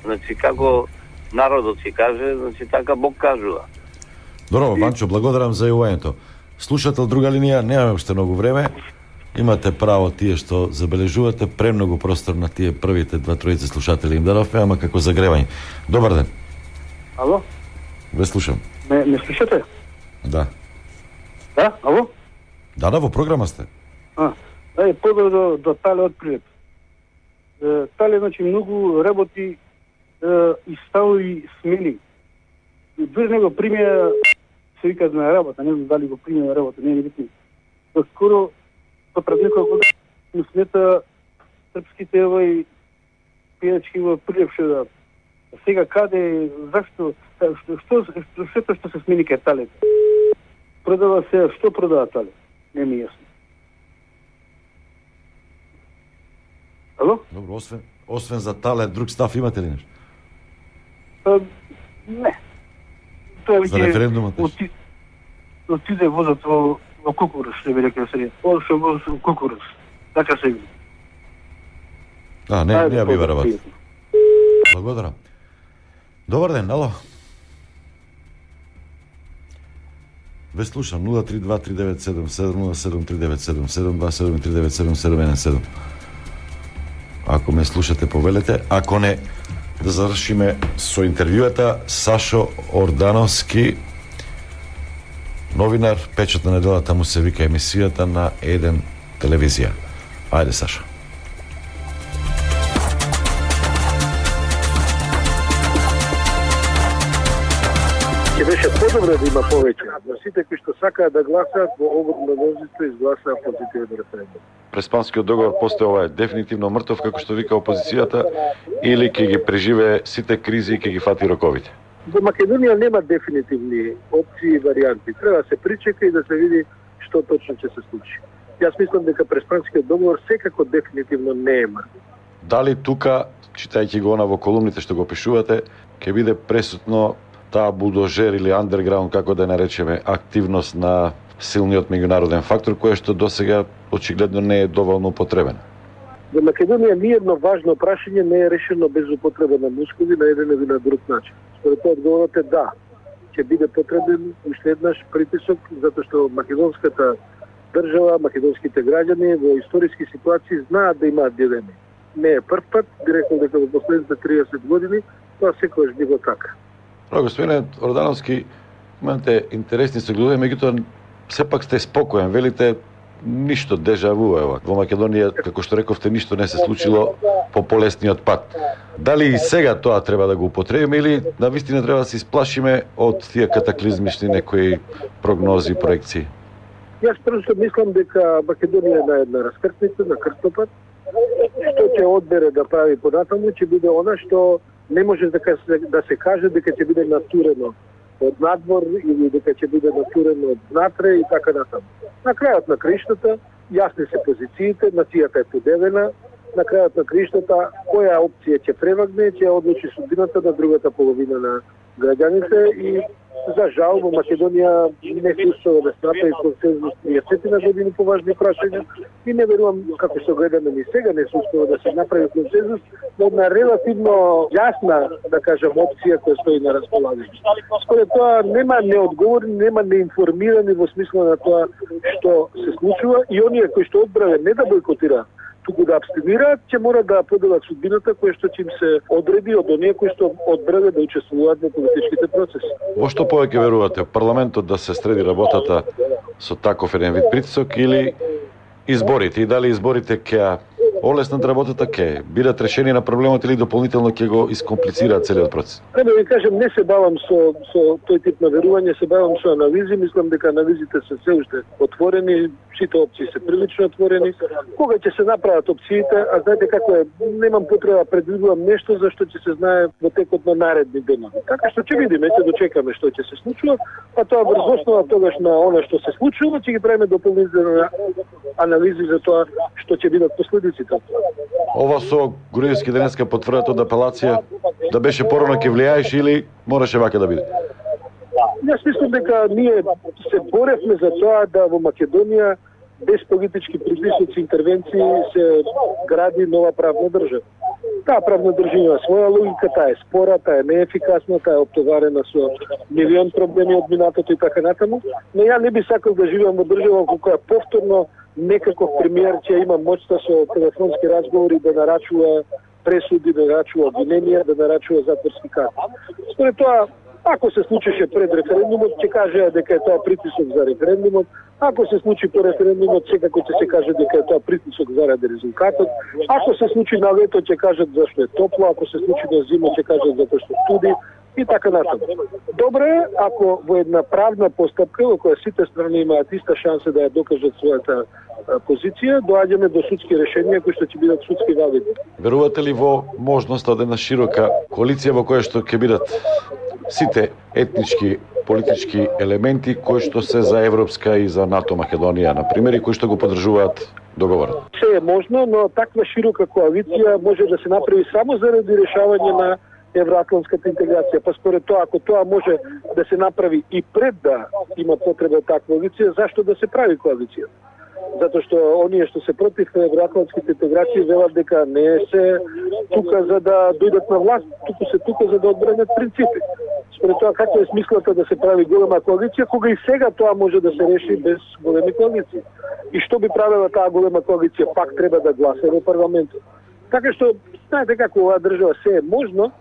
Значи како народот ќе каже, значи така Бог кажува. Добро, Ванчо, благодарам за јавувањето. Слушател друга линија, немаме уште многу време. Имате право тие што забележувате, премногу простор на тие првите два тројца слушатели им дадовме, ама како загревање. Добар ден. Ало? Ве слушам. Ме, ме слушате? Да. Да, ало? Да, да, во програма сте. А, да, поздрав до, до Тале од Прилеп. Е, Тале, значи, многу работи е, и стави смени. Дури него примија, се вика на работа, не знам дали го примија на работа, не е битно. До скоро, по пред некоја година, му смета српските овај пијачки во Прилеп што да. Сега каде, зашто, што, што, што, што, што се смени кај Тале? Продава се, што продава Тале? Не ми јасно. Ало? Добро, освен, освен за Тале, друг став имате ли нешто? А, не. Тоа За референдумот? Оти, отиде возот во, во Кукурус, што би рекла сега. Одеше возот во Кукурус. Така се види. А, не, не ја бива работа. Благодарам. Добар ден, ало. Ве слушам нула три два три девет седум седум нула седум три девет седум седум два седум три девет седум седум еден седум. Ако ме слушате, повелете. Ако не, да завршиме со интервјуата Сашо Ордановски, новинар, печат на неделата му се вика емисијата на еден телевизија. Ајде, Сашо. Ќе беше подобро да има повеќе, но сите кои што сакаат да гласаат во обрно мнозинство изгласаа позитивен референдум. Преспанскиот договор постои, ова е дефинитивно мртов, како што вика опозицијата, или ќе ги преживее сите кризи и ќе ги фати роковите? За Македонија нема дефинитивни опции и варијанти. Треба да се причека и да се види што точно ќе се случи. Јас мислам дека Преспанскиот договор секако дефинитивно не е мртов. Дали тука, читајќи го она во колумните што го пишувате, ќе биде пресутно таа булдожер или андерграунд, како да наречеме, активност на силниот меѓународен фактор, кој што досега очигледно не е доволно употребена? За Македонија ни едно важно прашање не е решено без употреба на мускули на еден или на друг начин. Според тоа одговорот е да. Ќе биде потребен уште еднаш притисок, затоа што македонската држава, македонските граѓани во историски ситуации знаат да имаат дилеми. Не е прв пат, би рекол дека во последните триесет години тоа секогаш било така. Браво, господине Ордановски, имате интересни согледови, меѓутоа сепак сте спокоен, велите ништо дежаву е ова. Во Македонија, како што рековте, ништо не се случило по полесниот пат. Дали и сега тоа треба да го употребиме или навистина треба да се исплашиме од тие катаклизмични некои прогнози и проекции? Јас просто мислам дека Македонија е на една раскртница, на крстопат. Што ќе одбере да прави понатаму, ќе биде она што не може да се, да се каже дека ќе биде натурено од надвор или дека ќе биде натурено од внатре и така натаму. На крајот на криштата, јасни се позициите, нацијата е подевена, на крајот на криштата, која опција ќе превагне, ќе одлучи судбината на другата половина на граѓаните и за жал во Македонија не се успеа да направи консензус триесет години по важни прашања и не верувам, како што гледаме ни сега, не се успеа да се направи консензус на една релативно јасна, да кажам, опција која стои на располагање. Според тоа нема неодговорни, нема неинформирани во смисла на тоа што се случува и оние кои што одбраве не да бойкотираат, туку да абстинираат, ќе мора да поделат судбината која што ќе им се одреди од оние кои што одбраве да учествуваат во политичките процеси. Во што повеќе верувате? Парламентот да се среди работата со таков еден вид притисок или изборите? И дали изборите ќе олеснат работата, ќе бидат решени на проблемот или дополнително ќе го искомплицираат целиот процес? Треба да ви кажем, не се бавам со, со тој тип на верување, се бавам со анализи, мислам дека анализите се се уште отворени, сите опции се прилично отворени. Кога ќе се направат опциите, а знаете како е, немам потреба да предвидувам нешто за што ќе се знае во текот на наредни дена. Така што ќе видиме, ќе дочекаме што ќе се случува, а тоа врз основа тогаш на она што се случува, ќе ги правиме дополнителни анализи за тоа што ќе бидат последиците. Ова со Груевски денеска потврдат од апелација да беше порано ќе влијаеше или мораше вака да биде? Јас мислам дека ние се боревме за тоа да во Македонија без политички притисоци, интервенции се гради нова правна држава. Таа правна држава има своја логика, таа е спора, таа е неефикасна, таа е оптоварена со милион проблеми од минатото и така натаму, но ја не би сакал да живеам во држава во која повторно некаков премиер ќе има моќта со телефонски разговори да нарачува пресуди, да нарачува обвиненија, да нарачува затворски казни. Според тоа, Ако се случише пред референдумот, ќе кажеа дека е тоа притисок за референдумот. Ако се случи по референдумот, секако ќе се каже дека е тоа притисок заради резултатот. Ако се случи на лето, ќе кажат зашто е топло. Ако се случи на зима, ќе кажат затоа што студи. И така натаму. Добро е ако во една правна постапка во која сите страни имаат иста шанса да ја докажат својата позиција, доаѓаме до судски решенија кои што ќе бидат судски валидни. Верувате ли во можноста од една широка коалиција во која што ќе бидат сите етнички политички елементи кои што се за Европска и за НАТО Македонија, на пример, и кои што го поддржуваат договорот? Се е можно, но таква широка коалиција може да се направи само заради решавање на евроатлантската интеграција. Па според тоа, ако тоа може да се направи и пред да има потреба таква коалиција, зашто да се прави коалиција? Затоа што оние што се против евроатлантските интеграции велат дека не се тука за да дојдат на власт, туку се тука за да одбранат принципи. Според тоа, каква е смислата да се прави голема коалиција, кога и сега тоа може да се реши без големи коалиции? И што би правила таа голема коалиција? Пак треба да гласа во парламентот. Така што, знаете како оваа држава се е можно,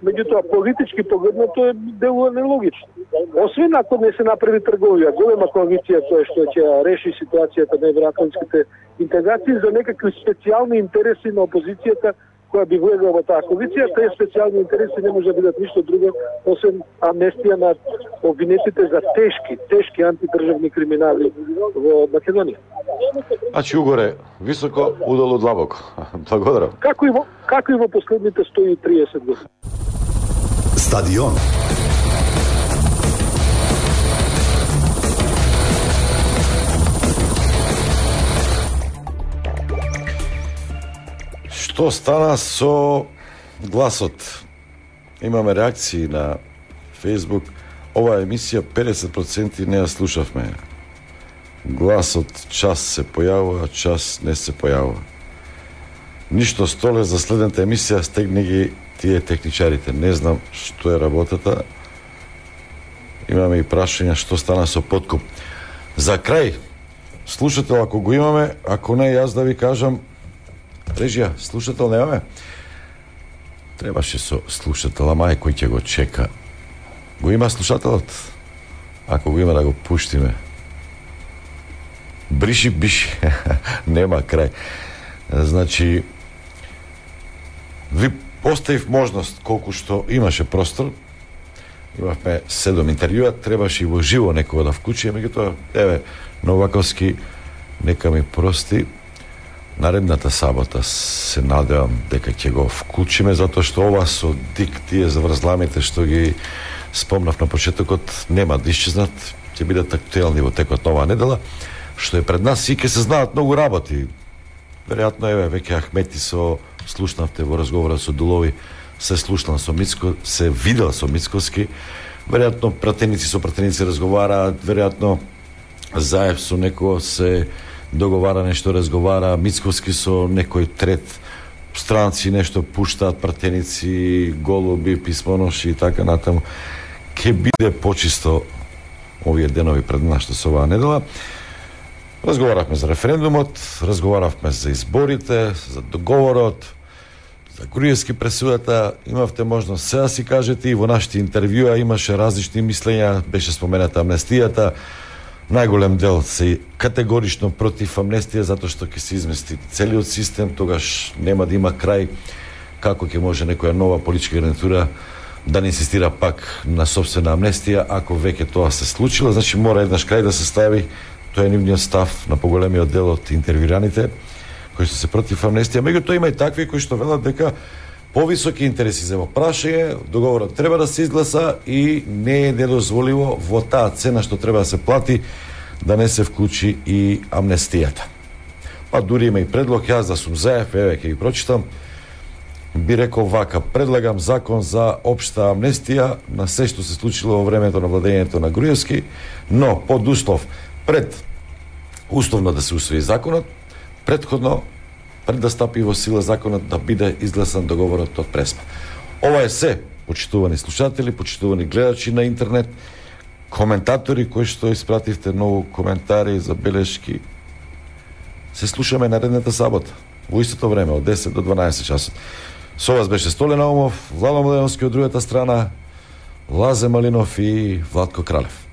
меѓутоа политички погледнато е делува нелогично. Освен ако не се направи трговија, голема коалиција која што ќе реши ситуацијата на евроатлантските интеграции за некакви специјални интереси на опозицијата која би влегла во таа коалиција, тие специјални интереси не може да бидат ништо друго освен амнестија на обвинетите за тешки, тешки антидржавни криминали во Македонија. Значи угоре високо, удолу длабоко. Благодарам. Како и во, како и во последните сто и триесет години. Стадион. Што стана со гласот? Имаме реакции на Facebook. Оваа емисија педесет проценти не ја слушавме. Гласот час се појавува, час не се појавува. Ништо столе за следната емисија, стегни ги тие техничарите. Не знам што е работата. Имаме и прашања што стана со подкуп. За крај, слушател ако го имаме, ако не јас да ви кажам, режија, слушател немаме? Требаше со слушател, ама е кој ќе го чека. Го има слушателот? Ако го има да го пуштиме. Бриши, биши. Нема крај. Значи, ви поставив можност колку што имаше простор. Имавме седум интервјуа, требаше и во живо некого да вклучи, меѓутоа, еве, Новаковски, нека ми прости. Наредната сабота се надевам дека ќе го вклучиме, затоа што ова со дик тие заврзламите што ги спомнав на почетокот нема да исчезнат, ќе бидат актуелни во текот на оваа недела, што е пред нас и ќе се знаат многу работи. Веројатно еве веќе Ахмети со слушнавте во разговорот со Дулови, се слушнал со Мицко, се видел со Мицковски, веројатно пратеници со пратеници разговараат, веројатно Заев со некој се договара нешто, разговара, Мицковски со некој трет, странци нешто пуштаат, пратеници, голуби, писмоноши и така натаму. Ке биде почисто овие денови пред нас што се оваа недела. Разговаравме за референдумот, разговаравме за изборите, за договорот, за Груевски пресудата. Имавте можност се да си кажете и во нашите интервјуа имаше различни мислења, беше спомената амнестијата. Најголем дел се категорично против амнестија затоа што ќе се измести целиот систем, тогаш нема да има крај. Како ќе може некоја нова политичка гарнитура да не инсистира пак на собствена амнестија, ако веќе тоа се случило, значи мора еднаш крај да се стави. Тоа е нивниот став на поголемиот дел од интервјуираните кои што се против амнестија. Меѓутоа има и такви кои што велат дека повисоки интереси за во прашање, договорот треба да се изгласа и не е недозволиво во таа цена што треба да се плати да не се вклучи и амнестијата. Па дури има и предлог, јас да сум Заев, еве ќе ги прочитам, би рекол вака: предлагам закон за општа амнестија на се што се случило во времето на владењето на Груевски, но под услов пред условно да се усвои законот, претходно пред да стапи во сила законот да биде изгласан договорот од Преспа. Ова е се, почитувани слушатели, почитувани гледачи на интернет, коментатори кои што испративте многу коментари, забелешки. Се слушаме наредната сабота, во истото време, од десет до дванаесет часот. Со вас беше Столе Наумов, Владо Младеновски од другата страна. Лазе Малинов и Владко Кралев.